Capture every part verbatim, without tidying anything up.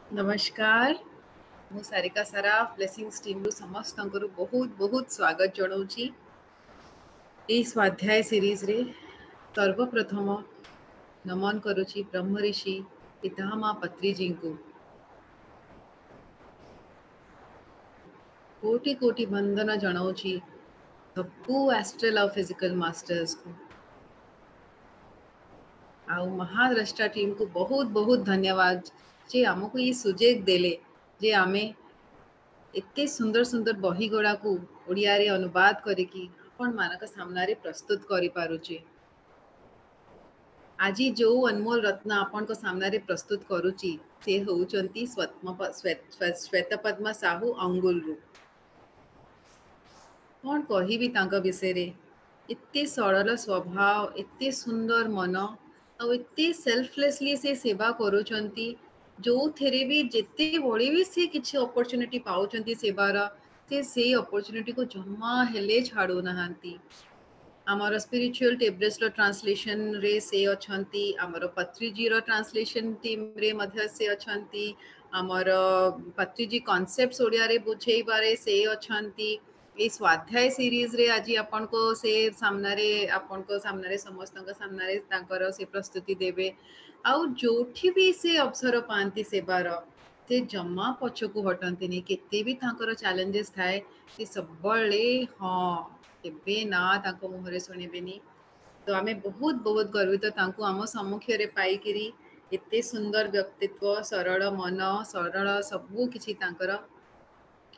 ନମସ୍କାର। ମୁଁ ସାରିକା ସାରାଫ ବ୍ଲେସିଂସ୍ ଟିମ୍ରୁ ସମସ୍ତଙ୍କର ବହୁତ ବହୁତ ସ୍ୱାଗତ ଜଣାଉଛି ଏଇ ସ୍ୱାଧ୍ୟାୟ ସିରିଜରେ। ସର୍ବପ୍ରଥମ ନମନ କରୁଛି ବ୍ରହ୍ମଋଷି ପିତାମହ ପତ୍ରୀଜୀଙ୍କୁ। କୋଟି କୋଟି ବନ୍ଦନା ଜଣାଉଛି ସବୁ ଆଷ୍ଟ୍ରାଲ ଆଉ ଫିଜିକାଲ ମାଷ୍ଟର୍ସକୁ ଆଉ ମହାଦ୍ରଷ୍ଟା ଟିମ୍କୁ ବହୁତ ବହୁତ ଧନ୍ୟବାଦ ଯେ ଆମକୁ ଏଇ ସୁଯୋଗ ଦେଲେ ଯେ ଆମେ ଏତେ ସୁନ୍ଦର ସୁନ୍ଦର ବହି ଗୁଡ଼ାକୁ ଓଡ଼ିଆରେ ଅନୁବାଦ କରିକି ଆପଣମାନଙ୍କ ସାମ୍ନାରେ ପ୍ରସ୍ତୁତ କରିପାରୁଛେ। ଆଜି ଯୋଉ ଅନମୋଲ ରତ୍ନ ଆପଣଙ୍କ ସାମ୍ନାରେ ପ୍ରସ୍ତୁତ କରୁଛି ସେ ହେଉଛନ୍ତି ଶ୍ୱେତପଦ୍ମା ସାହୁ ଅଙ୍ଗୁଲରୁ। କ'ଣ କହିବି ତାଙ୍କ ବିଷୟରେ, ଏତେ ସରଳ ସ୍ୱଭାବ, ଏତେ ସୁନ୍ଦର ମନ ଆଉ ଏତେ ସେଲ୍ଫଲେସଲି ସେ ସେବା କରୁଛନ୍ତି। ଯୋଉଥିରେ ବି ଯେତେବେଳେ ବି ସେ କିଛି ଅପରଚ୍ୟୁନିଟି ପାଉଛନ୍ତି ସେବାର, ସେ ସେଇ ଅପରଚ୍ୟୁନିଟିକୁ ଜମା ହେଲେ ଛାଡ଼ୁନାହାନ୍ତି। ଆମର ସ୍ପିରିଚୁଆଲ ଟେବ୍ଲେଟ୍ସର ଟ୍ରାନ୍ସଲେସନରେ ସେ ଅଛନ୍ତି, ଆମର ପତ୍ରୀଜୀର ଟ୍ରାନ୍ସଲେସନ ଟିମ୍ରେ ମଧ୍ୟ ସେ ଅଛନ୍ତି, ଆମର ପତ୍ରୀଜୀ କନସେପ୍ଟ ଓଡ଼ିଆରେ ବୁଝେଇବାରେ ସେ ଅଛନ୍ତି। ଏଇ ସ୍ୱାଧ୍ୟାୟ ସିରିଜରେ ଆଜି ଆପଣଙ୍କ ସେ ସାମ୍ନାରେ ଆପଣଙ୍କ ସାମ୍ନାରେ ସମସ୍ତଙ୍କ ସାମ୍ନାରେ ତାଙ୍କର ସେ ପ୍ରସ୍ତୁତି ଦେବେ। ଆଉ ଯୋଉଠି ବି ସେ ଅବସର ପାଆନ୍ତି ସେବାର, ସେ ଜମା ପଛକୁ ହଟନ୍ତିନି। କେତେ ବି ତାଙ୍କର ଚ୍ୟାଲେଞ୍ଜେସ୍ ଥାଏ, ସେ ସବୁବେଳେ ହଁ କେବେ ନା ତାଙ୍କ ମୁହଁରେ ଶୁଣିବେନି। ତ ଆମେ ବହୁତ ବହୁତ ଗର୍ବିତ ତାଙ୍କୁ ଆମ ସମ୍ମୁଖରେ ପାଇକିରି। ଏତେ ସୁନ୍ଦର ବ୍ୟକ୍ତିତ୍ୱ, ସରଳ ମନ, ସରଳ ସବୁ କିଛି ତାଙ୍କର।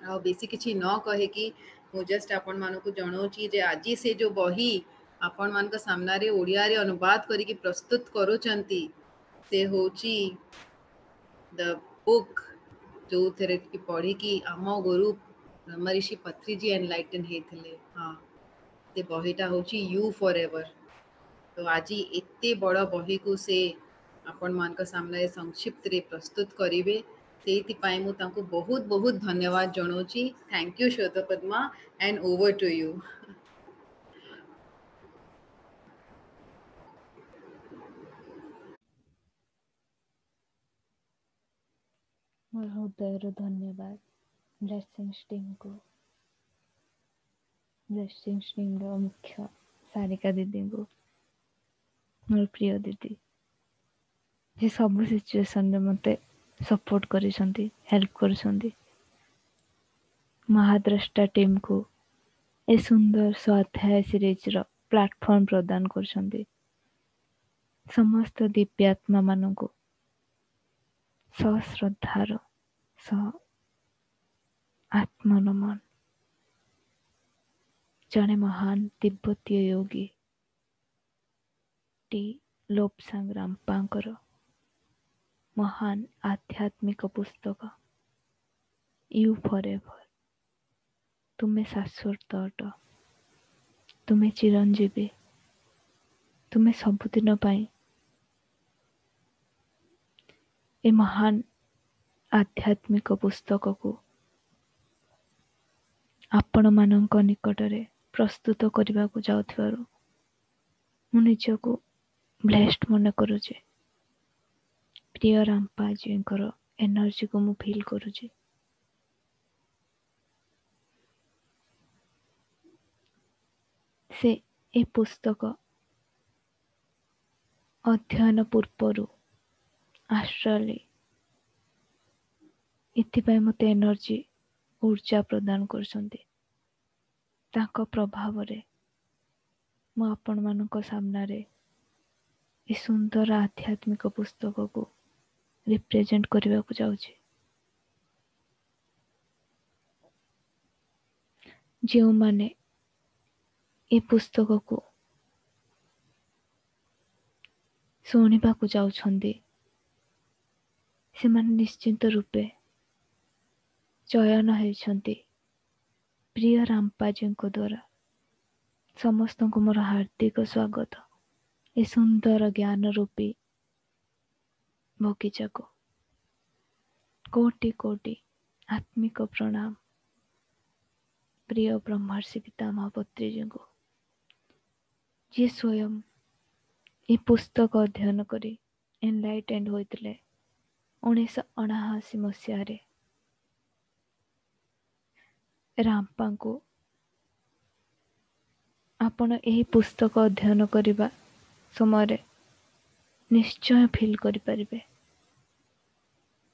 ଆଉ ବେଶୀ କିଛି ନ କହିକି ମୁଁ ଜଷ୍ଟ ଆପଣମାନଙ୍କୁ ଜଣାଉଛି ଯେ ଆଜି ସେ ଯୋଉ ବହି ଆପଣମାନଙ୍କ ସାମ୍ନାରେ ଓଡ଼ିଆରେ ଅନୁବାଦ କରିକି ପ୍ରସ୍ତୁତ କରୁଛନ୍ତି, ସେ ହେଉଛି ଦ ବୁକ୍ ଯୋଉଥିରେ କି ପଢ଼ିକି ଆମ ଗୁରୁ ବ୍ରହ୍ମଋଷି ପତ୍ରୀଜୀ ଏନଲାଇଟେନ୍ ହେଇଥିଲେ। ହଁ, ସେ ବହିଟା ହେଉଛି you for ever. ତ ଆଜି ଏତେ ବଡ଼ ବହିକୁ ସେ ଆପଣମାନଙ୍କ ସାମ୍ନାରେ ସଂକ୍ଷିପ୍ତରେ ପ୍ରସ୍ତୁତ କରିବେ, ସେଇଥିପାଇଁ ମୁଁ ତାଙ୍କୁ ବହୁତ ବହୁତ ଧନ୍ୟବାଦ ଜଣାଉଛି। Thank you Swetapadma, and over to you. ମୋର ହୃଦୟରୁ ଧନ୍ୟବାଦ ବ୍ଲେସିଂସ୍ ଟିମ୍କୁ, ବ୍ଲେସିଂସ୍ ଟିମ୍ର ମୁଖ୍ୟ ସାରିକା ଦିଦିଙ୍କୁ, ମୋର ପ୍ରିୟ ଦିଦି, ଯେ ସବୁ ସିଚୁଏସନରେ ମୋତେ ସପୋର୍ଟ କରିଛନ୍ତି, ହେଲ୍ପ କରିଛନ୍ତି। ମହାଦ୍ରଷ୍ଟା ଟିମ୍କୁ ଏ ସୁନ୍ଦର ସ୍ୱାଧ୍ୟାୟ ସିରିଜର ପ୍ଲାଟଫର୍ମ ପ୍ରଦାନ କରୁଛନ୍ତି। ସମସ୍ତ ଦିବ୍ୟାତ୍ମା ମାନଙ୍କୁ ସଶ୍ରଦ୍ଧାର ସହ ଆତ୍ମନମନ। ଜଣେ ମହାନ ତିବ୍ବତୀୟ ଯୋଗୀ ଟି ଲୋପସାଙ୍ଗ ରାମ୍ପାଙ୍କର ମହାନ ଆଧ୍ୟାତ୍ମିକ ପୁସ୍ତକ you for ever, ତୁମେ ଶାଶ୍ୱତ ଅଟ, ତୁମେ ଚିରଞ୍ଜୀବୀ, ତୁମେ ସବୁଦିନ ପାଇଁ ଏ ମହାନ ଆଧ୍ୟାତ୍ମିକ ପୁସ୍ତକକୁ ଆପଣମାନଙ୍କ ନିକଟରେ ପ୍ରସ୍ତୁତ କରିବାକୁ ଯାଉଥିବାରୁ ମୁଁ ନିଜକୁ ବ୍ଲେସ୍ଡ ମନେ କରୁଛି। ପ୍ରିୟ ରାମ୍ପାଜୀଙ୍କର ଏନର୍ଜିକୁ ମୁଁ ଫିଲ୍ କରୁଛି। ସେ ଏ ପୁସ୍ତକ ଅଧ୍ୟୟନ ପୂର୍ବରୁ ଆଷ୍ଟ୍ରାଲି ଏଥିପାଇଁ ମୋତେ ଏନର୍ଜି, ଉର୍ଜା ପ୍ରଦାନ କରୁଛନ୍ତି। ତାଙ୍କ ପ୍ରଭାବରେ ମୁଁ ଆପଣମାନଙ୍କ ସାମ୍ନାରେ ଏ ସୁନ୍ଦର ଆଧ୍ୟାତ୍ମିକ ପୁସ୍ତକକୁ ରିପ୍ରେଜେଣ୍ଟ କରିବାକୁ ଯାଉଛି। ଯେଉଁମାନେ ଏ ପୁସ୍ତକକୁ ଶୁଣିବାକୁ ଯାଉଛନ୍ତି, ସେମାନେ ନିଶ୍ଚିନ୍ତ ରୂପେ ଚୟନ ହେଇଛନ୍ତି ପ୍ରିୟ ରାମ୍ପାଜୀଙ୍କ ଦ୍ୱାରା। ସମସ୍ତଙ୍କୁ ମୋର ହାର୍ଦ୍ଦିକ ସ୍ୱାଗତ ଏ ସୁନ୍ଦର ଜ୍ଞାନ ରୂପୀ ବଗିଚାକୁ। କୋଟି କୋଟି ଆତ୍ମିକ ପ୍ରଣାମ ପ୍ରିୟ ବ୍ରହ୍ମର୍ଷି ପିତାମହ ପତ୍ରୀଜୀଙ୍କୁ, ଯିଏ ସ୍ୱୟଂ ଏ ପୁସ୍ତକ ଅଧ୍ୟୟନ କରି ଏନଲାଇଟେଣ୍ଡ ହୋଇଥିଲେ। ଉଣେଇଶହ ଅଣାଅଶୀ ମସିହାରେ ରାମ୍ପାଙ୍କୁ ଆପଣ ଏହି ପୁସ୍ତକ ଅଧ୍ୟୟନ କରିବା ସମୟରେ ନିଶ୍ଚୟ ଫିଲ୍ କରିପାରିବେ।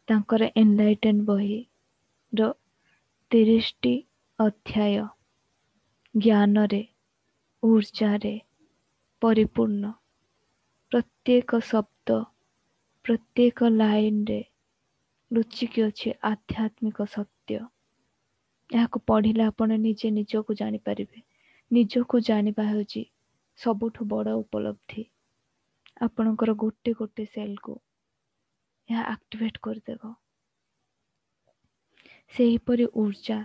ତାଙ୍କର ଏନଲାଇଟେନ୍ ବହିର ତିରିଶଟି ଅଧ୍ୟାୟ ଜ୍ଞାନରେ, ଉର୍ଜାରେ ପରିପୂର୍ଣ୍ଣ। ପ୍ରତ୍ୟେକ ଶବ୍ଦ, ପ୍ରତ୍ୟେକ ଲାଇନରେ ଲୁଚିକି ଅଛି ଆଧ୍ୟାତ୍ମିକ ସତ୍ୟ। ଏହାକୁ ପଢ଼ିଲେ ଆପଣ ନିଜେ ନିଜକୁ ଜାଣିପାରିବେ। ନିଜକୁ ଜାଣିବା ହେଉଛି ସବୁଠୁ ବଡ଼ ଉପଲବ୍ଧି। ଆପଣଙ୍କର ଗୋଟେ ଗୋଟେ ସେଲ୍କୁ ଏହା ଆକ୍ଟିଭେଟ୍ କରିଦେବ। ସେହିପରି ଉର୍ଜା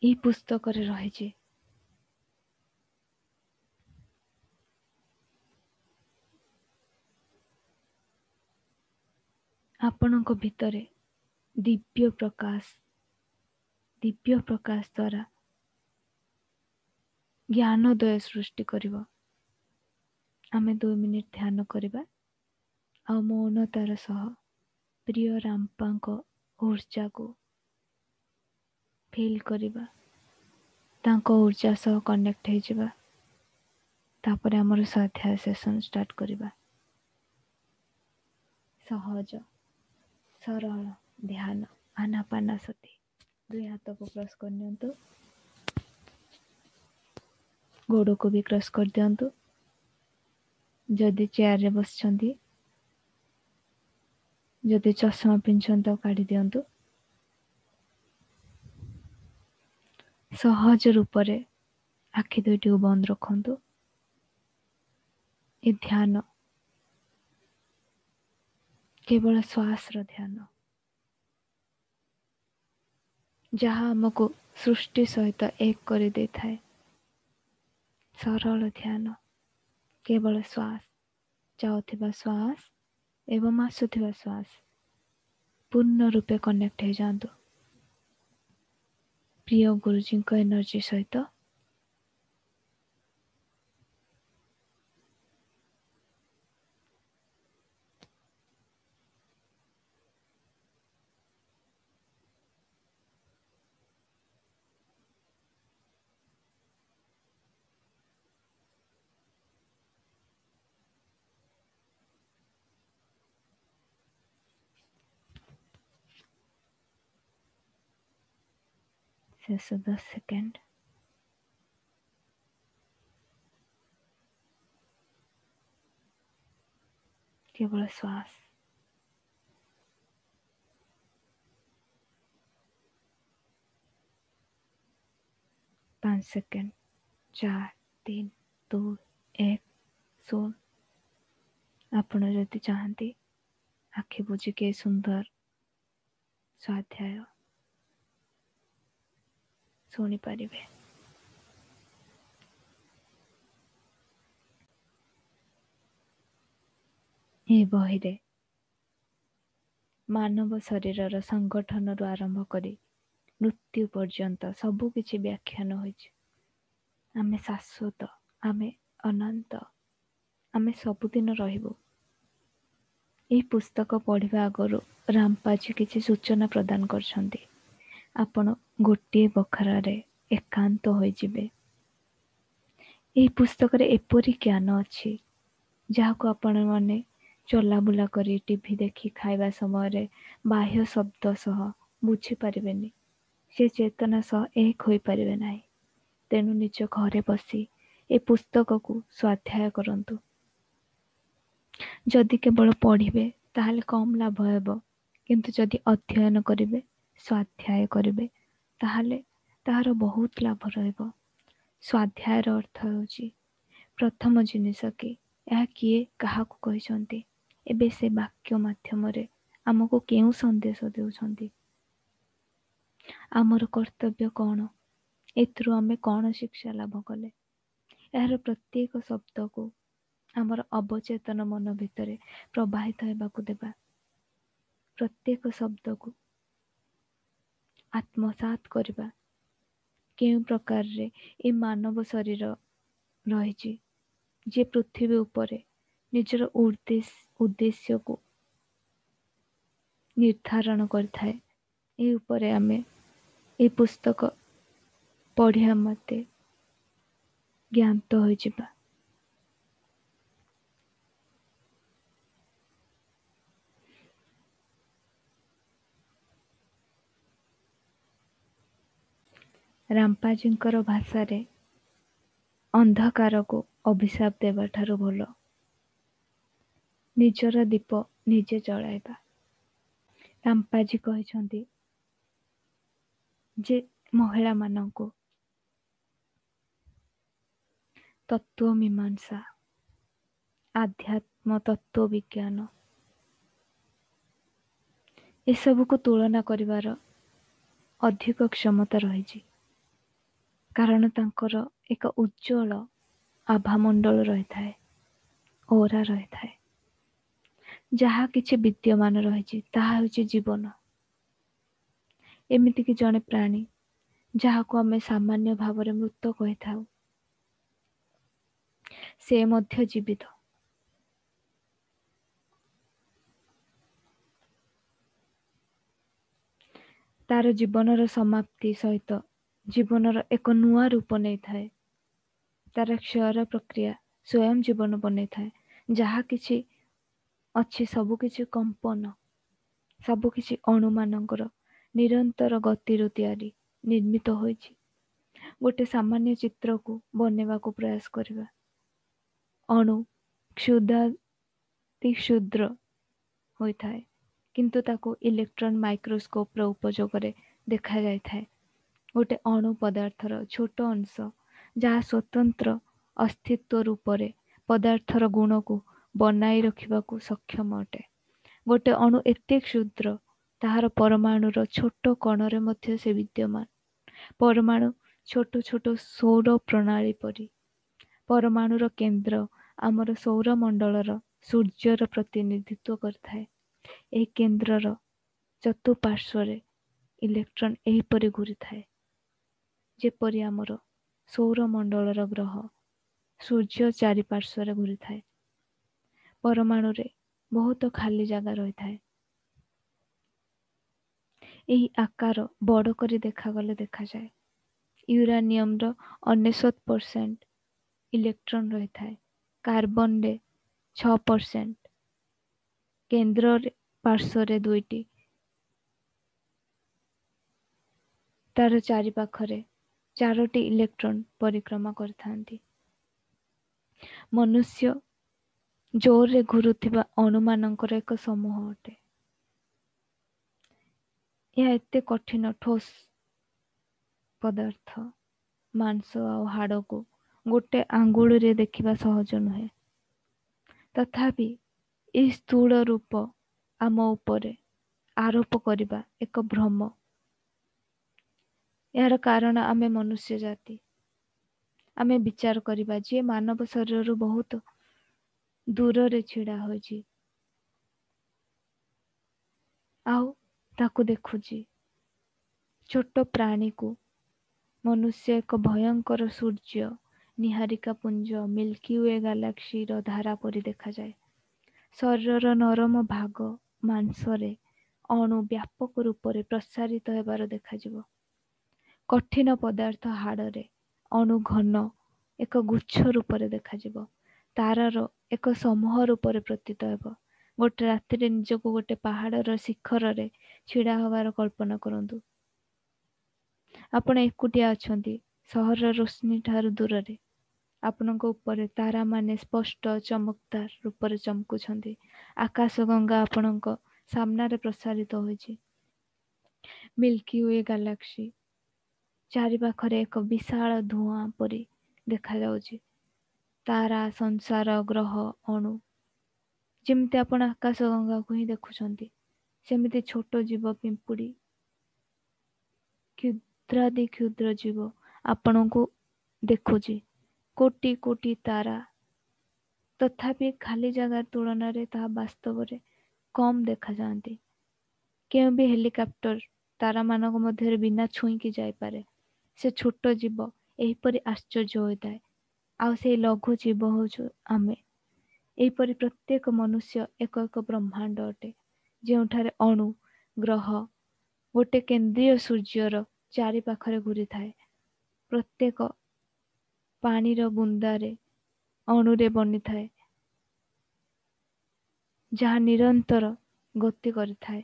ଏହି ପୁସ୍ତକରେ ରହିଛି। ଆପଣଙ୍କ ଭିତରେ ଦିବ୍ୟ ପ୍ରକାଶ, ଦିବ୍ୟ ପ୍ରକାଶ ଦ୍ୱାରା ଜ୍ଞାନୋଦୟ ସୃଷ୍ଟି କରିବ। ଆମେ ଦୁଇ ମିନିଟ୍ ଧ୍ୟାନ କରିବା ଆଉ ମୌନତାର ସହ ପ୍ରିୟ ରାମ୍ପାଙ୍କ ଉର୍ଜାକୁ ଫିଲ୍ କରିବା, ତାଙ୍କ ଉର୍ଜା ସହ କନେକ୍ଟ ହେଇଯିବା। ତାପରେ ଆମର ସ୍ୱାଧ୍ୟାୟ ସେସନ୍ ଷ୍ଟାର୍ଟ କରିବା। ସହଜ ସରଳ ଧ୍ୟାନ ଆନାପାନାସତି। ଦୁଇ ହାତକୁ କ୍ରସ୍ କରିନିଅନ୍ତୁ, ଗୋଡ଼କୁ ବି କ୍ରସ୍ କରିଦିଅନ୍ତୁ। ଯଦି ଚେୟାରରେ ବସିଛନ୍ତି, ଯଦି ଚଷମା ପିନ୍ଧିଛନ୍ତି ତାକୁ କାଢ଼ି ଦିଅନ୍ତୁ। ସହଜ ରୂପରେ ଆଖି ଦୁଇଟିକୁ ବନ୍ଦ ରଖନ୍ତୁ। ଏ ଧ୍ୟାନ କେବଳ ଶ୍ୱାସର ଧ୍ୟାନ, ଯାହା ଆମକୁ ସୃଷ୍ଟି ସହିତ ଏକ କରିଦେଇଥାଏ। ସରଳ ଧ୍ୟାନ, କେବଳ ଶ୍ୱାସ, ଯାଉଥିବା ଶ୍ୱାସ ଏବଂ ଆସୁଥିବା ଶ୍ୱାସ ପୂର୍ଣ୍ଣ ରୂପେ କନେକ୍ଟ ହେଇଯାଆନ୍ତୁ ପ୍ରିୟ ଗୁରୁଜୀଙ୍କ ଏନର୍ଜି ସହିତ। ଶେଷ ଦଶ ସେକେଣ୍ଡ। କେବଳ ଶ୍ୱାସ। ପାଞ୍ଚ ସେକେଣ୍ଡ, ଚାରି, ତିନି, ଦୁଇ, ଏକ, ଶୂନ। ଆପଣ ଯଦି ଚାହାନ୍ତି ଆଖି ବୁଜିକି ଏ ସୁନ୍ଦର ସ୍ୱାଧ୍ୟାୟ ଶୁଣିପାରିବେ। ଏ ବହିରେ ମାନବ ଶରୀରର ସଂଗଠନରୁ ଆରମ୍ଭ କରି ମୃତ୍ୟୁ ପର୍ଯ୍ୟନ୍ତ ସବୁ କିଛି ବ୍ୟାଖ୍ୟାନ ହୋଇଛି। ଆମେ ଶାଶ୍ୱତ, ଆମେ ଅନନ୍ତ, ଆମେ ସବୁଦିନ ରହିବୁ। ଏହି ପୁସ୍ତକ ପଢ଼ିବା ଆଗରୁ ରାମପାଜୀ କିଛି ସୂଚନା ପ୍ରଦାନ କରିଛନ୍ତି। ଆପଣ ଗୋଟିଏ ବଖରାରେ ଏକାନ୍ତ ହୋଇଯିବେ। ଏହି ପୁସ୍ତକରେ ଏପରି ଜ୍ଞାନ ଅଛି ଯାହାକୁ ଆପଣମାନେ ଚଲାବୁଲା କରି, ଟିଭି ଦେଖି, ଖାଇବା ସମୟରେ ବାହ୍ୟ ଶବ୍ଦ ସହ ବୁଝିପାରିବେନି। ସେ ଚେତନା ସହ ଏକ ହୋଇପାରିବେ ନାହିଁ। ତେଣୁ ନିଜ ଘରେ ବସି ଏ ପୁସ୍ତକକୁ ସ୍ୱାଧ୍ୟାୟ କରନ୍ତୁ। ଯଦି କେବଳ ପଢ଼ିବେ ତାହେଲେ କମ୍ ଲାଭ ହେବ, କିନ୍ତୁ ଯଦି ଅଧ୍ୟୟନ କରିବେ, ସ୍ୱାଧ୍ୟାୟ କରିବେ, ତାହେଲେ ତାହାର ବହୁତ ଲାଭ ରହିବ। ସ୍ୱାଧ୍ୟାୟର ଅର୍ଥ ହେଉଛି ପ୍ରଥମ ଜିନିଷ କି ଏହା କିଏ କାହାକୁ କହିଛନ୍ତି, ଏବେ ସେ ବାକ୍ୟ ମାଧ୍ୟମରେ ଆମକୁ କେଉଁ ସନ୍ଦେଶ ଦେଉଛନ୍ତି, ଆମର କର୍ତ୍ତବ୍ୟ କ'ଣ, ଏଥିରୁ ଆମେ କ'ଣ ଶିକ୍ଷା ଲାଭ କଲେ। ଏହାର ପ୍ରତ୍ୟେକ ଶବ୍ଦକୁ ଆମର ଅବଚେତନ ମନ ଭିତରେ ପ୍ରବାହିତ ହେବାକୁ ଦେବା। ପ୍ରତ୍ୟେକ ଶବ୍ଦକୁ ଆତ୍ମସାତ କରିବା। କେଉଁ ପ୍ରକାରରେ ଏ ମାନବ ଶରୀର ରହିଛି, ଯିଏ ପୃଥିବୀ ଉପରେ ନିଜର ଉଦ୍ଦେଶ୍ୟକୁ ନିର୍ଦ୍ଧାରଣ କରିଥାଏ, ଏ ଉପରେ ଆମେ ଏହି ପୁସ୍ତକ ପଢ଼ିବା ମତେ ଜ୍ଞାତ ହୋଇଯିବା। ରାମ୍ପାଜୀଙ୍କର ଭାଷାରେ ଅନ୍ଧକାରକୁ ଅଭିଶାପ ଦେବା ଠାରୁ ଭଲ ନିଜର ଦୀପ ନିଜେ ଜଳାଇବା। ରାମ୍ପାଜୀ କହିଛନ୍ତି ଯେ ମହିଳାମାନଙ୍କୁ ତତ୍ତ୍ୱ ମୀମାଂସା, ଆଧ୍ୟାତ୍ମ ତତ୍ତ୍ୱ ବିଜ୍ଞାନ ଏସବୁକୁ ତୁଳନା କରିବାର ଅଧିକ କ୍ଷମତା ରହିଛି, କାରଣ ତାଙ୍କର ଏକ ଉଜ୍ଜ୍ୱଳ ଆଭାମଣ୍ଡଳ ରହିଥାଏ, ଓରା ରହିଥାଏ। ଯାହା କିଛି ବିଦ୍ୟମାନ ରହିଛି ତାହା ହେଉଛି ଜୀବନ। ଏମିତିକି ଜଣେ ପ୍ରାଣୀ ଯାହାକୁ ଆମେ ସାମାନ୍ୟ ଭାବରେ ମୃତ କହିଥାଉ, ସେ ମଧ୍ୟ ଜୀବିତ। ତାର ଜୀବନର ସମାପ୍ତି ସହିତ ଜୀବନର ଏକ ନୂଆ ରୂପ ନେଇଥାଏ। ତାର କ୍ଷୟର ପ୍ରକ୍ରିୟା ସ୍ୱୟଂ ଜୀବନ ବନେଇଥାଏ। ଯାହା କିଛି ଅଛି ସବୁକିଛି କମ୍ପନ, ସବୁକିଛି ଅଣୁମାନଙ୍କର ନିରନ୍ତର ଗତିରୁ ତିଆରି ନିର୍ମିତ ହୋଇଛି। ଗୋଟେ ସାମାନ୍ୟ ଚିତ୍ରକୁ ବନେଇବାକୁ ପ୍ରୟାସ କରିବା, ଅଣୁ କ୍ଷୁଦ୍ରାତି କ୍ଷୁଦ୍ର ହୋଇଥାଏ, କିନ୍ତୁ ତାକୁ ଇଲେକ୍ଟ୍ରନ୍ ମାଇକ୍ରୋସ୍କୋପର ଉପଯୋଗରେ ଦେଖାଯାଇଥାଏ। ଗୋଟେ ଅଣୁ ପଦାର୍ଥର ଛୋଟ ଅଂଶ ଯାହା ସ୍ୱତନ୍ତ୍ର ଅସ୍ତିତ୍ୱ ରୂପରେ ପଦାର୍ଥର ଗୁଣକୁ ବନାଇ ରଖିବାକୁ ସକ୍ଷମ ଅଟେ। ଗୋଟେ ଅଣୁ ଏତେ କ୍ଷୁଦ୍ର, ତାହାର ପରମାଣୁର ଛୋଟ କଣରେ ମଧ୍ୟ ସେ ବିଦ୍ୟମାନ। ପରମାଣୁ ଛୋଟ ଛୋଟ ସୌର ପ୍ରଣାଳୀ ପରି। ପରମାଣୁର କେନ୍ଦ୍ର ଆମର ସୌରମଣ୍ଡଳର ସୂର୍ଯ୍ୟର ପ୍ରତିନିଧିତ୍ୱ କରିଥାଏ। ଏହି କେନ୍ଦ୍ରର ଚତୁଃପାର୍ଶ୍ୱରେ ଇଲେକ୍ଟ୍ରନ୍ ଏହିପରି ଘୂରିଥାଏ ଯେପରି ଆମର ସୌରମଣ୍ଡଳର ଗ୍ରହ ସୂର୍ଯ୍ୟ ଚାରିପାର୍ଶ୍ୱରେ ଘୂରିଥାଏ। ପରମାଣୁରେ ବହୁତ ଖାଲି ଜାଗା ରହିଥାଏ। ଏହି ଆକାର ବଡ଼ କରି ଦେଖାଗଲେ ଦେଖାଯାଏ ୟୁରାନିୟମର ଅନେଶତ ପରସେଣ୍ଟ ଇଲେକ୍ଟ୍ରନ୍ ରହିଥାଏ, କାର୍ବନରେ ଛଅ ପରସେଣ୍ଟ, କେନ୍ଦ୍ରରେ ପାର୍ଶ୍ୱରେ ଦୁଇଟି, ତାର ଚାରିପାଖରେ ଚାରୋଟି ଇଲେକ୍ଟ୍ରନ୍ ପରିକ୍ରମା କରିଥାନ୍ତି। ମନୁଷ୍ୟ ଜୋରରେ ଘୁରୁଥିବା ଅଣୁମାନଙ୍କର ଏକ ସମୂହ ଅଟେ। ଏହା ଏତେ କଠିନ ଠୋସ୍ ପଦାର୍ଥ, ମାଂସ ଆଉ ହାଡ଼କୁ ଗୋଟେ ଆଙ୍ଗୁଳିରେ ଦେଖିବା ସହଜ ନୁହେଁ। ତଥାପି ଏହି ସ୍ଥୂଳ ରୂପ ଆମ ଉପରେ ଆରୋପ କରିବା ଏକ ଭ୍ରମ। ଏହାର କାରଣ ଆମେ ମନୁଷ୍ୟ ଜାତି। ଆମେ ବିଚାର କରିବା ଯିଏ ମାନବ ଶରୀରରୁ ବହୁତ ଦୂରରେ ଛିଡ଼ା ହୋଇଛି ଆଉ ତାକୁ ଦେଖୁଛି, ଛୋଟ ପ୍ରାଣୀକୁ ମନୁଷ୍ୟ ଏକ ଭୟଙ୍କର ସୂର୍ଯ୍ୟ, ନିହାରିକା ପୁଞ୍ଜ, ମିଲ୍କି we ଗାଲାକ୍ସିର ଧାରା ପରି ଦେଖାଯାଏ। ଶରୀରର ନରମ ଭାଗ ମାଂସରେ ଅଣୁ ବ୍ୟାପକ ରୂପରେ ପ୍ରସାରିତ ହେବାର ଦେଖାଯିବ। କଠିନ ପଦାର୍ଥ ହାଡ଼ରେ ଅଣୁ ଘନ ଏକ ଗୁଚ୍ଛ ରୂପରେ ଦେଖାଯିବ। ତାରାର ଏକ ସମୂହ ରୂପରେ ପ୍ରତୀତ ହେବ। ଗୋଟେ ରାତିରେ ନିଜକୁ ଗୋଟେ ପାହାଡ଼ର ଶିଖରରେ ଛିଡ଼ା ହେବାର କଳ୍ପନା କରନ୍ତୁ। ଆପଣ ଏକୁଟିଆ ଅଛନ୍ତି, ସହରର ରୋଶନୀ ଠାରୁ ଦୂରରେ। ଆପଣଙ୍କ ଉପରେ ତାରାମାନେ ସ୍ପଷ୍ଟ ଚମତ୍କାର ରୂପରେ ଚମକୁଛନ୍ତି। ଆକାଶ ଗଙ୍ଗା ଆପଣଙ୍କ ସାମ୍ନାରେ ପ୍ରସାରିତ ହୋଇଛି। ମିଲ୍କି we Galaxy ଚାରିପାଖରେ ଏକ ବିଶାଳ ଧୂଆଁ ପରି ଦେଖାଯାଉଛି। ତାରା, ସଂସାର, ଗ୍ରହ, ଅଣୁ, ଯେମିତି ଆପଣ ଆକାଶ ଗଙ୍ଗାକୁ ହିଁ ଦେଖୁଛନ୍ତି, ସେମିତି ଛୋଟ ଜୀବ, ପିମ୍ପୁଡ଼ି, କ୍ଷୁଦ୍ରାଦି କ୍ଷୁଦ୍ର ଜୀବ ଆପଣଙ୍କୁ ଦେଖୁଛି। କୋଟି କୋଟି ତାରା, ତଥାପି ଖାଲି ଜାଗା ତୁଳନାରେ ତାହା ବାସ୍ତବରେ କମ୍ ଦେଖାଯାଆନ୍ତି। କେଉଁ ବି ହେଲିକପ୍ଟର ତାରାମାନଙ୍କ ମଧ୍ୟରେ ବିନା ଛୁଇଁକି ଯାଇପାରେ। ସେ ଛୋଟ ଜୀବ ଏହିପରି ଆଶ୍ଚର୍ଯ୍ୟ ହୋଇଥାଏ। ଆଉ ସେଇ ଲଘୁ ଜୀବ ହେଉଛୁ ଆମେ। ଏହିପରି ପ୍ରତ୍ୟେକ ମନୁଷ୍ୟ ଏକ ଏକ ବ୍ରହ୍ମାଣ୍ଡ ଅଟେ, ଯେଉଁଠାରେ ଅଣୁ ଗ୍ରହ ଗୋଟେ କେନ୍ଦ୍ରୀୟ ସୂର୍ଯ୍ୟର ଚାରି ପାଖରେ ଘୁରିଥାଏ। ପ୍ରତ୍ୟେକ ପାଣିର ବୁନ୍ଦାରେ ଅଣୁରେ ବନିଥାଏ, ଯାହା ନିରନ୍ତର ଗତି କରିଥାଏ।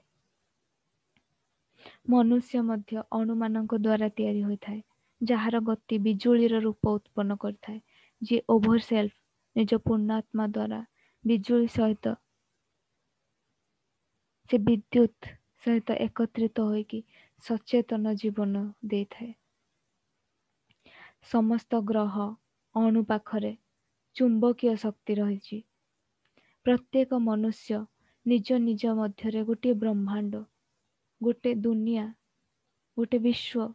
ମନୁଷ୍ୟ ମଧ୍ୟ ଅଣୁମାନଙ୍କ ଦ୍ୱାରା ତିଆରି ହୋଇଥାଏ, ଯାହାର ଗତି ବିଜୁଳିର ରୂପ ଉତ୍ପନ୍ନ କରିଥାଏ। ଯିଏ ଓଭରସେଲ୍ଫ ନିଜ ପୂର୍ଣ୍ଣାତ୍ମା ଦ୍ୱାରା ବିଜୁଳି ସହିତ ସେ ବିଦ୍ୟୁତ ସହିତ ଏକତ୍ରିତ ହୋଇକି ସଚେତନ ଜୀବନ ଦେଇଥାଏ। ସମସ୍ତ ଗ୍ରହ ଅଣୁ ପାଖରେ ଚୁମ୍ବକୀୟ ଶକ୍ତି ରହିଛି। ପ୍ରତ୍ୟେକ ମନୁଷ୍ୟ ନିଜ ନିଜ ମଧ୍ୟରେ ଗୋଟିଏ ବ୍ରହ୍ମାଣ୍ଡ, ଗୋଟେ ଦୁନିଆ, ଗୋଟେ ବିଶ୍ୱ।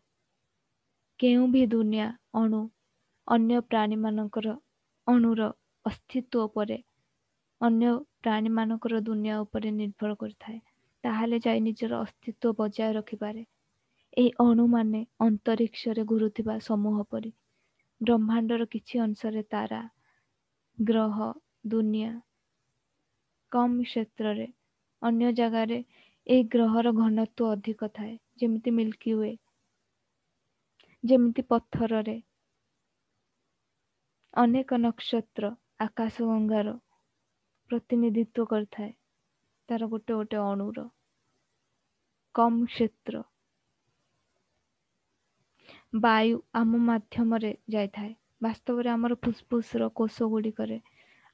କେଉଁ ବି ଦୁନିଆ ଅଣୁ ଅନ୍ୟ ପ୍ରାଣୀମାନଙ୍କର ଅଣୁର ଅସ୍ତିତ୍ୱ ଉପରେ, ଅନ୍ୟ ପ୍ରାଣୀମାନଙ୍କର ଦୁନିଆ ଉପରେ ନିର୍ଭର କରିଥାଏ, ତାହେଲେ ଯାଇ ନିଜର ଅସ୍ତିତ୍ୱ ବଜାୟ ରଖିପାରେ। ଏହି ଅଣୁମାନେ ଅନ୍ତରୀକ୍ଷରେ ଘୁରୁଥିବା ସମୂହ ପରି। ବ୍ରହ୍ମାଣ୍ଡର କିଛି ଅଂଶରେ ତାରା, ଗ୍ରହ, ଦୁନିଆ କମ୍ କ୍ଷେତ୍ରରେ, ଅନ୍ୟ ଜାଗାରେ ଏହି ଗ୍ରହର ଘନତ୍ୱ ଅଧିକ ଥାଏ, ଯେମିତି ମିଲ୍କି we, ଯେମିତି ପଥରରେ ଅନେକ ନକ୍ଷତ୍ର ଆକାଶଗଙ୍ଗାର ପ୍ରତିନିଧିତ୍ୱ କରିଥାଏ, ତାର ଗୋଟେ ଗୋଟେ ଅଣୁର କମ୍ କ୍ଷେତ୍ର। ବାୟୁ ଆମ ମାଧ୍ୟମରେ ଯାଇଥାଏ। ବାସ୍ତବରେ ଆମର ଫୁସଫୁସର କୋଷ ଗୁଡ଼ିକରେ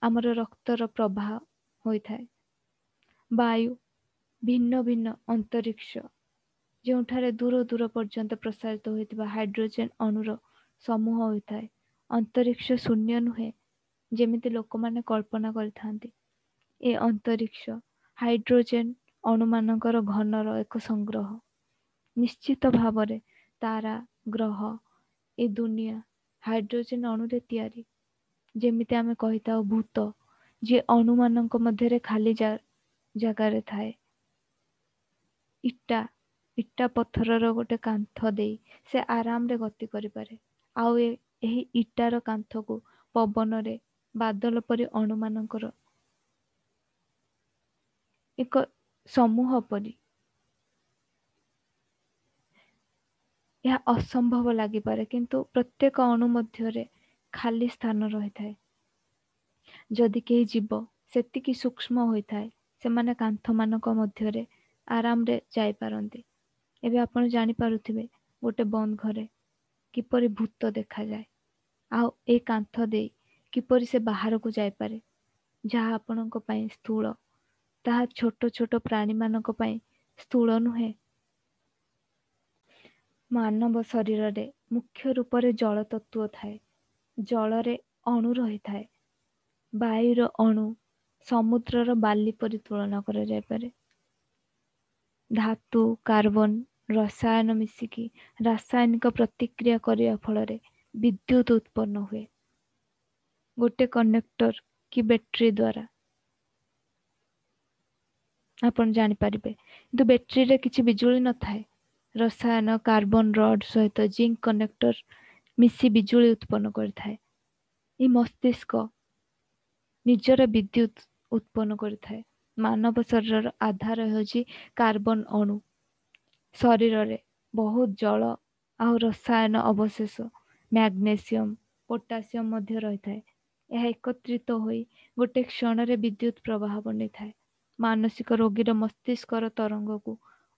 ଆମର ରକ୍ତର ପ୍ରବାହ ହୋଇଥାଏ। ବାୟୁ ଭିନ୍ନ ଭିନ୍ନ ଅନ୍ତରୀକ୍ଷ, ଯେଉଁଠାରେ ଦୂର ଦୂର ପର୍ଯ୍ୟନ୍ତ ପ୍ରସାରିତ ହୋଇଥିବା ହାଇଡ୍ରୋଜେନ ଅଣୁର ସମୂହ ହୋଇଥାଏ। ଅନ୍ତରୀକ୍ଷ ଶୂନ୍ୟ ନୁହେଁ, ଯେମିତି ଲୋକମାନେ କଳ୍ପନା କରିଥାନ୍ତି। ଏ ଅନ୍ତରୀକ୍ଷ ହାଇଡ୍ରୋଜେନ ଅଣୁମାନଙ୍କର ଘନର ଏକ ସଂଗ୍ରହ। ନିଶ୍ଚିତ ଭାବରେ ତାରା, ଗ୍ରହ, ଏ ଦୁନିଆ ହାଇଡ୍ରୋଜେନ ଅଣୁରେ ତିଆରି। ଯେମିତି ଆମେ କହିଥାଉ ଭୂତ, ଯିଏ ଅଣୁମାନଙ୍କ ମଧ୍ୟରେ ଖାଲି ଜାଗାରେ ଥାଏ। ଇଟା ଇଟା ପଥରର ଗୋଟେ କାନ୍ଥ ଦେଇ ସେ ଆରାମରେ ଗତି କରିପାରେ। ଆଉ ଏହି ଇଟାର କାନ୍ଥକୁ ପବନରେ ବାଦଲ ପରି ଅଣୁମାନଙ୍କର ଏକ ସମୂହ ପରି। ଏହା ଅସମ୍ଭବ ଲାଗିପାରେ, କିନ୍ତୁ ପ୍ରତ୍ୟେକ ଅଣୁ ମଧ୍ୟରେ ଖାଲି ସ୍ଥାନ ରହିଥାଏ। ଯଦି କେହି ଜୀବ ସେତିକି ସୂକ୍ଷ୍ମ ହୋଇଥାଏ, ସେମାନେ କାନ୍ଥମାନଙ୍କ ମଧ୍ୟରେ ଆରାମରେ ଯାଇପାରନ୍ତି। ଏବେ ଆପଣ ଜାଣିପାରୁଥିବେ ଗୋଟେ ବନ୍ଦ ଘରେ କିପରି ଭୂତ ଦେଖାଯାଏ, ଆଉ ଏଇ କାନ୍ଥ ଦେଇ କିପରି ସେ ବାହାରକୁ ଯାଇପାରେ। ଯାହା ଆପଣଙ୍କ ପାଇଁ ସ୍ଥୂଳ, ତାହା ଛୋଟ ଛୋଟ ପ୍ରାଣୀମାନଙ୍କ ପାଇଁ ସ୍ଥୂଳ ନୁହେଁ। ମାନବ ଶରୀରରେ ମୁଖ୍ୟ ରୂପରେ ଜଳ ତତ୍ତ୍ୱ ଥାଏ। ଜଳରେ ଅଣୁ ରହିଥାଏ। ବାୟୁର ଅଣୁ ସମୁଦ୍ରର ବାଲି ପରି ତୁଳନା କରାଯାଇପାରେ। ଧାତୁ, କାର୍ବନ, ରସାୟନ ମିଶିକି ରାସାୟନିକ ପ୍ରତିକ୍ରିୟା କରିବା ଫଳରେ ବିଦ୍ୟୁତ ଉତ୍ପନ୍ନ ହୁଏ। ଗୋଟେ କନେକ୍ଟର କି ବ୍ୟାଟେରୀ ଦ୍ୱାରା ଆପଣ ଜାଣିପାରିବେ, କିନ୍ତୁ ବ୍ୟାଟେରୀରେ କିଛି ବିଜୁଳି ନଥାଏ। ରସାୟନ କାର୍ବନ ରଡ୍ ସହିତ ଜିଙ୍କ କନେକ୍ଟର ମିଶି ବିଜୁଳି ଉତ୍ପନ୍ନ କରିଥାଏ। ଏହି ମସ୍ତିଷ୍କ ନିଜର ବିଦ୍ୟୁତ ଉତ୍ପନ୍ନ କରିଥାଏ। ମାନବ ଶରୀରର ଆଧାର ହେଉଛି କାର୍ବନ ଅଣୁ। ଶରୀରରେ ବହୁତ ଜଳ ଆଉ ରସାୟନ ଅବଶେଷ, ମ୍ୟାଗ୍ନେସିୟମ, ପୋଟାସିୟମ ମଧ୍ୟ ରହିଥାଏ। ଏହା ଏକତ୍ରିତ ହୋଇ ଗୋଟେ କ୍ଷଣରେ ବିଦ୍ୟୁତ ପ୍ରବାହ ବନେଇଥାଏ। ମାନସିକ ରୋଗୀର ମସ୍ତିଷ୍କର ତରଙ୍ଗକୁ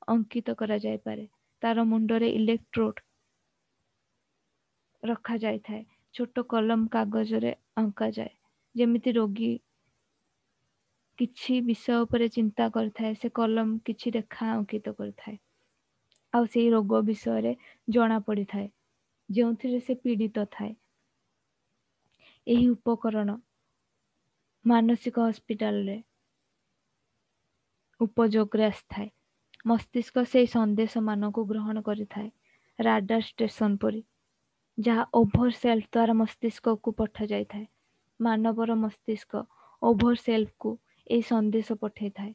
ଅଙ୍କିତ କରାଯାଇପାରେ। ତାର ମୁଣ୍ଡରେ ଇଲେକ୍ଟ୍ରୋଡ ରଖାଯାଇଥାଏ। ଛୋଟ କଲମ କାଗଜରେ ଅଙ୍କାଯାଏ। ଯେମିତି ରୋଗୀ କିଛି ବିଷୟ ଉପରେ ଚିନ୍ତା କରିଥାଏ, ସେ କଲମ କିଛି ରେଖା ଅଙ୍କିତ କରିଥାଏ, ଆଉ ସେଇ ରୋଗ ବିଷୟରେ ଜଣା ପଡ଼ିଥାଏ ଯେଉଁଥିରେ ସେ ପୀଡ଼ିତ ଥାଏ। ଏହି ଉପକରଣ ମାନସିକ ହସ୍ପିଟାଲରେ ଉପଯୋଗରେ ଆସିଥାଏ। ମସ୍ତିଷ୍କ ସେଇ ସନ୍ଦେଶମାନଙ୍କୁ ଗ୍ରହଣ କରିଥାଏ ରାଡାର ଷ୍ଟେସନ ପରି, ଯାହା ଓଭର ସେଲ୍ଫ ଦ୍ୱାରା ମସ୍ତିଷ୍କକୁ ପଠାଯାଇଥାଏ। ମାନବର ମସ୍ତିଷ୍କ ଓଭର ସେଲ୍ଫକୁ ଏହି ସନ୍ଦେଶ ପଠାଇଥାଏ।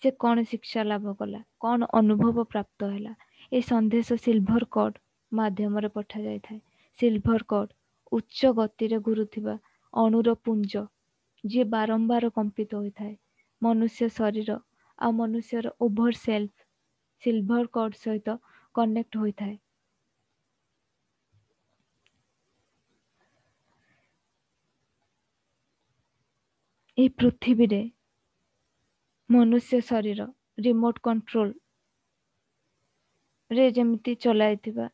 ସେ କ'ଣ ଶିକ୍ଷା ଲାଭ କଲା, କ'ଣ ଅନୁଭବ ପ୍ରାପ୍ତ ହେଲା, ଏ ସନ୍ଦେଶ ସିଲଭର କର୍ଡ ମାଧ୍ୟମରେ ପଠାଯାଇଥାଏ। ସିଲଭର କର୍ଡ ଉଚ୍ଚ ଗତିରେ ଘୁରୁଥିବା ଅଣୁର ପୁଞ୍ଜ, ଯିଏ ବାରମ୍ବାର କମ୍ପିତ ହୋଇଥାଏ। ମନୁଷ୍ୟ ଶରୀର ଆଉ ମନୁଷ୍ୟର ଓଭର ସେଲ୍ଫ ସିଲଭର କର୍ଡ ସହିତ କନେକ୍ଟ ହୋଇଥାଏ। ଏହି ପୃଥିବୀରେ ମନୁଷ୍ୟ ଶରୀର ରିମୋଟ କଣ୍ଟ୍ରୋଲ ରେ ଯେମିତି ଚଲାଇଥିବା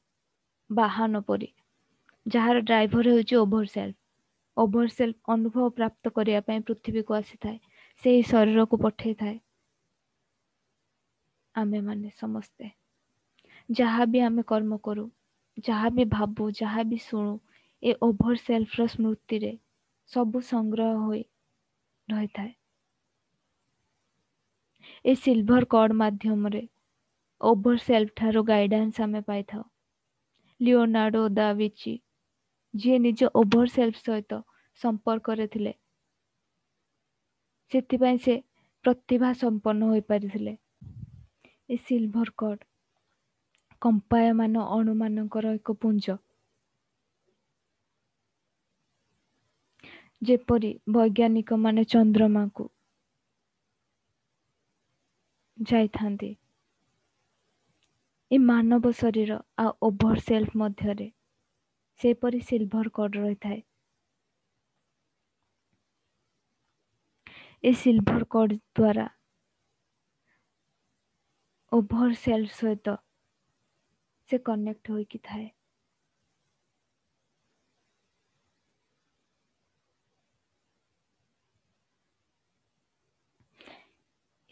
ବାହନ ପରି, ଯାହାର ଡ୍ରାଇଭର ହେଉଛି ଓଭର ସେଲ୍ଫ। ଓଭର ସେଲ୍ଫ ଅନୁଭବ ପ୍ରାପ୍ତ କରିବା ପାଇଁ ପୃଥିବୀକୁ ଆସିଥାଏ, ସେହି ଶରୀରକୁ ପଠେଇଥାଏ। ଆମେମାନେ ସମସ୍ତେ ଯାହା ବି ଆମେ କର୍ମ କରୁ, ଯାହା ବି ଭାବୁ, ଯାହା ବି ଶୁଣୁ, ଏ ଓଭର ସେଲ୍ଫର ସ୍ମୃତିରେ ସବୁ ସଂଗ୍ରହ ହୋଇ ରହିଥାଏ। ଏ ସିଲଭର କର୍ଡ ମାଧ୍ୟମରେ ଓଭର ସେଲ୍ଫ ଠାରୁ ଗାଇଡାନ୍ସ ଆମେ ପାଇଥାଉ। ଲିଓନାର୍ଡୋ ଦା ଭିଞ୍ଚି, ଯିଏ ନିଜ ଓଭର ସେଲ୍ଫ ସହିତ ସମ୍ପର୍କରେ ଥିଲେ, ସେଥିପାଇଁ ସେ ପ୍ରତିଭା ସମ୍ପନ୍ନ ହୋଇପାରିଥିଲେ। ଏ ସିଲଭର କର୍ଡ କମ୍ପାୟମାନ ଅଣୁମାନଙ୍କର ଏକ ପୁଞ୍ଜ, ଯେପରି ବୈଜ୍ଞାନିକମାନେ ଚନ୍ଦ୍ରମାକୁ ଯାଇଥାନ୍ତି, ଏ ମାନବ ଶରୀର ଆଉ ଓଭର ସେଲ୍ଫ ମଧ୍ୟରେ ସେପରି ସିଲଭର କର୍ଡ ରହିଥାଏ। ଏ ସିଲଭର କର୍ଡ ଦ୍ୱାରା ଓଭର ସେଲ୍ଫ ସହିତ ସେ କନେକ୍ଟ ହୋଇକି ଥାଏ।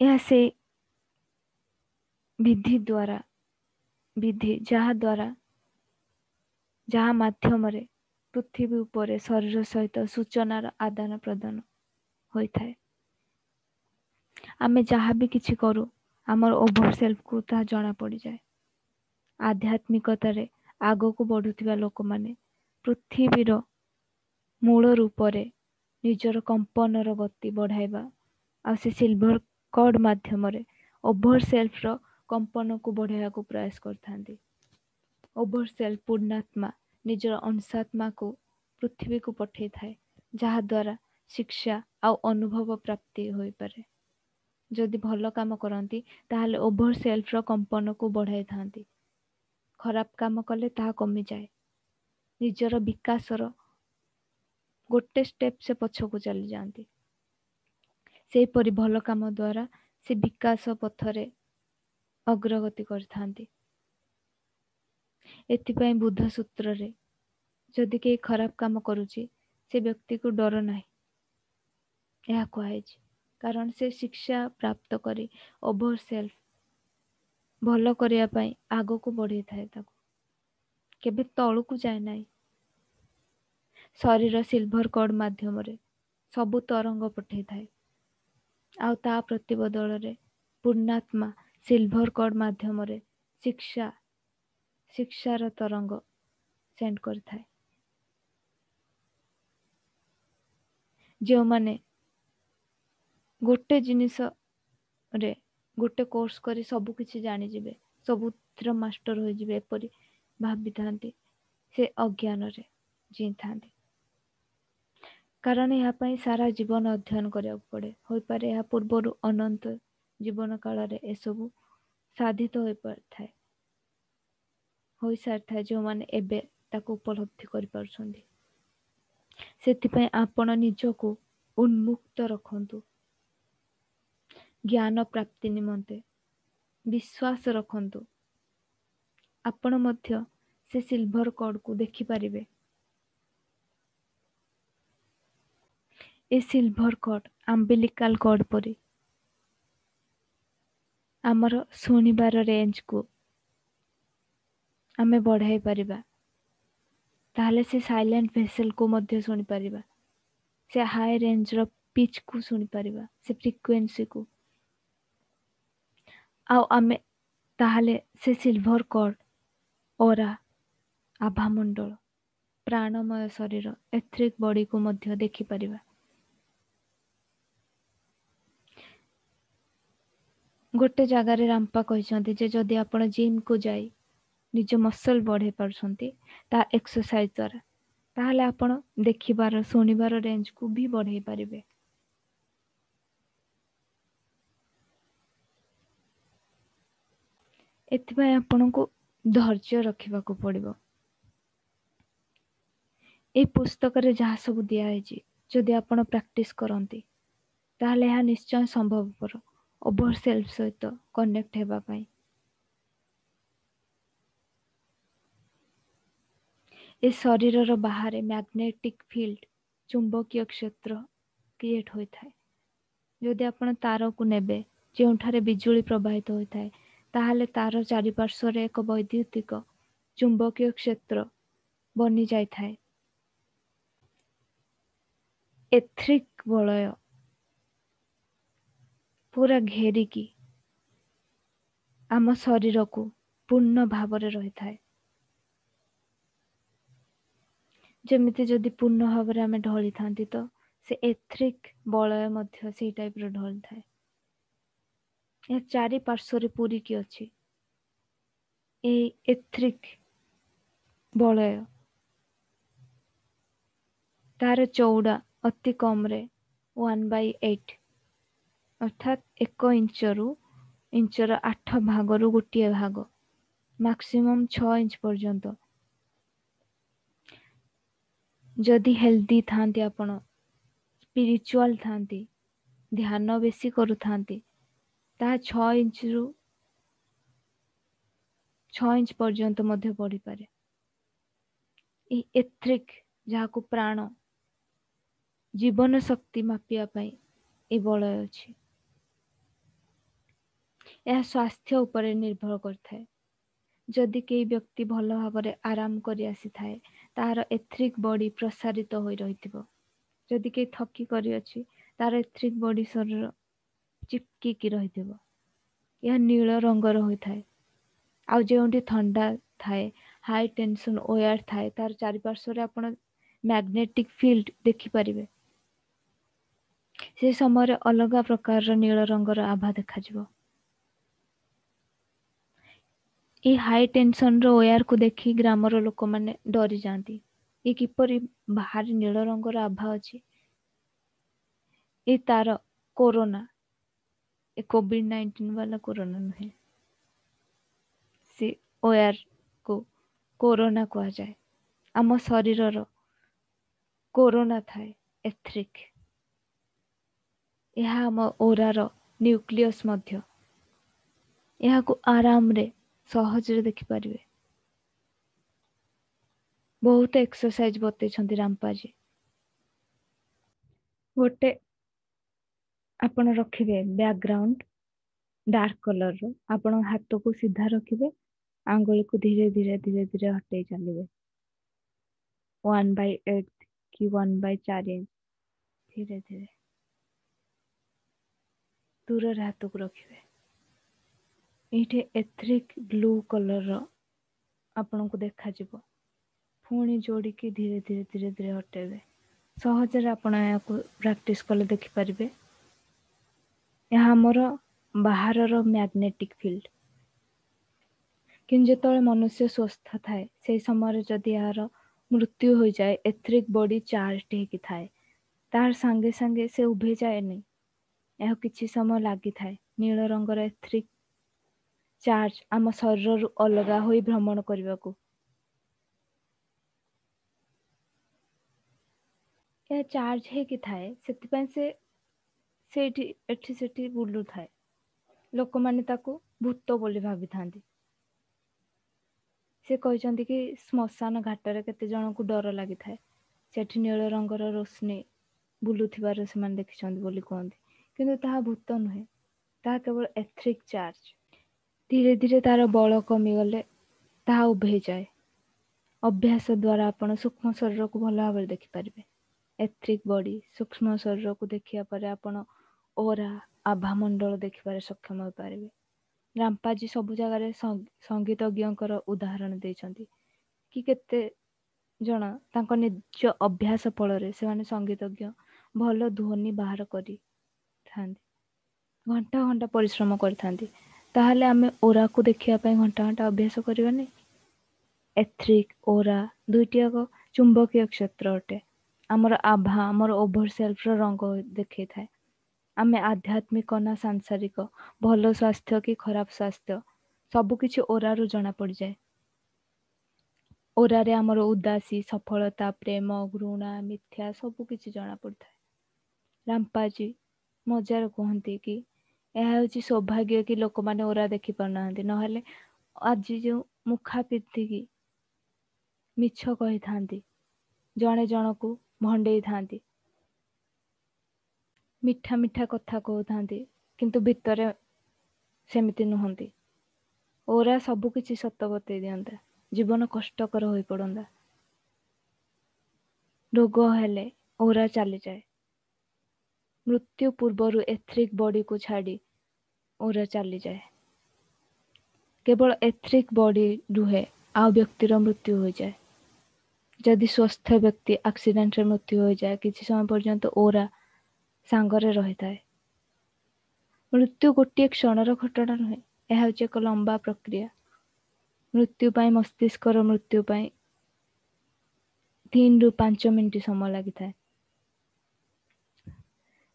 ଏହା ସେ ବିଧି ଦ୍ୱାରା, ବିଧି ଯାହା ଦ୍ୱାରା, ଯାହା ମାଧ୍ୟମରେ ପୃଥିବୀ ଉପରେ ଶରୀର ସହିତ ସୂଚନାର ଆଦାନ ପ୍ରଦାନ ହୋଇଥାଏ। ଆମେ ଯାହା ବି କିଛି କରୁ, ଆମର ଓଭର ସେଲ୍ଫକୁ ତାହା ଜଣା ପଡ଼ିଯାଏ। ଆଧ୍ୟାତ୍ମିକତାରେ ଆଗକୁ ବଢୁଥିବା ଲୋକମାନେ ପୃଥିବୀର ମୂଳ ରୂପରେ ନିଜର କମ୍ପନର ଗତି ବଢ଼ାଇବା ଆଉ ସେ ସିଲଭର କର୍ଡ ମାଧ୍ୟମରେ ଓଭର ସେଲ୍ଫର କମ୍ପନକୁ ବଢ଼ାଇବାକୁ ପ୍ରୟାସ କରିଥାନ୍ତି। ଓଭର ସେଲ୍ଫ ପୂର୍ଣ୍ଣାତ୍ମା ନିଜର ଅଂଶାତ୍ମାକୁ ପୃଥିବୀକୁ ପଠେଇଥାଏ, ଯାହାଦ୍ୱାରା ଶିକ୍ଷା ଆଉ ଅନୁଭବ ପ୍ରାପ୍ତି ହୋଇପାରେ। ଯଦି ଭଲ କାମ କରନ୍ତି ତାହେଲେ ଓଭର ସେଲ୍ଫର କମ୍ପନକୁ ବଢ଼ାଇଥାନ୍ତି, ଖରାପ କାମ କଲେ ତାହା କମିଯାଏ। ନିଜର ବିକାଶର ଗୋଟେ ଷ୍ଟେପ୍ ସେ ପଛକୁ ଚାଲିଯାଆନ୍ତି। ସେହିପରି ଭଲ କାମ ଦ୍ୱାରା ସେ ବିକାଶ ପଥରେ ଅଗ୍ରଗତି କରିଥାନ୍ତି। ଏଥିପାଇଁ ବୁଦ୍ଧ ସୂତ୍ରରେ ଯଦି କେହି ଖରାପ କାମ କରୁଛି ସେ ବ୍ୟକ୍ତିକୁ ଡର ନାହିଁ ଏହା କୁହାଯାଇଛି, କାରଣ ସେ ଶିକ୍ଷା ପ୍ରାପ୍ତ କରି ଓଭର ସେଲ୍ଫ ଭଲ କରିବା ପାଇଁ ଆଗକୁ ବଢ଼େଇଥାଏ, ତାକୁ କେବେ ତଳକୁ ଯାଏ ନାହିଁ। ଶରୀର ସିଲଭର କର୍ଡ ମାଧ୍ୟମରେ ସବୁ ତରଙ୍ଗ ପଠେଇଥାଏ, ଆଉ ତା ପ୍ରତିବଦଳରେ ପୂର୍ଣ୍ଣାତ୍ମା ସିଲଭର କର୍ଡ ମାଧ୍ୟମରେ ଶିକ୍ଷା ଶିକ୍ଷାର ତରଙ୍ଗ ସେଣ୍ଡ କରିଥାଏ। ଯେଉଁମାନେ ଗୋଟେ ଜିନିଷରେ ଗୋଟେ କୋର୍ସ କରି ସବୁ କିଛି ଜାଣିଯିବେ, ସବୁଥିର ମାଷ୍ଟର ହୋଇଯିବେ ଏପରି ଭାବିଥାନ୍ତି, ସେ ଅଜ୍ଞାନରେ ଜିଇଁଥାନ୍ତି। କାରଣ ଏହା ପାଇଁ ସାରା ଜୀବନ ଅଧ୍ୟୟନ କରିବାକୁ ପଡ଼େ। ହୋଇପାରେ ଏହା ପୂର୍ବରୁ ଅନନ୍ତ ଜୀବନ କାଳରେ ଏସବୁ ସାଧିତ ହୋଇପାରିଥାଏ, ହୋଇସାରିଥାଏ ଯେଉଁମାନେ ଏବେ ତାକୁ ଉପଲବ୍ଧି କରିପାରୁଛନ୍ତି। ସେଥିପାଇଁ ଆପଣ ନିଜକୁ ଉନ୍ମୁକ୍ତ ରଖନ୍ତୁ ଜ୍ଞାନ ପ୍ରାପ୍ତି ନିମନ୍ତେ, ବିଶ୍ୱାସ ରଖନ୍ତୁ। ଆପଣ ମଧ୍ୟ ସେ ସିଲଭର କର୍ଡକୁ ଦେଖିପାରିବେ। ଏ ସିଲଭର କର୍ଡ ଆମ୍ବିଲିକାଲ କର୍ଡ ପରି ଆମର ଶୁଣିବାର ରେଞ୍ଜକୁ ଆମେ ବଢ଼ାଇ ପାରିବା, ତାହେଲେ ସେ ସାଇଲେଣ୍ଟ ଭେସେଲକୁ ମଧ୍ୟ ଶୁଣିପାରିବା, ସେ ହାଇ ରେଞ୍ଜର ପିଚ୍କୁ ଶୁଣିପାରିବା, ସେ ଫ୍ରିକ୍ୱେନ୍ସିକୁ। ଆଉ ଆମେ ତାହେଲେ ସେ ସିଲଭର କର୍ଡ, ଅରା, ଆଭାମଣ୍ଡଳ, ପ୍ରାଣମୟ ଶରୀର, ଏଥ୍ରିକ୍ ବଡିକୁ ମଧ୍ୟ ଦେଖିପାରିବା। ଗୋଟେ ଜାଗାରେ ରାମ୍ପା କହିଛନ୍ତି ଯେ ଯଦି ଆପଣ ଜିମ୍କୁ ଯାଇ ନିଜ ମସଲ୍ ବଢ଼େଇ ପାରୁଛନ୍ତି ତା ଏକ୍ସରସାଇଜ ଦ୍ୱାରା, ତାହେଲେ ଆପଣ ଦେଖିବାର ଶୁଣିବାର ରେଞ୍ଜକୁ ବି ବଢ଼େଇ ପାରିବେ। ଏଥିପାଇଁ ଆପଣଙ୍କୁ ଧୈର୍ଯ୍ୟ ରଖିବାକୁ ପଡ଼ିବ। ଏଇ ପୁସ୍ତକରେ ଯାହା ସବୁ ଦିଆହେଇଛି, ଯଦି ଆପଣ ପ୍ରାକ୍ଟିସ୍ କରନ୍ତି ତାହେଲେ ଏହା ନିଶ୍ଚୟ ସମ୍ଭବପର ଓଭର ସେଲ୍ଫ ସହିତ କନେକ୍ଟ ହେବା ପାଇଁ। ଏ ଶରୀରର ବାହାରେ ମ୍ୟାଗ୍ନେଟିକ୍ ଫିଲ୍ଡ, ଚୁମ୍ବକୀୟ କ୍ଷେତ୍ର କ୍ରିଏଟ୍ ହୋଇଥାଏ। ଯଦି ଆପଣ ତାରକୁ ନେବେ ଯେଉଁଠାରେ ବିଜୁଳି ପ୍ରବାହିତ ହୋଇଥାଏ, ତାହେଲେ ତାର ଚାରିପାର୍ଶ୍ୱରେ ଏକ ବୈଦ୍ୟୁତିକ ଚୁମ୍ବକୀୟ କ୍ଷେତ୍ର ବନିଯାଇଥାଏ। ଏଥ୍ରିକ୍ ବଳୟ ପୁରା ଘେରିକି ଆମ ଶରୀରକୁ ପୂର୍ଣ୍ଣ ଭାବରେ ରହିଥାଏ। ଯେମିତି ଯଦି ପୂର୍ଣ୍ଣ ଭାବରେ ଆମେ ଢଳିଥାନ୍ତି ତ ସେ ଏଥ୍ରିକ୍ ବଳୟ ମଧ୍ୟ ସେଇ ଟାଇପ୍ର ଢଳିଥାଏ। ଏହା ଚାରି ପାର୍ଶ୍ୱରେ ପୂରିକି ଅଛି ଏଇ ଏଥ୍ରିକ୍ ବଳୟ। ତାର ଚଉଡ଼ା ଅତି କମରେ ୱାନ୍ ବାଇ ଏଇଟ୍, ଅର୍ଥାତ୍ ଏକ ଇଞ୍ଚରୁ ଇଞ୍ଚର ଆଠ ଭାଗରୁ ଗୋଟିଏ ଭାଗ, ମାକ୍ସିମମ୍ ଛଅ ଇଞ୍ଚ ପର୍ଯ୍ୟନ୍ତ। ଯଦି ହେଲ୍ଦି ଥାନ୍ତି ଆପଣ, ସ୍ପିରିଚୁଆଲ ଥାନ୍ତି, ଧ୍ୟାନ ବେଶୀ କରୁଥାନ୍ତି, ତାହା ଛଅ ଇଞ୍ଚରୁ ଛଅ ଇଞ୍ଚ ପର୍ଯ୍ୟନ୍ତ ମଧ୍ୟ ବଢ଼ିପାରେ। ଏଇ ଏଥ୍ରିକ୍, ଯାହାକୁ ପ୍ରାଣ, ଜୀବନ ଶକ୍ତି ମାପିବା ପାଇଁ ଏ ବଳୟ ଅଛି। ଏହା ସ୍ୱାସ୍ଥ୍ୟ ଉପରେ ନିର୍ଭର କରିଥାଏ। ଯଦି କେହି ବ୍ୟକ୍ତି ଭଲ ଭାବରେ ଆରାମ କରି ଆସିଥାଏ, ତାହାର ଏଥ୍ରିକ୍ ବଡି ପ୍ରସାରିତ ହୋଇ ରହିଥିବ। ଯଦି କେହି ଥକି କରିଅଛି, ତାର ଏଥ୍ରିକ୍ ବଡି ଶରୀର ଚିପକିକି ରହିଥିବ। ଏହା ନୀଳ ରଙ୍ଗର ହୋଇଥାଏ। ଆଉ ଯେଉଁଠି ଥଣ୍ଡା ଥାଏ, ହାଇ ଟେନସନ୍ ଓୟାର ଥାଏ, ତାର ଚାରିପାର୍ଶ୍ୱରେ ଆପଣ ମ୍ୟାଗ୍ନେଟିକ୍ ଫିଲ୍ଡ ଦେଖିପାରିବେ। ସେ ସମୟରେ ଅଲଗା ପ୍ରକାରର ନୀଳ ରଙ୍ଗର ଆଭା ଦେଖାଯିବ। ଏଇ ହାଇ ଟେନସନର ଓୟାରକୁ ଦେଖି ଗ୍ରାମର ଲୋକମାନେ ଡରିଯାଆନ୍ତି। ଏ କିପରି ବାହାରେ ନୀଳ ରଙ୍ଗର ଆଭା ଅଛି? ଏ ତାର କୋରୋନା, ଏ କୋଭିଡ ନାଇଣ୍ଟିନ୍ ବାଲା କୋରୋନା ନୁହେଁ, ସେ ଓୟାରକୁ କୋରୋନା କୁହାଯାଏ। ଆମ ଶରୀରର କୋରୋନା ଥାଏ ଏଥ୍ରିକ୍। ଏହା ଆମ ଓରାର ନ୍ୟୁକ୍ଲିୟସ୍ ମଧ୍ୟ। ଏହାକୁ ଆରାମରେ ସହଜରେ ଦେଖିପାରିବେ। ବହୁତ ଏକ୍ସରସାଇଜ ବତେଇଛନ୍ତି ରାମପାଜୀ। ଗୋଟେ ଆପଣ ରଖିବେ ବ୍ୟାକଗ୍ରାଉଣ୍ଡ ଡାର୍କ କଲରର, ଆପଣ ହାତକୁ ସିଧା ରଖିବେ, ଆଙ୍ଗୁଳିକୁ ଧୀରେ ଧୀରେ ଧୀରେ ଧୀରେ ହଟେଇ ଚାଲିବେ, ୱାନ୍ ବାଇ ଏଇଟ୍ କି ୱାନ୍ ବାଇ ଚାରି ଇଞ୍ଚ, ଧୀରେ ଧୀରେ ଦୂରରେ ହାତକୁ ରଖିବେ। ଏଇଠି ଏଥ୍ରିକ୍ ବ୍ଲୁ କଲରର ଆପଣଙ୍କୁ ଦେଖାଯିବ। ପୁଣି ଯୋଡ଼ିକି ଧୀରେ ଧୀରେ ଧୀରେ ଧୀରେ ହଟେଇବେ। ସହଜରେ ଆପଣ ଏହାକୁ ପ୍ରାକ୍ଟିସ୍ କଲେ ଦେଖିପାରିବେ। ଏହା ଆମର ବାହାରର ମ୍ୟାଗ୍ନେଟିକ୍ ଫିଲ୍ଡ। କିନ୍ତୁ ଯେତେବେଳେ ମନୁଷ୍ୟ ସୁସ୍ଥ ଥାଏ, ସେଇ ସମୟରେ ଯଦି ଏହାର ମୃତ୍ୟୁ ହୋଇଯାଏ, ଏଥ୍ରିକ୍ ବଡି ଚାର୍ଜ ହେଇକି ଥାଏ, ତାର ସାଙ୍ଗେ ସାଙ୍ଗେ ସେ ଉଭେଇ ଯାଏନି। ଏହା କିଛି ସମୟ ଲାଗିଥାଏ। ନୀଳ ରଙ୍ଗର ଏଥ୍ରିକ୍ ଚାର୍ଜ ଆମ ଶରୀରରୁ ଅଲଗା ହୋଇ ଭ୍ରମଣ କରିବାକୁ। ଏହା ଚାର୍ଜ ହେଇକି ଥାଏ, ସେଥିପାଇଁ ସେ ସେଇଠି ଏଠି ସେଠି ବୁଲୁଥାଏ। ଲୋକମାନେ ତାକୁ ଭୂତ ବୋଲି ଭାବିଥାନ୍ତି। ସେ କହିଛନ୍ତି କି ଶ୍ମଶାନ ଘାଟରେ କେତେ ଜଣଙ୍କୁ ଡର ଲାଗିଥାଏ, ସେଠି ନୀଳ ରଙ୍ଗର ରୋଶନୀ ବୁଲୁଥିବାର ସେମାନେ ଦେଖିଛନ୍ତି ବୋଲି କୁହନ୍ତି। କିନ୍ତୁ ତାହା ଭୂତ ନୁହେଁ, ତାହା କେବଳ ଏଥ୍ରିକ୍ ଚାର୍ଜ। ଧୀରେ ଧୀରେ ତାର ବଳ କମିଗଲେ ତାହା ଉଭେଇଯାଏ। ଅଭ୍ୟାସ ଦ୍ୱାରା ଆପଣ ସୂକ୍ଷ୍ମ ଶରୀରକୁ ଭଲ ଭାବରେ ଦେଖିପାରିବେ। ଏଥ୍ରିକ୍ ବଡି, ସୂକ୍ଷ୍ମ ଶରୀରକୁ ଦେଖିବା ପରେ ଆପଣ ଓରା, ଆଭାମଣ୍ଡଳ ଦେଖିବାରେ ସକ୍ଷମ ହୋଇପାରିବେ। ରାମପାଜୀ ସବୁ ଜାଗାରେ ସଙ୍ଗୀତଜ୍ଞଙ୍କର ଉଦାହରଣ ଦେଇଛନ୍ତି କି କେତେ ଜଣ ତାଙ୍କ ନିଜ ଅଭ୍ୟାସ ଫଳରେ ସେମାନେ ସଙ୍ଗୀତଜ୍ଞ ଭଲ ଧ୍ୱନି ବାହାର କରିଥାନ୍ତି, ଘଣ୍ଟା ଘଣ୍ଟା ପରିଶ୍ରମ କରିଥାନ୍ତି। ତାହେଲେ ଆମେ ଓରାକୁ ଦେଖିବା ପାଇଁ ଘଣ୍ଟା ଘଣ୍ଟା ଅଭ୍ୟାସ କରିବାନି? ଏଥ୍ରିକ୍, ଓରା ଦୁଇଟି ଯାକ ଚୁମ୍ବକୀୟ କ୍ଷେତ୍ର ଅଟେ। ଆମର ଆଭା ଆମର ଓଭର ସେଲ୍ଫର ରଙ୍ଗ ଦେଖେଇଥାଏ। ଆମେ ଆଧ୍ୟାତ୍ମିକ ନା ସାଂସାରିକ, ଭଲ ସ୍ୱାସ୍ଥ୍ୟ କି ଖରାପ ସ୍ୱାସ୍ଥ୍ୟ, ସବୁକିଛି ଓରାରୁ ଜଣା ପଡ଼ିଯାଏ। ଓରାରେ ଆମର ଉଦାସୀ, ସଫଳତା, ପ୍ରେମ, ଘୃଣା, ମିଥ୍ୟା ସବୁ କିଛି ଜଣା ପଡ଼ିଥାଏ। ରାମ୍ପାଜୀ ମଜାରେ କୁହନ୍ତି କି ଏହା ହେଉଛି ସୌଭାଗ୍ୟ କି ଲୋକମାନେ ଓରା ଦେଖି ପାରୁନାହାନ୍ତି, ନହେଲେ ଆଜି ଯେଉଁ ମୁଖା ପିନ୍ଧିକି ମିଛ କହିଥାନ୍ତି, ଜଣେ ଜଣକୁ ଭଣ୍ଡେଇଥାନ୍ତି, ମିଠା ମିଠା କଥା କହୁଥାନ୍ତି, କିନ୍ତୁ ଭିତରେ ସେମିତି ନୁହନ୍ତି। ଓରା ସବୁ କିଛି ସତ ବତେଇ ଦିଅନ୍ତା, ଜୀବନ କଷ୍ଟକର ହୋଇପଡ଼ନ୍ତା। ରୋଗ ହେଲେ ଓରା ଚାଲିଯାଏ। ମୃତ୍ୟୁ ପୂର୍ବରୁ ଏଥ୍ରିକ୍ ବଡିକୁ ଛାଡ଼ି ଓରା ଚାଲିଯାଏ। କେବଳ ଏଥ୍ରିକ୍ ବଡି ରୁହେ, ଆଉ ବ୍ୟକ୍ତିର ମୃତ୍ୟୁ ହୋଇଯାଏ। ଯଦି ସ୍ୱସ୍ଥ ବ୍ୟକ୍ତି ଆକ୍ସିଡେଣ୍ଟରେ ମୃତ୍ୟୁ ହୋଇଯାଏ, କିଛି ସମୟ ପର୍ଯ୍ୟନ୍ତ ଓରା ସାଙ୍ଗରେ ରହିଥାଏ। ମୃତ୍ୟୁ ଗୋଟିଏ କ୍ଷଣର ଘଟଣା ନୁହେଁ, ଏହା ହେଉଛି ଏକ ଲମ୍ବା ପ୍ରକ୍ରିୟା। ମୃତ୍ୟୁ ପାଇଁ ମସ୍ତିଷ୍କର ମୃତ୍ୟୁ ପାଇଁ ତିନିରୁ ପାଞ୍ଚ ମିନିଟ୍ ସମୟ ଲାଗିଥାଏ।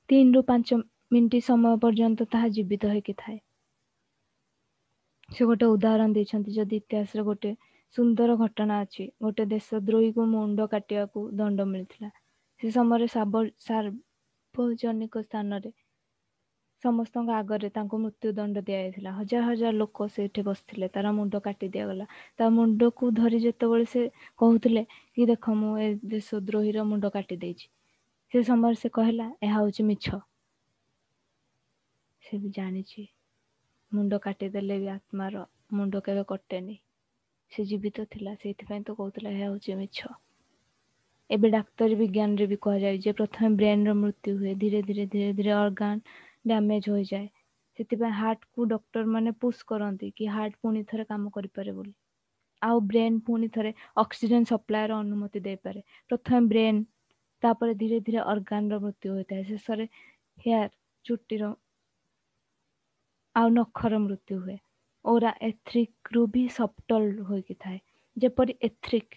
ତିନିରୁ ପାଞ୍ଚ ମିନିଟ୍ ସମୟ ପର୍ଯ୍ୟନ୍ତ ତାହା ଜୀବିତ ହେଇକି ଥାଏ। ସେ ଗୋଟେ ଉଦାହରଣ ଦେଇଛନ୍ତି, ଯଦି ଇତିହାସରେ ଗୋଟେ ସୁନ୍ଦର ଘଟଣା ଅଛି, ଗୋଟେ ଦେଶଦ୍ରୋହୀକୁ ମୁଣ୍ଡ କାଟିବାକୁ ଦଣ୍ଡ ମିଳିଥିଲା। ସେ ସମୟରେ ସାର୍ବଜନିକ ସ୍ଥାନରେ ସମସ୍ତଙ୍କ ଆଗରେ ତାଙ୍କୁ ମୃତ୍ୟୁଦଣ୍ଡ ଦିଆଯାଇଥିଲା। ହଜାର ହଜାର ଲୋକ ସେଇଠି ବସିଥିଲେ। ତାର ମୁଣ୍ଡ କାଟି ଦିଆଗଲା। ତା ମୁଣ୍ଡକୁ ଧରି ଯେତେବେଳେ ସେ କହୁଥିଲେ କି ଦେଖ, ମୁଁ ଏ ଦେଶଦ୍ରୋହୀର ମୁଣ୍ଡ କାଟି ଦେଇଛି, ସେ ସମୟରେ ସେ କହିଲା ଏହା ହେଉଛି ମିଛ। ସେ ବି ଜାଣିଛି ମୁଣ୍ଡ କାଟିଦେଲେ ବି ଆତ୍ମାର ମୁଣ୍ଡ କେବେ କଟେନି। ସେ ଜୀବିତ ଥିଲା, ସେଇଥିପାଇଁ ତ କହୁଥିଲା ଏହା ହେଉଛି ମିଛ। ଏବେ ଡାକ୍ତରୀ ବିଜ୍ଞାନରେ ବି କୁହାଯାଏ ଯେ ପ୍ରଥମେ ବ୍ରେନ୍ର ମୃତ୍ୟୁ ହୁଏ, ଧୀରେ ଧୀରେ ଧୀରେ ଧୀରେ ଅର୍ଗାନ ଡ୍ୟାମେଜ୍ ହୋଇଯାଏ। ସେଥିପାଇଁ ହାର୍ଟକୁ ଡକ୍ଟର ମାନେ ପୁସ୍ କରନ୍ତି କି ହାର୍ଟ ପୁଣି ଥରେ କାମ କରିପାରେ ବୋଲି, ଆଉ ବ୍ରେନ୍ ପୁଣି ଥରେ ଅକ୍ସିଜେନ୍ ସପ୍ଲାଏର ଅନୁମତି ଦେଇପାରେ। ପ୍ରଥମେ ବ୍ରେନ୍, ତାପରେ ଧୀରେ ଧୀରେ ଅର୍ଗାନର ମୃତ୍ୟୁ ହୋଇଥାଏ, ଶେଷରେ ହେୟାର, ଚୁଟିର ଆଉ ନଖର ମୃତ୍ୟୁ ହୁଏ। ଓରା ଏଥ୍ରିକ୍ରୁ ବି ସବଟଲ୍ ହୋଇକି ଥାଏ। ଯେପରି ଏଥ୍ରିକ୍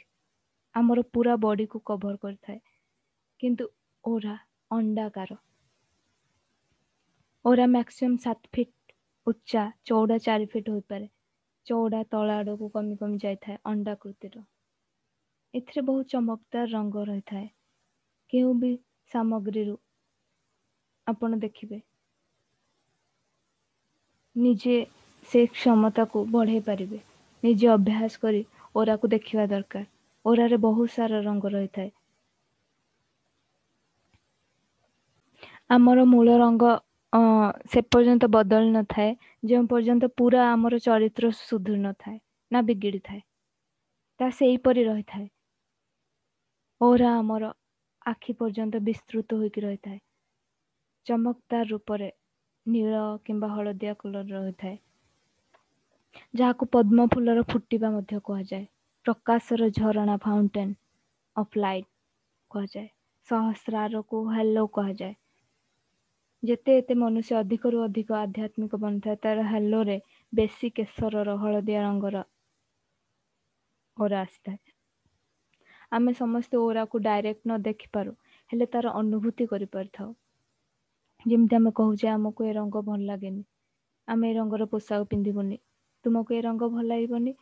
ଆମର ପୁରା ବଡିକୁ କଭର କରିଥାଏ, କିନ୍ତୁ ଓରା ଅଣ୍ଡାକାର। ଓରା ମ୍ୟାକ୍ସିମମ୍ ସାତ ଫିଟ୍ ଉଚ୍ଚା, ଚଉଡ଼ା ଚାରି ଫିଟ୍ ହୋଇପାରେ। ଚଉଡ଼ା ତଳ ଆଡ଼କୁ କମି କମି ଯାଇଥାଏ ଅଣ୍ଡାକୃତିର। ଏଥିରେ ବହୁତ ଚମକଦାର ରଙ୍ଗ ରହିଥାଏ। କେଉଁ ବି ସାମଗ୍ରୀରୁ ଆପଣ ଦେଖିବେ, ନିଜେ ସେ କ୍ଷମତାକୁ ବଢ଼େଇ ପାରିବେ। ନିଜେ ଅଭ୍ୟାସ କରି ଓରାକୁ ଦେଖିବା ଦରକାର। ଓରାରେ ବହୁତ ସାରା ରଙ୍ଗ ରହିଥାଏ। ଆମର ମୂଳ ରଙ୍ଗ ସେ ପର୍ଯ୍ୟନ୍ତ ବଦଳି ନଥାଏ ଯେଉଁ ପର୍ଯ୍ୟନ୍ତ ପୁରା ଆମର ଚରିତ୍ର ସୁଧୁରି ନଥାଏ ନା ବିଗିଡ଼ି ଥାଏ, ତା ସେହିପରି ରହିଥାଏ। ଓରା ଆମର ଆଖି ପର୍ଯ୍ୟନ୍ତ ବିସ୍ତୃତ ହୋଇକି ରହିଥାଏ। ଚମକଦାର ରୂପରେ ନୀଳ କିମ୍ବା ହଳଦିଆ କଲର ରହିଥାଏ, ଯାହାକୁ ପଦ୍ମ ଫୁଲର ଫୁଟିବା ମଧ୍ୟ କୁହାଯାଏ। ପ୍ରକାଶର ଝରଣା, ଫାଉଣ୍ଟେନ୍ ଅଫ୍ ଲାଇଟ୍ କୁହାଯାଏ। ସହସ୍ରାରକୁ ହାଲୋ କୁହାଯାଏ। ଯେତେ ଏତେ ମନୁଷ୍ୟ ଅଧିକରୁ ଅଧିକ ଆଧ୍ୟାତ୍ମିକ ବନିଥାଏ, ତାର ହାଲୋରେ ବେଶୀ କେଶରର ହଳଦିଆ ରଙ୍ଗର ଓରା ଆସିଥାଏ। ଆମେ ସମସ୍ତେ ଓରାକୁ ଡାଇରେକ୍ଟ ନ ଦେଖିପାରୁ, ହେଲେ ତାର ଅନୁଭୂତି କରିପାରିଥାଉ। ଯେମିତି ଆମେ କହୁଛେ ଆମକୁ ଏ ରଙ୍ଗ ଭଲ ଲାଗେନି, ଆମେ ଏ ରଙ୍ଗର ପୋଷାକ ପିନ୍ଧିବୁନି, ତୁମକୁ ଏ ରଙ୍ଗ ଭଲ ଲାଗିବନି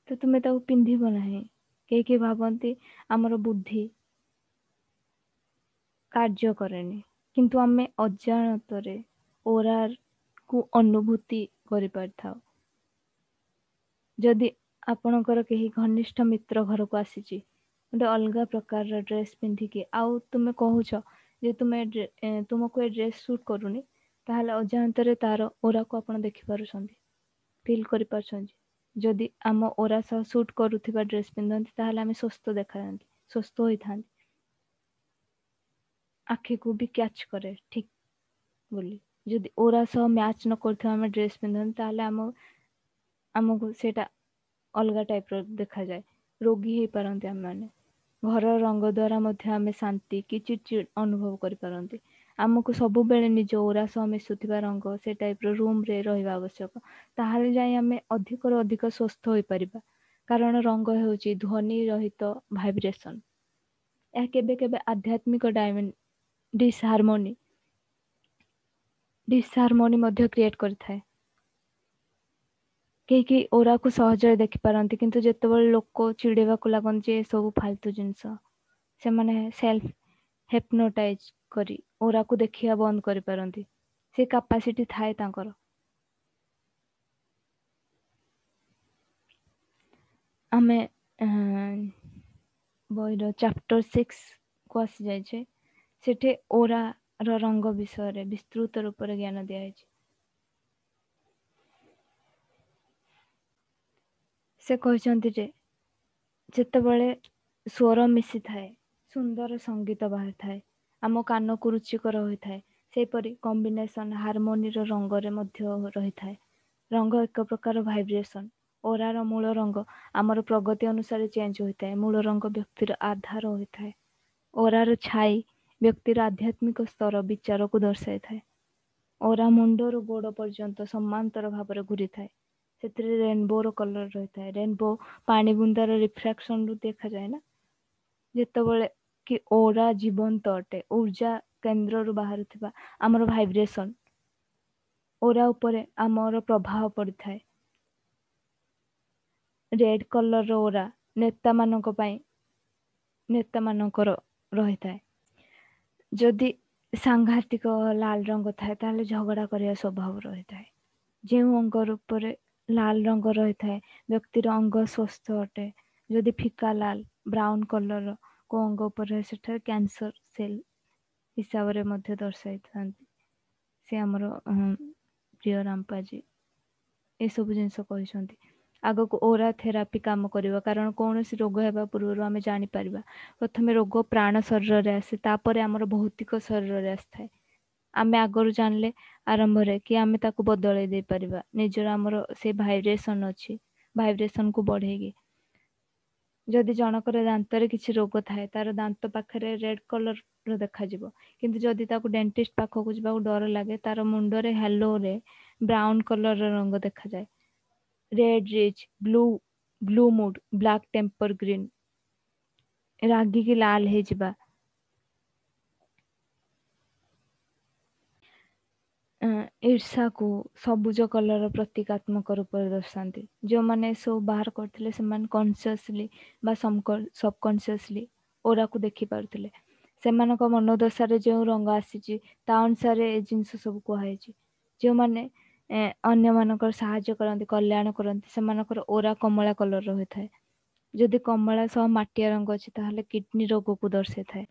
ତ ତୁମେ ତାକୁ ପିନ୍ଧିବ ନାହିଁ। କେହି କେହି ଭାବନ୍ତି ଆମର ବୁଦ୍ଧି କାର୍ଯ୍ୟ କରେନି, କିନ୍ତୁ ଆମେ ଅଜାଣତରେ ଓରାକୁ ଅନୁଭୂତି କରିପାରିଥାଉ। ଯଦି ଆପଣଙ୍କର କେହି ଘନିଷ୍ଠ ମିତ୍ର ଘରକୁ ଆସିଛି ଗୋଟେ ଅଲଗା ପ୍ରକାରର ଡ୍ରେସ୍ ପିନ୍ଧିକି, ଆଉ ତୁମେ କହୁଛ ଯେ ତୁମେ ତୁମକୁ ଏ ଡ୍ରେସ୍ ସୁଟ୍ କରୁନି, ତାହେଲେ ଅଜାଣତରେ ତାର ଓରାକୁ ଆପଣ ଦେଖିପାରୁଛନ୍ତି, ଫିଲ୍ କରିପାରୁଛନ୍ତି। ଯଦି ଆମ ଓରା ସହ ସୁଟ୍ କରୁଥିବା ଡ୍ରେସ୍ ପିନ୍ଧନ୍ତି, ତାହେଲେ ଆମେ ସୁସ୍ଥ ଦେଖାଯାଆନ୍ତି, ସୁସ୍ଥ ହୋଇଥାନ୍ତି। ଆଖିକୁ ବି କ୍ୟାଚ୍ କରେ ଠିକ୍ ବୋଲି। ଯଦି ଓରା ସହ ମ୍ୟାଚ୍ ନ କରୁଥିବା ଆମେ ଡ୍ରେସ୍ ପିନ୍ଧନ୍ତି, ତାହେଲେ ଆମ ଆମକୁ ସେଇଟା ଅଲଗା ଟାଇପ୍ର ଦେଖାଯାଏ, ରୋଗୀ ହେଇପାରନ୍ତି ଆମେମାନେ। ଘରର ରଙ୍ଗ ଦ୍ୱାରା ମଧ୍ୟ ଆମେ ଶାନ୍ତି କି ଚିଡ଼ଚିଡ଼ ଅନୁଭବ କରିପାରନ୍ତି। ଆମକୁ ସବୁବେଳେ ନିଜ ଓରା ସହ ମିଶୁଥିବା ରଙ୍ଗ ସେ ଟାଇପ୍ର ରୁମ୍ରେ ରହିବା ଆବଶ୍ୟକ, ତାହେଲେ ଯାଇ ଆମେ ଅଧିକରୁ ଅଧିକ ସୁସ୍ଥ ହୋଇପାରିବା। କାରଣ ରଙ୍ଗ ହେଉଛି ଧ୍ୱନି ରହିତ ଭାଇବ୍ରେସନ୍। ଏହା କେବେ କେବେ ଆଧ୍ୟାତ୍ମିକ ଡାଇମେନ୍ ଡିସହାରମୋନି ଡିସହାରମୋନି ମଧ୍ୟ କ୍ରିଏଟ୍ କରିଥାଏ। କେହି କେହି ଓରାକୁ ସହଜରେ ଦେଖିପାରନ୍ତି, କିନ୍ତୁ ଯେତେବେଳେ ଲୋକ ଚିଡ଼େଇବାକୁ ଲାଗନ୍ତି ଯେ ଏସବୁ ଫାଲତୁ ଜିନିଷ, ସେମାନେ ସେଲ୍ଫ ହେପ୍ନୋଟାଇଜ କରି ଓରାକୁ ଦେଖିବା ବନ୍ଦ କରିପାରନ୍ତି। ସେ କାପାସିଟି ଥାଏ ତାଙ୍କର। ଆମେ ବହିର ଚାପ୍ଟର ସିକ୍ସ କୁ ଆସିଯାଇଛେ। ସେଠି ଓରାର ରଙ୍ଗ ବିଷୟରେ ବିସ୍ତୃତ ରୂପରେ ଜ୍ଞାନ ଦିଆଯାଇଛି। ସେ କହିଛନ୍ତି ଯେ ଯେତେବେଳେ ସ୍ୱର ମିଶିଥାଏ, ସୁନ୍ଦର ସଙ୍ଗୀତ ବାହାରିଥାଏ, ଆମ କାନକୁ ରୁଚିକର ହୋଇଥାଏ। ସେହିପରି କମ୍ବିନେସନ ହାରମୋନିର ରଙ୍ଗରେ ମଧ୍ୟ ରହିଥାଏ। ରଙ୍ଗ ଏକ ପ୍ରକାର ଭାଇବ୍ରେସନ। ଓରାର ମୂଳ ରଙ୍ଗ ଆମର ପ୍ରଗତି ଅନୁସାରେ ଚେଞ୍ଜ ହୋଇଥାଏ। ମୂଳ ରଙ୍ଗ ବ୍ୟକ୍ତିର ଆଧାର ହୋଇଥାଏ। ଓରାର ଛାଇ ବ୍ୟକ୍ତିର ଆଧ୍ୟାତ୍ମିକ ସ୍ତର ବିଚାରକୁ ଦର୍ଶାଇଥାଏ। ଓରା ମୁଣ୍ଡରୁ ଗୋଡ଼ ପର୍ଯ୍ୟନ୍ତ ସମାନ୍ତର ଭାବରେ ଘୁରିଥାଏ। ସେଥିରେ ରେନବୋର କଲର ରହିଥାଏ। ରେନବୋ ପାଣି ବୁନ୍ଦାର ରିଫ୍ରାକ୍ସନରୁ ଦେଖାଯାଏ ନା। ଯେତେବେଳେ କି ଓରା ଜୀବନ୍ତ ଅଟେ, ଉର୍ଜା କେନ୍ଦ୍ରରୁ ବାହାରୁଥିବା ଆମର ଭାଇବ୍ରେସନ ଓରା ଉପରେ ଆମର ପ୍ରଭାବ ପଡ଼ିଥାଏ। ରେଡ୍ କଲରର ଓରା ନେତାମାନଙ୍କ ପାଇଁ, ନେତାମାନଙ୍କର ରହିଥାଏ। ଯଦି ସାଂଘାତିକ ଲାଲ ରଙ୍ଗ ଥାଏ, ତାହେଲେ ଝଗଡ଼ା କରିବା ସ୍ୱଭାବ ରହିଥାଏ। ଯେଉଁ ଅଙ୍ଗ ରୂପରେ ଲାଲ ରଙ୍ଗ ରହିଥାଏ, ବ୍ୟକ୍ତିର ଅଙ୍ଗ ସ୍ୱସ୍ଥ ଅଟେ। ଯଦି ଫିକା ଲାଲ ବ୍ରାଉନ କଲରର କୋଉ ଅଙ୍ଗ ଉପରେ, ସେଠାରେ କ୍ୟାନ୍ସର ସେଲ୍ ହିସାବରେ ମଧ୍ୟ ଦର୍ଶାଇଥାନ୍ତି। ସେ ଆମର ପ୍ରିୟ ରାମପାଜୀ ଏସବୁ ଜିନିଷ କହିଛନ୍ତି। ଆଗକୁ ଓରା ଥେରାପି କାମ କରିବ, କାରଣ କୌଣସି ରୋଗ ହେବା ପୂର୍ବରୁ ଆମେ ଜାଣିପାରିବା। ପ୍ରଥମେ ରୋଗ ପ୍ରାଣ ଶରୀରରେ ଆସେ, ତାପରେ ଆମର ଭୌତିକ ଶରୀରରେ ଆସିଥାଏ। ଆମେ ଆଗରୁ ଜାଣିଲେ ଆରମ୍ଭରେ କି ଆମେ ତାକୁ ବଦଳେଇ ଦେଇପାରିବା। ନିଜର ଆମର ସେ ଭାଇବ୍ରେସନ ଅଛି, ଭାଇବ୍ରେସନକୁ ବଢେଇକି। ଯଦି ଜଣଙ୍କର ଦାନ୍ତରେ କିଛି ରୋଗ ଥାଏ, ତାର ଦାନ୍ତ ପାଖରେ ରେଡ୍ କଲରର ଦେଖାଯିବ। କିନ୍ତୁ ଯଦି ତାକୁ ଡେଣ୍ଟିଷ୍ଟ ପାଖକୁ ଯିବାକୁ ଡର ଲାଗେ, ତାର ମୁଣ୍ଡରେ ହ୍ୟାଲୋରେ ବ୍ରାଉନ କଲରର ରଙ୍ଗ ଦେଖାଯାଏ। Red rich, blue blue mood, black temper, green, ରାଗିକି ଲାଲ ହେଇଯିବା। ଈର୍ଷାକୁ ସବୁଜ କଲର ପ୍ରତୀକାତ୍ମକ ରୂପରେ ଦର୍ଶାନ୍ତି। ଯେଉଁମାନେ ଏସବୁ ବାହାର କରିଥିଲେ, ସେମାନେ କନସିୟସଲି ବା ସବକନସିୟସଲି ଓରାକୁ ଦେଖିପାରୁଥିଲେ। ସେମାନଙ୍କ ମନୋଦଶାରେ ଯେଉଁ ରଙ୍ଗ ଆସିଛି, ତା ଅନୁସାରେ ଏ ଜିନିଷ ସବୁ କୁହାଯାଇଛି। ଯେଉଁମାନେ ଅନ୍ୟମାନଙ୍କର ସାହାଯ୍ୟ କରନ୍ତି, କଲ୍ୟାଣ କରନ୍ତି, ସେମାନଙ୍କର ଓରା କମଳା କଲରର ହୋଇଥାଏ। ଯଦି କମଳା ସହ ମାଟିଆ ରଙ୍ଗ ଅଛି, ତାହେଲେ କିଡନୀ ରୋଗକୁ ଦର୍ଶାଇଥାଏ।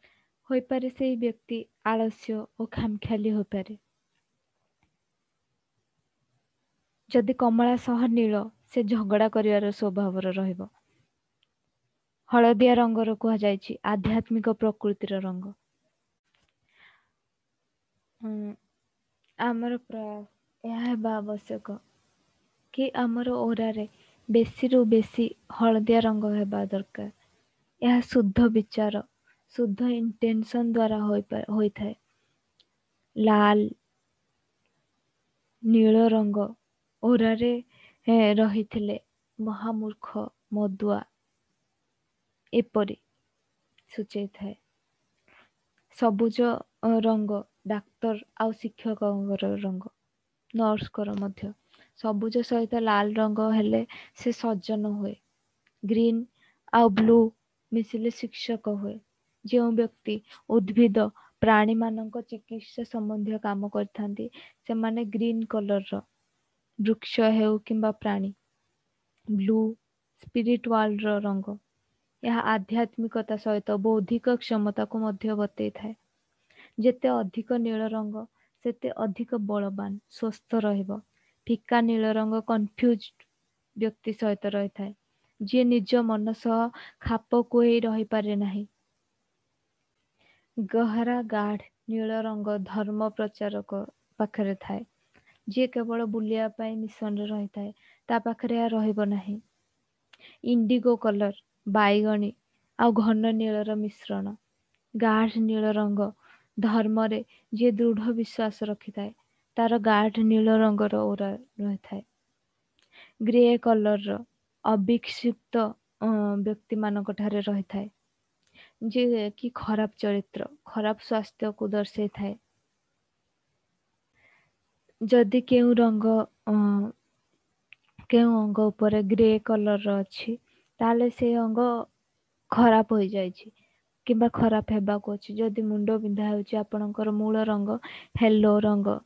ହୋଇପାରେ ସେଇ ବ୍ୟକ୍ତି ଆଳସ୍ୟ ଓ ଖାମଖିଆଲି ହୋଇପାରେ। ଯଦି କମଳା ସହ ନୀଳ, ସେ ଝଗଡ଼ା କରିବାର ସ୍ୱଭାବର ରହିବ। ହଳଦିଆ ରଙ୍ଗର କୁହାଯାଇଛି ଆଧ୍ୟାତ୍ମିକ ପ୍ରକୃତିର ରଙ୍ଗ। ଆମର ପ୍ରୟାସ ଏହା ହେବା ଆବଶ୍ୟକ କି ଆମର ଓରାରେ ବେଶୀରୁ ବେଶୀ ହଳଦିଆ ରଙ୍ଗ ହେବା ଦରକାର। ଏହା ଶୁଦ୍ଧ ବିଚାର, ଶୁଦ୍ଧ ଇଣ୍ଟେନସନ ଦ୍ୱାରା ହୋଇଥାଏ। ଲାଲ, ନୀଳ ରଙ୍ଗ ଓରାରେ ରହିଥିଲେ ମହାମୂର୍ଖ, ମଦୁଆ ଏପରି ସୂଚେଇଥାଏ। ସବୁଜ ରଙ୍ଗ ଡାକ୍ତର ଆଉ ଶିକ୍ଷକଙ୍କର ରଙ୍ଗ, ନର୍ସଙ୍କର ମଧ୍ୟ। ସବୁଜ ସହିତ ଲାଲ ରଙ୍ଗ ହେଲେ ସେ ସଜ୍ଜନ ହୁଏ। ଗ୍ରୀନ ଆଉ ବ୍ଲୁ ମିଶିଲେ ଶିକ୍ଷକ ହୁଏ। ଯେଉଁ ବ୍ୟକ୍ତି ଉଦ୍ଭିଦ ପ୍ରାଣୀମାନଙ୍କ ଚିକିତ୍ସା ସମ୍ବନ୍ଧୀୟ କାମ କରିଥାନ୍ତି, ସେମାନେ ଗ୍ରୀନ କଲରର, ବୃକ୍ଷ ହେଉ କିମ୍ବା ପ୍ରାଣୀ। ବ୍ଲୁ ସ୍ପିରିଟ ୱାର୍ଲଡର ରଙ୍ଗ। ଏହା ଆଧ୍ୟାତ୍ମିକତା ସହିତ ବୌଦ୍ଧିକ କ୍ଷମତାକୁ ମଧ୍ୟ ବତେଇଥାଏ। ଯେତେ ଅଧିକ ନୀଳ ରଙ୍ଗ, ସେତେ ଅଧିକ ବଳବାନ, ସ୍ୱସ୍ଥ ରହିବ। ଫିକା ନୀଳ ରଙ୍ଗ କନଫ୍ୟୁଜ ବ୍ୟକ୍ତି ସହିତ ରହିଥାଏ, ଯିଏ ନିଜ ମନ ସହ ଖାପ ଖୁଏଇ ରହିପାରେ ନାହିଁ। ଗହରା ଗାଢ଼ ନୀଳ ରଙ୍ଗ ଧର୍ମ ପ୍ରଚାରକ ପାଖରେ ଥାଏ। ଯିଏ କେବଳ ବୁଲିବା ପାଇଁ ମିଶନରେ ରହିଥାଏ, ତା ପାଖରେ ଏହା ରହିବ ନାହିଁ। ଇଣ୍ଡିଗୋ କଲର ବାଇଗଣୀ ଆଉ ଘନ ନୀଳର ମିଶ୍ରଣ। ଗାଢ଼ ନୀଳ ରଙ୍ଗ ଧର୍ମରେ ଯିଏ ଦୃଢ଼ ବିଶ୍ୱାସ ରଖିଥାଏ, ତାର ଗାଢ଼ ନୀଳ ରଙ୍ଗର ଓରା ରହିଥାଏ। ଗ୍ରେ କଲରର ଅବିକ୍ଷିପ୍ତ ବ୍ୟକ୍ତିମାନଙ୍କ ଠାରେ ରହିଥାଏ, ଯିଏ କି ଖରାପ ଚରିତ୍ର, ଖରାପ ସ୍ୱାସ୍ଥ୍ୟକୁ ଦର୍ଶାଇଥାଏ। ଯଦି କେଉଁ ରଙ୍ଗ କେଉଁ ଅଙ୍ଗ ଉପରେ ଗ୍ରେ କଲର୍ର ଅଛି, ତାହେଲେ ସେ ଅଙ୍ଗ ଖରାପ ହୋଇଯାଇଛି କିମ୍ବା ଖରାପ ହେବାକୁ ଅଛି। ଯଦି ମୁଣ୍ଡ ବିନ୍ଧା ହେଉଛି, ଆପଣଙ୍କର ମୂଳ ରଙ୍ଗ ହେଲୋ ରଙ୍ଗ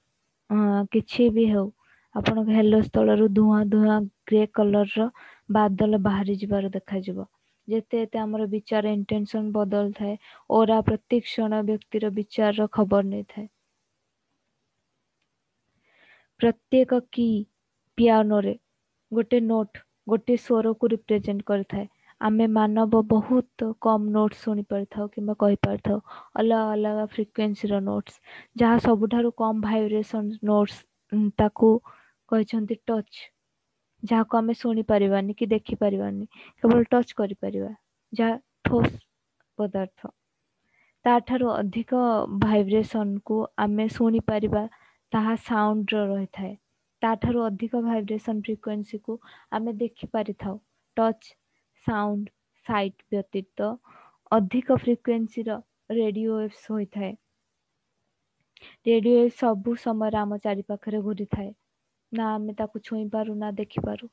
କିଛି ବି ହେଉ, ଆପଣଙ୍କ ହେଲୋ ସ୍ଥଳରୁ ଧୂଆଁ ଧୂଆଁ ଗ୍ରେ କଲର୍ର ବାଦଲ ବାହାରି ଯିବାର ଦେଖାଯିବ। ଯେତେ ଏତେ ଆମର ବିଚାର ଇଣ୍ଟେନସନ୍ ବଦଳିଥାଏ, ଓରା ପ୍ରତି କ୍ଷଣ ବ୍ୟକ୍ତିର ବିଚାରର ଖବର ନେଇଥାଏ। ପ୍ରତ୍ୟେକ କି ପିଆନୋରେ ଗୋଟେ ନୋଟ୍ ଗୋଟିଏ ସ୍ୱରକୁ ରିପ୍ରେଜେଣ୍ଟ କରିଥାଏ। ଆମେ ମାନବ ବହୁତ କମ୍ ନୋଟ୍ସ ଶୁଣିପାରିଥାଉ କିମ୍ବା କହିପାରିଥାଉ। ଅଲଗା ଅଲଗା ଫ୍ରିକ୍ୱେନ୍ସିର ନୋଟ୍ସ, ଯାହା ସବୁଠାରୁ କମ୍ ଭାଇବ୍ରେସନ୍ ନୋଟ୍ସ, ତାକୁ କହିଛନ୍ତି ଟଚ୍, ଯାହାକୁ ଆମେ ଶୁଣିପାରିବାନି କି ଦେଖିପାରିବାନି, କେବଳ ଟଚ୍ କରିପାରିବା, ଯାହା ଠୋସ୍ ପଦାର୍ଥ। ତାଠାରୁ ଅଧିକ ଭାଇବ୍ରେସନ୍କୁ ଆମେ ଶୁଣିପାରିବା, ତାହା ସାଉଣ୍ଡର ରହିଥାଏ। ତାଠାରୁ ଅଧିକ ଭାଇବ୍ରେସନ୍ ଫ୍ରିକ୍ୱେନ୍ସିକୁ ଆମେ ଦେଖିପାରିଥାଉ। ଟଚ୍, ସାଉଣ୍ଡ, ସାଇଟ୍ ବ୍ୟତୀତ ଅଧିକ ଫ୍ରିକ୍ୱେନ୍ସିର ରେଡ଼ିଓ ୱେଭ୍ସ ହୋଇଥାଏ। ରେଡ଼ିଓ ୱେଭ୍ ସବୁ ସମୟରେ ଆମ ଚାରିପାଖରେ ଘୁରିଥାଏ, ନା ଆମେ ତାକୁ ଛୁଇଁ ପାରୁ ନା ଦେଖିପାରୁ।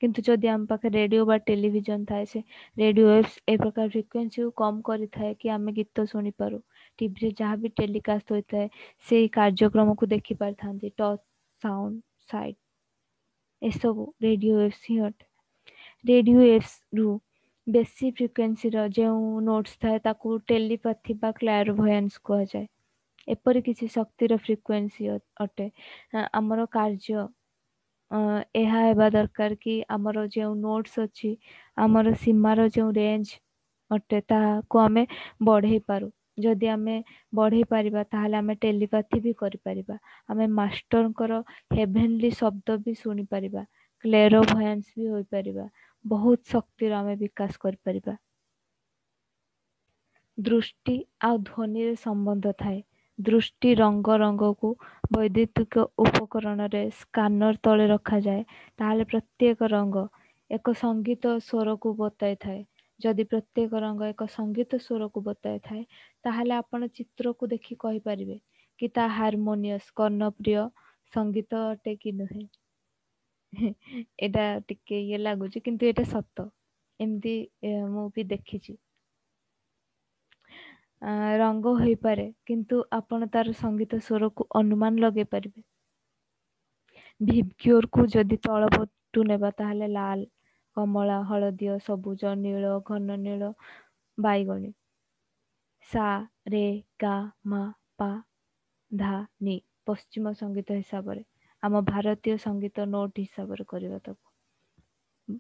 କିନ୍ତୁ ଯଦି ଆମ ପାଖରେ ରେଡ଼ିଓ ବା ଟେଲିଭିଜନ ଥାଏ, ସେ ରେଡ଼ିଓ ୱେଭ୍ସ ଏ ପ୍ରକାର ଫ୍ରିକ୍ୱେନ୍ସିକୁ କମ୍ କରିଥାଏ କି ଆମେ ଗୀତ ଶୁଣିପାରୁ, ଟିଭିରେ ଯାହା ବି ଟେଲିକାଷ୍ଟ ହୋଇଥାଏ ସେଇ କାର୍ଯ୍ୟକ୍ରମକୁ ଦେଖିପାରିଥାନ୍ତି। ଟଚ୍, ସାଉଣ୍ଡ, ସାଇଟ୍ ଏସବୁ ରେଡ଼ିଓ ୱେଭ୍ସ ହିଁ ଅଟେ। ରେଡ଼ିଓ ୱେଭ୍ସରୁ ବେଶୀ ଫ୍ରିକ୍ୱେନ୍ସିର ଯେଉଁ ନୋଟ୍ସ ଥାଏ, ତାକୁ ଟେଲିପାଥି ବା କ୍ଲାରୋଭଏନ୍ସ କୁହାଯାଏ। ଏପରି କିଛି ଶକ୍ତିର ଫ୍ରିକ୍ୱେନ୍ସି ଅଟେ। ଆମର କାର୍ଯ୍ୟ ଏହା ହେବା ଦରକାର କି ଆମର ଯେଉଁ ନୋଟ୍ସ ଅଛି, ଆମର ସୀମାର ଯେଉଁ ରେଞ୍ଜ ଅଟେ, ତାହାକୁ ଆମେ ବଢ଼େଇ ପାରୁ। ଯଦି ଆମେ ବଢ଼େଇ ପାରିବା, ତାହେଲେ ଆମେ ଟେଲିପାଥି ବି କରିପାରିବା, ଆମେ ମାଷ୍ଟରଙ୍କର ହେଭେନଲି ଶବ୍ଦ ବି ଶୁଣିପାରିବା, କ୍ଲେରୋଭଏନ୍ସ ବି ହୋଇପାରିବା, ବହୁତ ଶକ୍ତିର ଆମେ ବିକାଶ କରିପାରିବା। ଦୃଷ୍ଟି ଆଉ ଧ୍ୱନିରେ ସମ୍ବନ୍ଧ ଥାଏ। ଦୃଷ୍ଟି ରଙ୍ଗ ରଙ୍ଗକୁ ବୈଦ୍ୟୁତିକ ଉପକରଣରେ ସ୍କାନର ତଳେ ରଖାଯାଏ, ତାହେଲେ ପ୍ରତ୍ୟେକ ରଙ୍ଗ ଏକ ସଙ୍ଗୀତ ସ୍ୱରକୁ ବତାଇଥାଏ। ଯଦି ପ୍ରତ୍ୟେକ ରଙ୍ଗ ଏକ ସଙ୍ଗୀତ ସ୍ୱରକୁ ବତାଇଥାଏ, ତାହେଲେ ଆପଣ ଚିତ୍ରକୁ ଦେଖି କହିପାରିବେ କି ତା ହାରମୋନିୟସ୍ କର୍ଣ୍ଣପ୍ରିୟ ସଙ୍ଗୀତ ଅଟେ କି ନୁହେଁ। ଏଇଟା ଟିକେ ଇଏ ଲାଗୁଛି, କିନ୍ତୁ ଏଇଟା ସତ। ଏମିତି ମୁଁ ବି ଦେଖିଛି। ରଙ୍ଗ ହୋଇପାରେ, କିନ୍ତୁ ଆପଣ ତାର ସଙ୍ଗୀତ ସ୍ୱରକୁ ଅନୁମାନ ଲଗେଇ ପାରିବେ। ଭିବଗ୍ୟୋରକୁ ଯଦି ତଳ ପଟୁ ନେବା, ତାହେଲେ ଲାଲ, କମଳା, ହଳଦିଆ, ସବୁଜ, ନୀଳ, ଘନ ନୀଳ, ବାଇଗଣୀ। ସା ରେ ଗା ମା ପା ଧା ନି, ପଶ୍ଚିମ ସଙ୍ଗୀତ ହିସାବରେ, ଆମ ଭାରତୀୟ ସଙ୍ଗୀତ ନୋଟ୍ ହିସାବରେ କରିବା ତାକୁ।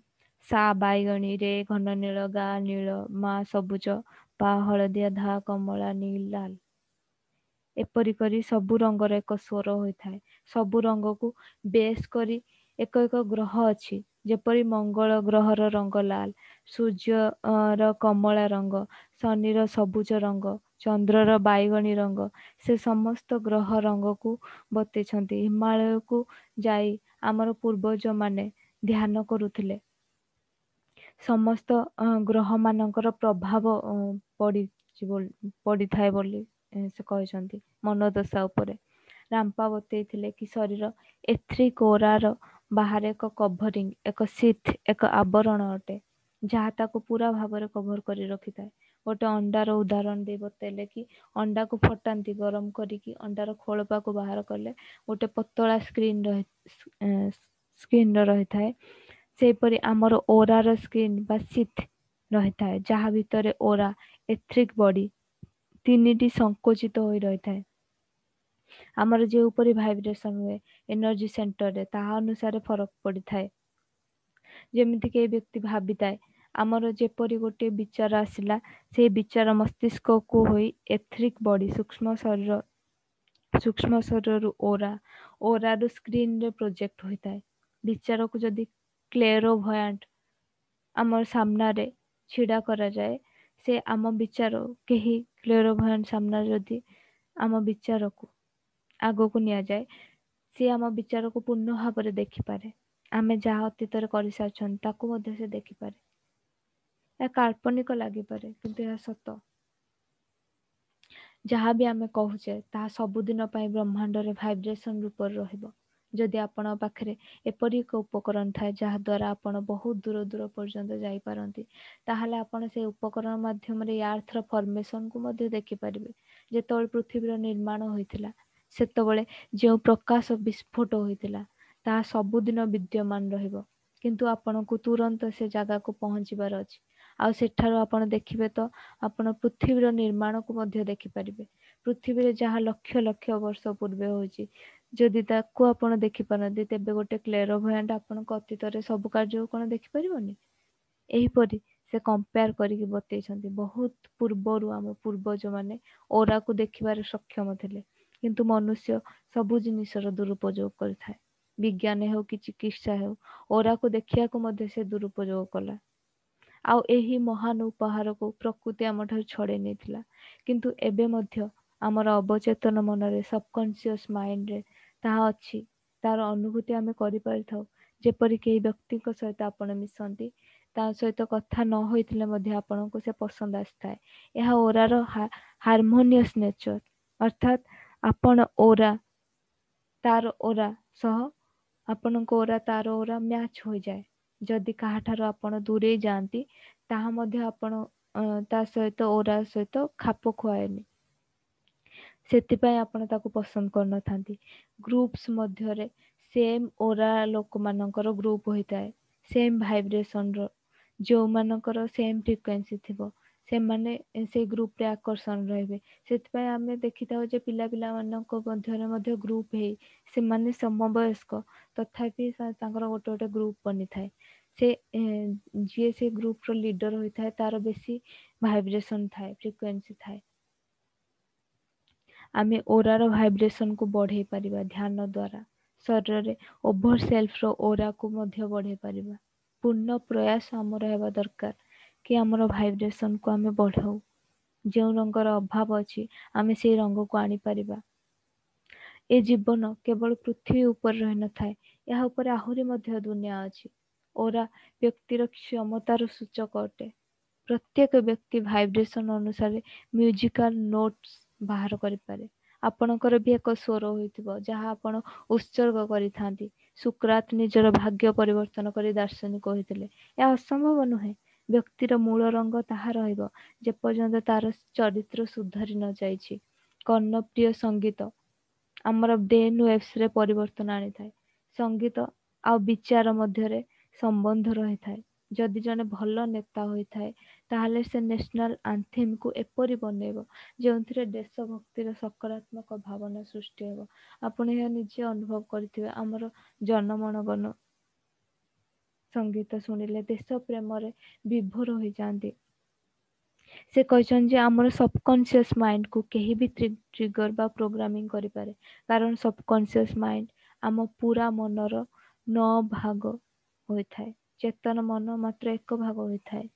ସା ବାଇଗଣୀ, ରେ ଘନ ନୀଳ, ଗା ନୀଳ, ମା ସବୁଜ, ପା ହଳଦିଆ, ଧା କମଳା, ନି ଲାଲ। ଏପରି କରି ସବୁ ରଙ୍ଗର ଏକ ସ୍ୱର ହୋଇଥାଏ। ସବୁ ରଙ୍ଗକୁ ବେସ୍ କରି ଏକ ଏକ ଗ୍ରହ ଅଛି, ଯେପରି ମଙ୍ଗଳ ଗ୍ରହର ରଙ୍ଗ ଲାଲ, ସୂର୍ଯ୍ୟର କମଳା ରଙ୍ଗ, ଶନିର ସବୁଜ ରଙ୍ଗ, ଚନ୍ଦ୍ରର ବାଇଗଣୀ ରଙ୍ଗ। ସେ ସମସ୍ତ ଗ୍ରହ ରଙ୍ଗକୁ ବତେଇଛନ୍ତି। ହିମାଳୟକୁ ଯାଇ ଆମର ପୂର୍ବଜମାନେ ଧ୍ୟାନ କରୁଥିଲେ, ସମସ୍ତ ଗ୍ରହମାନଙ୍କର ପ୍ରଭାବ ପଡ଼ିଛି ପଡ଼ିଥାଏ ବୋଲି ସେ କହିଛନ୍ତି ମନୋଦଶା ଉପରେ। ରାମ୍ପା ବତେଇଥିଲେ କି ଶରୀର ଏଥ୍ରିକ୍ ଓରାର ବାହାରେ ଏକ କଭରିଂ, ଏକ ସିଥ୍, ଏକ ଆବରଣ ଅଟେ, ଯାହା ତାକୁ ପୁରା ଭାବରେ କଭର କରି ରଖିଥାଏ। ଗୋଟେ ଅଣ୍ଡାର ଉଦାହରଣ ଦେଇ ବତେଇଲେ କି ଅଣ୍ଡାକୁ ଫଟାନ୍ତି ଗରମ କରିକି, ଅଣ୍ଡାର ଖୋଳପାକୁ ବାହାର କଲେ ଗୋଟେ ପତଳା ସ୍କ୍ରିନ୍ ରହି ସ୍କ୍ରିନ୍ର ରହିଥାଏ। ସେହିପରି ଆମର ଓରାର ସ୍କ୍ରିନ୍ ବା ସିଥ୍ ରହିଥାଏ, ଯାହା ଭିତରେ ଓରା, ଏଥ୍ରିକ୍ ବଡି ତିନିଟି ସଙ୍କୋଚିତ ହୋଇ ରହିଥାଏ। ଆମର ଯେଉଁପରି ଭାଇବ୍ରେସନ୍ ହୁଏ ଏନର୍ଜି ସେଣ୍ଟରରେ, ତାହା ଅନୁସାରେ ଫରକ ପଡ଼ିଥାଏ। ଯେମିତିକି ଏ ବ୍ୟକ୍ତି ଭାବିଥାଏ, ଆମର ଯେପରି ଗୋଟିଏ ବିଚାର ଆସିଲା, ସେଇ ବିଚାର ମସ୍ତିଷ୍କକୁ ହୋଇ ଏଥ୍ରିକ୍ ବଡି, ସୂକ୍ଷ୍ମ ଶରୀର, ସୂକ୍ଷ୍ମ ଶରୀରରୁ ଓରା, ଓରାରୁ ସ୍କ୍ରିନରେ ପ୍ରୋଜେକ୍ଟ ହୋଇଥାଏ। ବିଚାରକୁ ଯଦି କ୍ଲେରୋଭୟାଣ୍ଟ ଆମର ସାମ୍ନାରେ ଛିଡ଼ା କରାଯାଏ, ସେ ଆମ ବିଚାର, କେହି କ୍ଲେରୋଭୟାଣ୍ଟ ସାମ୍ନାରେ ଯଦି ଆମ ବିଚାରକୁ ଆଗକୁ ନିଆଯାଏ, ସିଏ ଆମ ବିଚାରକୁ ପୂର୍ଣ୍ଣ ଭାବରେ ଦେଖିପାରେ। ଆମେ ଯାହା ଅତୀତରେ କରିସାରିଛନ୍ତି, ତାକୁ ମଧ୍ୟ ସେ ଦେଖିପାରେ। ଏହା କାଳ୍ପନିକ ଲାଗିପାରେ, କିନ୍ତୁ ଏହା ସତ। ଯାହା ବି ଆମେ କହୁଛେ, ତାହା ସବୁଦିନ ପାଇଁ ବ୍ରହ୍ମାଣ୍ଡରେ ଭାଇବ୍ରେସନ ରୂପରେ ରହିବ। ଯଦି ଆପଣଙ୍କ ପାଖରେ ଏପରି ଏକ ଉପକରଣ ଥାଏ ଯାହାଦ୍ୱାରା ଆପଣ ବହୁତ ଦୂର ଦୂର ପର୍ଯ୍ୟନ୍ତ ଯାଇପାରନ୍ତି, ତାହେଲେ ଆପଣ ସେ ଉପକରଣ ମାଧ୍ୟମରେ ଆର୍ଥର ଫର୍ମେସନକୁ ମଧ୍ୟ ଦେଖିପାରିବେ। ଯେତେବେଳେ ପୃଥିବୀର ନିର୍ମାଣ ହୋଇଥିଲା, ସେତେବେଳେ ଯେଉଁ ପ୍ରକାଶ ବିସ୍ଫୋଟ ହୋଇଥିଲା ତାହା ସବୁଦିନ ବିଦ୍ୟମାନ ରହିବ। କିନ୍ତୁ ଆପଣଙ୍କୁ ତୁରନ୍ତ ସେ ଜାଗାକୁ ପହଞ୍ଚିବାର ଅଛି। ଆଉ ସେଠାରୁ ଆପଣ ଦେଖିବେ ତ ଆପଣ ପୃଥିବୀର ନିର୍ମାଣକୁ ମଧ୍ୟ ଦେଖିପାରିବେ। ପୃଥିବୀରେ ଯାହା ଲକ୍ଷ ଲକ୍ଷ ବର୍ଷ ପୂର୍ବେ ହୋଇଛି, ଯଦି ତାକୁ ଆପଣ ଦେଖିପାରନ୍ତି, ତେବେ ଗୋଟେ କ୍ଲେରୋଭୟାଣ୍ଟ ଆପଣଙ୍କ ଅତୀତରେ ସବୁ କାର୍ଯ୍ୟକୁ କଣ ଦେଖିପାରିବନି? ଏହିପରି ସେ କମ୍ପେୟାର କରିକି ବତେଇଛନ୍ତି। ବହୁତ ପୂର୍ବରୁ ଆମ ପୂର୍ବଜମାନେ ଓରାକୁ ଦେଖିବାରେ ସକ୍ଷମ ଥିଲେ, କିନ୍ତୁ ମନୁଷ୍ୟ ସବୁ ଜିନିଷର ଦୁରୁପଯୋଗ କରିଥାଏ। ବିଜ୍ଞାନ ହେଉ କି ଚିକିତ୍ସା ହେଉ, ଓରାକୁ ଦେଖିବାକୁ ମଧ୍ୟ ସେ ଦୁରୁପଯୋଗ କଲା। ଆଉ ଏହି ମହାନ ଉପହାରକୁ ପ୍ରକୃତି ଆମଠାରୁ ଛଡ଼େଇ ନେଇଥିଲା। କିନ୍ତୁ ଏବେ ମଧ୍ୟ ଆମର ଅବଚେତନ ମନରେ, ସବକନସିୟସ୍ ମାଇଣ୍ଡରେ ତାହା ଅଛି। ତାର ଅନୁଭୂତି ଆମେ କରିପାରିଥାଉ। ଯେପରି କେହି ବ୍ୟକ୍ତିଙ୍କ ସହିତ ଆପଣ ମିଶନ୍ତି, ତା ସହିତ କଥା ନ ହୋଇଥିଲେ ମଧ୍ୟ ଆପଣଙ୍କୁ ସେ ପସନ୍ଦ ଆସିଥାଏ। ଏହା ଓରାର ହାରମୋନିୟସ୍ ନେଚର, ଅର୍ଥାତ୍ ଆପଣ ଓରା ତାର ଓରା ସହ ଆପଣଙ୍କ ଓରା ତାର ଓରା ମ୍ୟାଚ୍ ହୋଇଯାଏ। ଯଦି କାହାଠାରୁ ଆପଣ ଦୂରେଇ ଯାଆନ୍ତି, ତାହା ମଧ୍ୟ ଆପଣ ତା ସହିତ ଓରା ସହିତ ଖାପ ଖୁଆଏନି, ସେଥିପାଇଁ ଆପଣ ତାକୁ ପସନ୍ଦ କରିନଥାନ୍ତି। ଗ୍ରୁପ୍ସ ମଧ୍ୟରେ ସେମ୍ ଓରା ଲୋକମାନଙ୍କର ଗ୍ରୁପ ହୋଇଥାଏ, ସେମ୍ ଭାଇବ୍ରେସନର। ଯେଉଁମାନଙ୍କର ସେମ୍ ଫ୍ରିକ୍ୱେନ୍ସି ଥିବ, ସେମାନେ ସେଇ ଗ୍ରୁପରେ ଆକର୍ଷଣ ରହିବେ। ସେଥିପାଇଁ ଆମେ ଦେଖିଥାଉ ଯେ ପିଲା ପିଲାମାନଙ୍କ ମଧ୍ୟରେ ମଧ୍ୟ ଗ୍ରୁପ ହେଇ, ସେମାନେ ସମବୟସ୍କ, ତଥାପି ତାଙ୍କର ଗୋଟେ ଗୋଟେ ଗ୍ରୁପ ବନିଥାଏ। ସେ ଯିଏ ସେ ଗ୍ରୁପର ଲିଡର ହୋଇଥାଏ, ତାର ବେଶୀ ଭାଇବ୍ରେସନ ଥାଏ, ଫ୍ରିକ୍ୱେନ୍ସି ଥାଏ। ଆମେ ଓରାର ଭାଇବ୍ରେସନକୁ ବଢେଇ ପାରିବା ଧ୍ୟାନ ଦ୍ୱାରା। ଶରୀରରେ ଓଭର ସେଲ୍ଫର ଓରାକୁ ମଧ୍ୟ ବଢେଇ ପାରିବା। ପୂର୍ଣ୍ଣ ପ୍ରୟାସ ଆମର ହେବା ଦରକାର କି ଆମର ଭାଇବ୍ରେସନକୁ ଆମେ ବଢାଉ। ଯେଉଁ ରଙ୍ଗର ଅଭାବ ଅଛି, ଆମେ ସେଇ ରଙ୍ଗକୁ ଆଣିପାରିବା। ଏ ଜୀବନ କେବଳ ପୃଥିବୀ ଉପରେ ରହିନଥାଏ, ଏହା ଉପରେ ଆହୁରି ମଧ୍ୟ ଦୁନିଆ ଅଛି। ଓରା ବ୍ୟକ୍ତିର କ୍ଷମତାର ସୂଚକ ଅଟେ। ପ୍ରତ୍ୟେକ ବ୍ୟକ୍ତି ଭାଇବ୍ରେସନ ଅନୁସାରେ ମ୍ୟୁଜିକାଲ ନୋଟ୍ସ ବାହାର କରିପାରେ। ଆପଣଙ୍କର ବି ଏକ ସ୍ୱର ହୋଇଥିବ ଯାହା ଆପଣ ଉତ୍ସର୍ଗ କରିଥାନ୍ତି। ସୁକ୍ରାତ ନିଜର ଭାଗ୍ୟ ପରିବର୍ତ୍ତନ କରି ଦାର୍ଶନିକ ହୋଇଥିଲେ। ଏହା ଅସମ୍ଭବ ନୁହେଁ। ବ୍ୟକ୍ତିର ମୂଳ ରଙ୍ଗ ତାହା ରହିବ ଯେପର୍ଯ୍ୟନ୍ତ ତାର ଚରିତ୍ର ସୁଧରି ନ ଯାଇଛି। କର୍ଣ୍ଣପ୍ରିୟ ସଙ୍ଗୀତ ଆମର ବ୍ରେନ୍ ୱେଭ୍ସରେ ପରିବର୍ତ୍ତନ ଆଣିଥାଏ। ସଙ୍ଗୀତ ଆଉ ବିଚାର ମଧ୍ୟରେ ସମ୍ବନ୍ଧ ରହିଥାଏ। ଯଦି ଜଣେ ଭଲ ନେତା ହୋଇଥାଏ, ତାହେଲେ ସେ ନ୍ୟାସନାଲ ଆନ୍ଥେମକୁ ଏପରି ବନେଇବ ଯେଉଁଥିରେ ଦେଶଭକ୍ତିର ସକାରାତ୍ମକ ଭାବନା ସୃଷ୍ଟି ହେବ। ଆପଣ ଏହା ନିଜେ ଅନୁଭବ କରିଥିବେ। ଆମର ଜନଗଣମନ ସଙ୍ଗୀତ ଶୁଣିଲେ ଦେଶ ପ୍ରେମରେ ବିଭୋର ହୋଇଯାଆନ୍ତି। ସେ କହିଛନ୍ତି ଯେ ଆମର ସବକନସିୟସ୍ ମାଇଣ୍ଡକୁ କେହି ବି ଟ୍ରିଗର ବା ପ୍ରୋଗ୍ରାମିଂ କରିପାରେ, କାରଣ ସବକନସିୟସ୍ ମାଇଣ୍ଡ ଆମ ପୁରା ମନର ନଅ ଭାଗ ହୋଇଥାଏ, ଚେତନ ମନ ମାତ୍ର ଏକ ଭାଗ ହୋଇଥାଏ।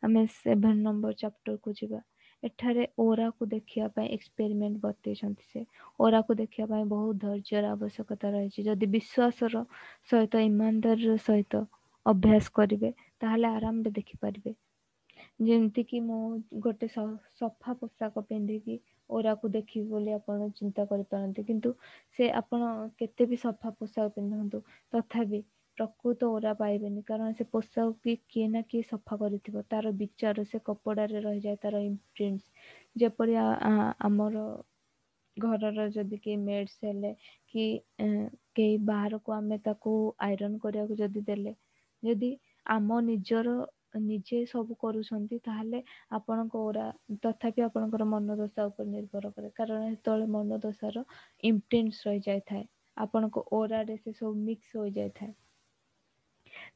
ଆମେ ସେଭେନ ନମ୍ବର ଚାପ୍ଟରକୁ ଯିବା। ଏଠାରେ ଓରାକୁ ଦେଖିବା ପାଇଁ ଏକ୍ସପେରିମେଣ୍ଟ ବତେଇଛନ୍ତି ସେ। ଓରାକୁ ଦେଖିବା ପାଇଁ ବହୁତ ଧୈର୍ଯ୍ୟର ଆବଶ୍ୟକତା ରହିଛି। ଯଦି ବିଶ୍ୱାସର ସହିତ, ଇମାନଦାରୀର ସହିତ ଅଭ୍ୟାସ କରିବେ, ତାହେଲେ ଆରାମରେ ଦେଖିପାରିବେ। ଯେମିତିକି ମୁଁ ଗୋଟେ ସଫା ପୋଷାକ ପିନ୍ଧିକି ଓରାକୁ ଦେଖିବି ବୋଲି ଆପଣ ଚିନ୍ତା କରିପାରନ୍ତି, କିନ୍ତୁ ସେ ଆପଣ କେତେ ବି ସଫା ପୋଷାକ ପିନ୍ଧନ୍ତୁ, ତଥାପି ପ୍ରକୃତ ଓରା ପାଇବେନି, କାରଣ ସେ ପୋଷାକ କି କିଏ ନା କିଏ ସଫା କରିଥିବ। ତାର ବିଚାର ସେ କପଡ଼ାରେ ରହିଯାଏ, ତାର ଇମ୍ପ୍ରିଣ୍ଟସ୍। ଯେପରି ଆମର ଘରର ଯଦି କେହି ମେଡ୍ସ ହେଲେ କି କେହି ବାହାରକୁ ଆମେ ତାକୁ ଆଇରନ୍ କରିବାକୁ ଯଦି ଦେଲେ, ଯଦି ଆମ ନିଜର ନିଜେ ସବୁ କରୁଛନ୍ତି, ତାହେଲେ ଆପଣଙ୍କ ଓରା ତଥାପି ଆପଣଙ୍କର ମନୋଦଶା ଉପରେ ନିର୍ଭର କରେ, କାରଣ ସେତେବେଳେ ମନୋଦଶାର ଇମ୍ପ୍ରିଣ୍ଟସ୍ ରହିଯାଇଥାଏ ଆପଣଙ୍କ ଓରାରେ, ସେ ସବୁ ମିକ୍ସ ହୋଇଯାଇଥାଏ।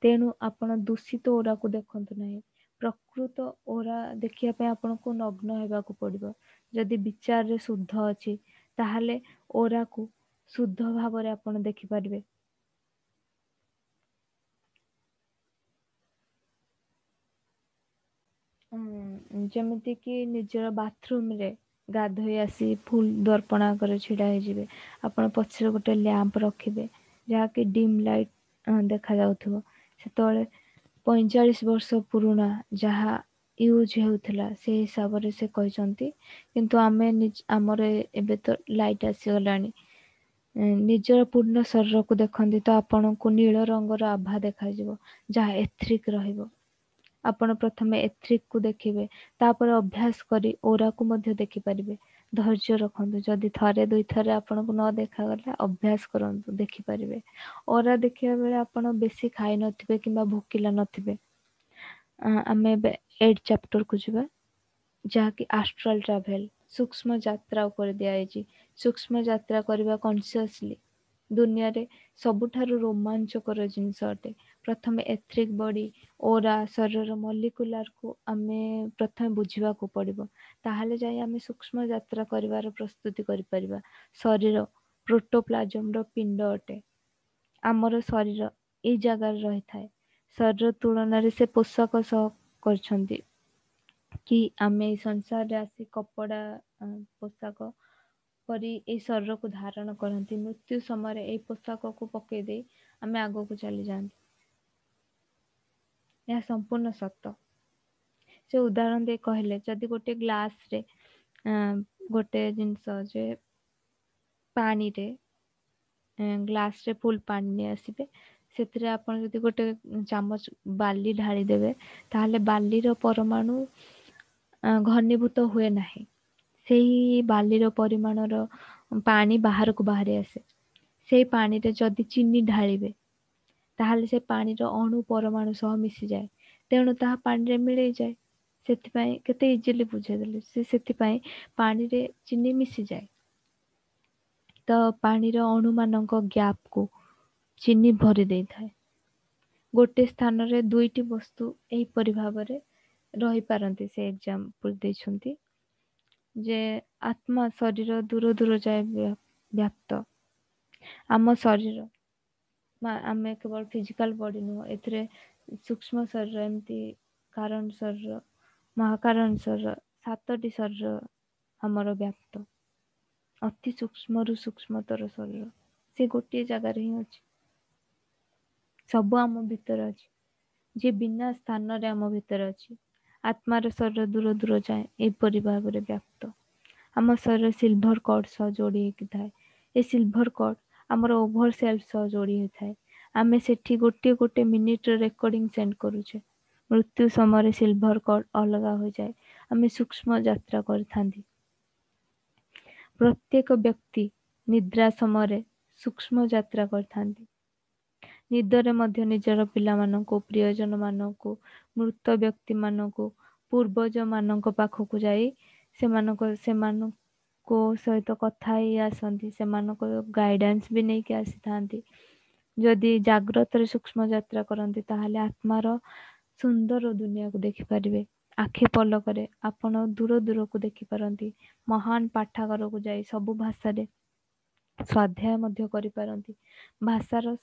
ତେଣୁ ଆପଣ ଦୂଷିତ ଓରାକୁ ଦେଖନ୍ତୁ ନାହିଁ। ପ୍ରକୃତ ଓରା ଦେଖିବା ପାଇଁ ଆପଣଙ୍କୁ ନଗ୍ନ ହେବାକୁ ପଡ଼ିବ। ଯଦି ବିଚାରରେ ଶୁଦ୍ଧ ଅଛି, ତାହେଲେ ଓରାକୁ ଶୁଦ୍ଧ ଭାବରେ ଆପଣ ଦେଖିପାରିବେ। ଯେମିତିକି ନିଜର ବାଥରୁମରେ ଗାଧୋଇ ଆସି ଫୁଲ ଦର୍ପଣ ଆଗରେ ଛିଡ଼ା ହେଇଯିବେ, ଆପଣ ପଛରେ ଗୋଟେ ଲ୍ୟାମ୍ପ ରଖିବେ ଯାହାକି ଡିମ୍ ଲାଇଟ୍ ଦେଖାଯାଉଥିବ। ସେତେବେଳେ ପଇଁଚାଳିଶ ବର୍ଷ ପୁରୁଣା ଯାହା ୟୁଜ୍ ହେଉଥିଲା, ସେଇ ହିସାବରେ ସେ କହିଛନ୍ତି। କିନ୍ତୁ ଆମେ ଆମର ଏବେ ତ ଲାଇଟ୍ ଆସିଗଲାଣି, ନିଜର ପୂର୍ଣ୍ଣ ଶରୀରକୁ ଦେଖନ୍ତି ତ ଆପଣଙ୍କୁ ନୀଳ ରଙ୍ଗର ଆଭା ଦେଖାଯିବ, ଯାହା ଏଥ୍ରିକ୍ ରହିବ। ଆପଣ ପ୍ରଥମେ ଏଥ୍ରିକ୍କୁ ଦେଖିବେ, ତାପରେ ଅଭ୍ୟାସ କରି ଓରାକୁ ମଧ୍ୟ ଦେଖିପାରିବେ। ଧୈର୍ଯ୍ୟ ରଖନ୍ତୁ, ଯଦି ଥରେ ଦୁଇଥରେ ଆପଣଙ୍କୁ ନ ଦେଖାଗଲା, ଅଭ୍ୟାସ କରନ୍ତୁ, ଦେଖିପାରିବେ। ଓରା ଦେଖିବା ବେଳେ ଆପଣ ବେଶୀ ଖାଇନଥିବେ କିମ୍ବା ଭୋକିଲା ନଥିବେ। ଆମେ ଏବେ ଏଇଟ୍ ଚାପ୍ଟରକୁ ଯିବା, ଯାହାକି ଆଷ୍ଟ୍ରାଲ ଟ୍ରାଭେଲ, ସୂକ୍ଷ୍ମ ଯାତ୍ରା ଉପରେ ଦିଆଯାଇଛି। ସୂକ୍ଷ୍ମ ଯାତ୍ରା କରିବା କନସିୟସଲି ଦୁନିଆରେ ସବୁଠାରୁ ରୋମାଞ୍ଚକର ଜିନିଷ ଅଟେ। ପ୍ରଥମେ ଏଥ୍ରିକ୍ ବଡି, ଓରା, ଶରୀରର ମଲିକୁଲାରକୁ ଆମେ ପ୍ରଥମେ ବୁଝିବାକୁ ପଡ଼ିବ, ତାହେଲେ ଯାଇ ଆମେ ସୂକ୍ଷ୍ମ ଯାତ୍ରା କରିବାର ପ୍ରସ୍ତୁତି କରିପାରିବା। ଶରୀର ପ୍ରୋଟୋପ୍ଲାଜମର ପିଣ୍ଡ ଅଟେ। ଆମର ଶରୀର ଏଇ ଜାଗାରେ ରହିଥାଏ। ଶରୀର ତୁଳନାରେ ସେ ପୋଷାକ ସହ କରିଛନ୍ତି କି ଆମେ ଏଇ ସଂସାରରେ ଆସି କପଡ଼ା ପୋଷାକ ପରି ଏଇ ଶରୀରକୁ ଧାରଣ କରନ୍ତି। ମୃତ୍ୟୁ ସମୟରେ ଏଇ ପୋଷାକକୁ ପକେଇ ଦେଇ ଆମେ ଆଗକୁ ଚାଲିଯାଆନ୍ତି। ଏହା ସମ୍ପୂର୍ଣ୍ଣ ସତ। ସେ ଉଦାହରଣ ଦେଇ କହିଲେ, ଯଦି ଗୋଟେ ଗ୍ଲାସରେ ଗୋଟେ ଜିନିଷ ଯେ ପାଣିରେ ଗ୍ଲାସରେ ଫୁଲ ପାଣି ନେଇ ଆସିବେ, ସେଥିରେ ଆପଣ ଯଦି ଗୋଟେ ଚାମଚ ବାଲି ଢାଳିଦେବେ, ତାହେଲେ ବାଲିର ପରମାଣୁ ଘନୀଭୂତ ହୁଏ ନାହିଁ। ସେଇ ବାଲିର ପରିମାଣର ପାଣି ବାହାରକୁ ବାହାରି ଆସେ। ସେଇ ପାଣିରେ ଯଦି ଚିନି ଢାଳିବେ, ତାହେଲେ ସେ ପାଣିର ଅଣୁ ପରମାଣୁ ସହ ମିଶିଯାଏ, ତେଣୁ ତାହା ପାଣିରେ ମିଳେଇଯାଏ। ସେଥିପାଇଁ କେତେ ଇଜିଲି ବୁଝେଇଦେଲେ ସେ, ସେଥିପାଇଁ ପାଣିରେ ଚିନି ମିଶିଯାଏ। ତ ପାଣିର ଅଣୁମାନଙ୍କ ଗ୍ୟାପକୁ ଚିନି ଭରି ଦେଇଥାଏ। ଗୋଟେ ସ୍ଥାନରେ ଦୁଇଟି ବସ୍ତୁ ଏହିପରି ଭାବରେ ରହିପାରନ୍ତି। ସେ ଏକ୍ଜାମ୍ପଲ ଦେଇଛନ୍ତି ଯେ ଆତ୍ମା ଶରୀର ଦୂର ଦୂର ଯାଏ ବ୍ୟାପ୍ତ। ଆମ ଶରୀର ଆମେ କେବଳ ଫିଜିକାଲ ବଡି ନୁହଁ, ଏଥିରେ ସୂକ୍ଷ୍ମ ଶରୀର, ଏମିତି କାରଣ ଶରୀର, ମହାକାରଣ ଶରୀର, ସାତଟି ଶରୀର ଆମର ବ୍ୟାପ୍ତ। ଅତି ସୂକ୍ଷ୍ମରୁ ସୂକ୍ଷ୍ମତର ଶରୀର ସେ ଗୋଟିଏ ଜାଗାରେ ହିଁ ଅଛି। ସବୁ ଆମ ଭିତରେ ଅଛି, ଯିଏ ବିନା ସ୍ଥାନରେ ଆମ ଭିତରେ ଅଛି। ଆତ୍ମାର ଶରୀର ଦୂର ଦୂର ଯାଏ ଏପରି ଭାବରେ ବ୍ୟାପ୍ତ। ଆମ ଶରୀର ସିଲଭର କର୍ଡ ସହ ଯୋଡ଼ି ହେଇକି ଥାଏ। ଏ ସିଲଭର କର୍ଡ ଆମର ଓଭର ସେଲ୍ଫ ସହ ଯୋଡ଼ି ହୋଇଥାଏ। ଆମେ ସେଠି ଗୋଟିଏ ଗୋଟିଏ ମିନିଟର ରେକର୍ଡିଂ ସେଣ୍ଡ କରୁଛେ। ମୃତ୍ୟୁ ସମୟରେ ସିଲଭର କର୍ଡ ଅଲଗା ହୋଇଯାଏ। ଆମେ ସୂକ୍ଷ୍ମ ଯାତ୍ରା କରିଥାନ୍ତି। ପ୍ରତ୍ୟେକ ବ୍ୟକ୍ତି ନିଦ୍ରା ସମୟରେ ସୂକ୍ଷ୍ମ ଯାତ୍ରା କରିଥାନ୍ତି। ନିଦରେ ମଧ୍ୟ ନିଜର ପିଲାମାନଙ୍କୁ, ପ୍ରିୟଜନମାନଙ୍କୁ, ମୃତ ବ୍ୟକ୍ତିମାନଙ୍କୁ, ପୂର୍ବଜମାନଙ୍କ ପାଖକୁ ଯାଇ ସେମାନଙ୍କ ସେମାନଙ୍କ ସହିତ କଥା ହେଇ ଆସନ୍ତି, ସେମାନଙ୍କ ଗାଇଡାନ୍ସ ବି ନେଇକି ଆସିଥାନ୍ତି। ଯଦି ଜାଗ୍ରତରେ ସୂକ୍ଷ୍ମ ଯାତ୍ରା କରନ୍ତି, ତାହେଲେ ଆତ୍ମାର ସୁନ୍ଦର ଦୁନିଆକୁ ଦେଖିପାରିବେ। ଆଖି ପଲକରେ ଆପଣ ଦୂର ଦୂରକୁ ଦେଖିପାରନ୍ତି। ମହାନ ପାଠାଗାରକୁ ଯାଇ ସବୁ ଭାଷାରେ ସ୍ୱାଧ୍ୟାୟ ମଧ୍ୟ କରିପାରନ୍ତି। ଭାଷାର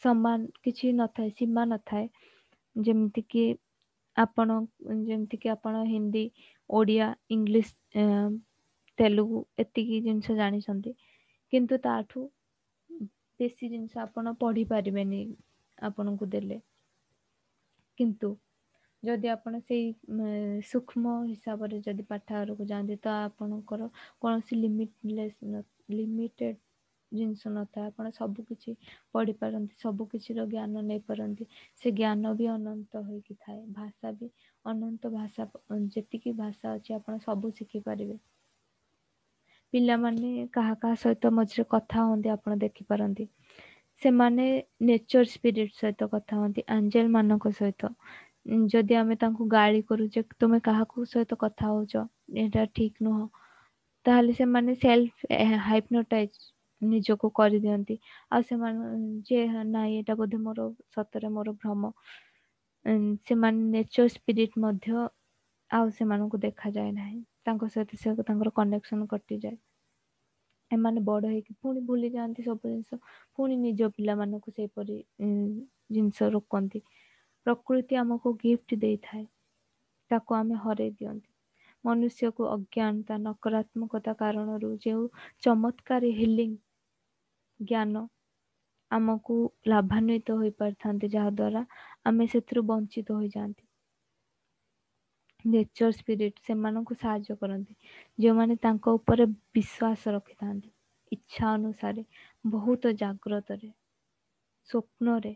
ସମାନ କିଛି ନଥାଏ, ସୀମା ନଥାଏ। ଯେମିତିକି ଆପଣ ଯେମିତିକି ଆପଣ ହିନ୍ଦୀ, ଓଡ଼ିଆ, ଇଂଲିଶ, ତେଲୁଗୁ ଏତିକି ଜିନିଷ ଜାଣିଛନ୍ତି, କିନ୍ତୁ ତାଠୁ ବେଶୀ ଜିନିଷ ଆପଣ ପଢ଼ିପାରିବେନି ଆପଣଙ୍କୁ ଦେଲେ। କିନ୍ତୁ ଯଦି ଆପଣ ସେଇ ସୂକ୍ଷ୍ମ ହିସାବରେ ଯଦି ପାଠାଗାରକୁ ଯାଆନ୍ତି, ତ ଆପଣଙ୍କର କୌଣସି ଲିମିଟଲେସ୍ ଲିମିଟେଡ଼ ଜିନିଷ ନଥାଏ। ଆପଣ ସବୁ କିଛି ପଢ଼ିପାରନ୍ତି, ସବୁ କିଛିର ଜ୍ଞାନ ନେଇପାରନ୍ତି। ସେ ଜ୍ଞାନ ବି ଅନନ୍ତ ହୋଇକି ଥାଏ। ଭାଷା ବି ଅନନ୍ତ ଭାଷା, ଯେତିକି ଭାଷା ଅଛି ଆପଣ ସବୁ ଶିଖିପାରିବେ। ପିଲାମାନେ କାହା କାହା ସହିତ ମଝିରେ କଥା ହୁଅନ୍ତି ଆପଣ ଦେଖିପାରନ୍ତି। ସେମାନେ ନେଚର ସ୍ପିରିଟ ସହିତ କଥା ହୁଅନ୍ତି, ଆଞ୍ଜେଲ ମାନଙ୍କ ସହିତ। ଯଦି ଆମେ ତାଙ୍କୁ ଗାଳି କରୁଛେ, ତୁମେ କାହାକୁ ସହିତ କଥା ହଉଛ, ଏଇଟା ଠିକ ନୁହଁ, ତାହେଲେ ସେମାନେ ସେଲ୍ଫ ହାଇପ୍ନୋଟାଇଜ ନିଜକୁ କରିଦିଅନ୍ତି। ଆଉ ସେମାନେ ଯେ ନାଇଁ, ଏଇଟା ବୋଧେ ମୋର ସତରେ ମୋର ଭ୍ରମ। ସେମାନେ ନେଚର ସ୍ପିରିଟ ମଧ୍ୟ ଆଉ ସେମାନଙ୍କୁ ଦେଖାଯାଏ ନାହିଁ, ତାଙ୍କ ସହିତ ସେ ତାଙ୍କର କନେକ୍ସନ କଟିଯାଏ। ଏମାନେ ବଡ଼ ହେଇକି ପୁଣି ଭୁଲି ଯାଆନ୍ତି ସବୁ ଜିନିଷ, ପୁଣି ନିଜ ପିଲାମାନଙ୍କୁ ସେହିପରି ଜିନିଷ ରୋକନ୍ତି। ପ୍ରକୃତି ଆମକୁ ଗିଫ୍ଟ ଦେଇଥାଏ, ତାକୁ ଆମେ ହରେଇ ଦିଅନ୍ତି। ମନୁଷ୍ୟକୁ ଅଜ୍ଞାନତା, ନକାରାତ୍ମକତା କାରଣରୁ ଯେଉଁ ଚମତ୍କାରୀ ହିଲିଂ ଜ୍ଞାନ ଆମକୁ ଲାଭାନ୍ୱିତ ହୋଇପାରିଥାନ୍ତି, ଯାହାଦ୍ୱାରା ଆମେ ସେଥିରୁ ବଞ୍ଚିତ ହୋଇଯାଆନ୍ତି। ନେଚର ସ୍ପିରିଟ ସେମାନଙ୍କୁ ସାହାଯ୍ୟ କରନ୍ତି ଯେଉଁମାନେ ତାଙ୍କ ଉପରେ ବିଶ୍ୱାସ ରଖିଥାନ୍ତି। ଇଚ୍ଛା ଅନୁସାରେ ବହୁତ ଜାଗ୍ରତରେ ସ୍ୱପ୍ନରେ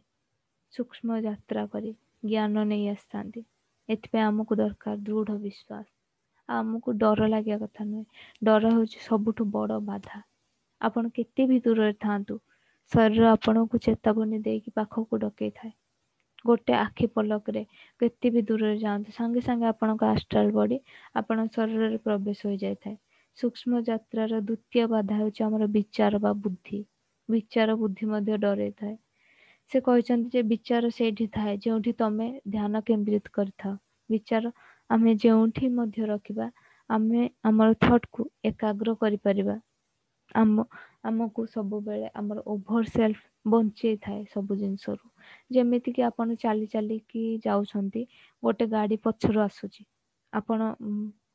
ସୂକ୍ଷ୍ମ ଯାତ୍ରା କରି ଜ୍ଞାନ ନେଇ ଆସିଥାନ୍ତି। ଏଥିପାଇଁ ଆମକୁ ଦରକାର ଦୃଢ଼ ବିଶ୍ୱାସ। ଆଉ ଆମକୁ ଡର ଲାଗିବା କଥା ନୁହେଁ। ଡର ହେଉଛି ସବୁଠୁ ବଡ଼ ବାଧା। ଆପଣ କେତେ ବି ଦୂରରେ ଥାଆନ୍ତୁ, ଶରୀର ଆପଣଙ୍କୁ ଚେତାବନୀ ଦେଇକି ପାଖକୁ ଡକେଇଥାଏ। ଗୋଟେ ଆଖି ପଲକରେ କେତେ ବି ଦୂରରେ ଯାଆନ୍ତୁ, ସାଙ୍ଗେ ସାଙ୍ଗେ ଆପଣଙ୍କ ଆଷ୍ଟ୍ରାଲ ବଡି ଆପଣଙ୍କ ଶରୀରରେ ପ୍ରବେଶ ହୋଇଯାଇଥାଏ। ସୂକ୍ଷ୍ମ ଯାତ୍ରାର ଦ୍ୱିତୀୟ ବାଧା ହେଉଛି ଆମର ବିଚାର ବା ବୁଦ୍ଧି। ବିଚାର ବୁଦ୍ଧି ମଧ୍ୟ ଡରେଇଥାଏ। ସେ କହିଛନ୍ତି ଯେ ବିଚାର ସେଇଠି ଥାଏ ଯେଉଁଠି ତମେ ଧ୍ୟାନ କେନ୍ଦ୍ରିତ କରିଥାଅ। ବିଚାର ଆମେ ଯେଉଁଠି ମଧ୍ୟ ରଖିବା, ଆମେ ଆମର ଥଟ୍କୁ ଏକାଗ୍ର କରିପାରିବା। ଆମ ଆମକୁ ସବୁବେଳେ ଆମର ଓଭର ସେଲ୍ଫ ବଞ୍ଚେଇଥାଏ ସବୁ ଜିନିଷରୁ। ଯେମିତିକି ଆପଣ ଚାଲି ଚାଲିକି ଯାଉଛନ୍ତି, ଗୋଟେ ଗାଡ଼ି ପଛରୁ ଆସୁଛି, ଆପଣ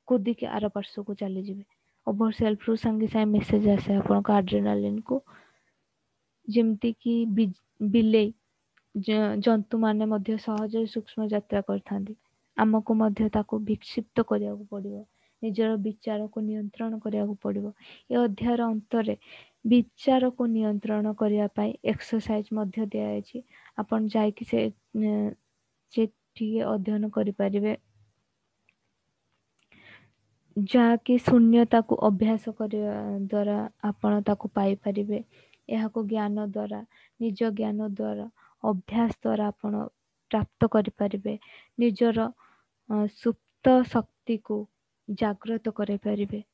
କୁଦିକି ଆର ପାର୍ଶ୍ୱକୁ ଚାଲିଯିବେ। ଓଭର ସେଲ୍ଫରୁ ସାଙ୍ଗେ ସାଙ୍ଗେ ମେସେଜ ଆସେ ଆପଣଙ୍କ ଆଡ୍ରେନାଲିନ୍କୁ। ଯେମିତିକି ବିଲେଇ, ଜନ୍ତୁମାନେ ମଧ୍ୟ ସହଜରେ ସୂକ୍ଷ୍ମ ଯାତ୍ରା କରିଥାନ୍ତି। ଆମକୁ ମଧ୍ୟ ତାକୁ ବିକ୍ଷିପ୍ତ କରିବାକୁ ପଡ଼ିବ, ନିଜର ବିଚାରକୁ ନିୟନ୍ତ୍ରଣ କରିବାକୁ ପଡ଼ିବ। ଏ ଅଧ୍ୟାୟର ଅନ୍ତରେ ବିଚାରକୁ ନିୟନ୍ତ୍ରଣ କରିବା ପାଇଁ ଏକ୍ସରସାଇଜ ମଧ୍ୟ ଦିଆଯାଇଛି। ଆପଣ ଯାଇକି ସେ ସେଠି ଅଧ୍ୟୟନ କରିପାରିବେ, ଯାହାକି ଶୂନ୍ୟତାକୁ ଅଭ୍ୟାସ କରିବା ଦ୍ୱାରା ଆପଣ ତାକୁ ପାଇପାରିବେ। ଏହାକୁ ଜ୍ଞାନ ଦ୍ୱାରା, ନିଜ ଜ୍ଞାନ ଦ୍ୱାରା, ଅଭ୍ୟାସ ଦ୍ୱାରା ଆପଣ ପ୍ରାପ୍ତ କରିପାରିବେ। ନିଜର ସୁପ୍ତ ଶକ୍ତିକୁ ଜାଗ୍ରତ କରାଇପାରିବେ।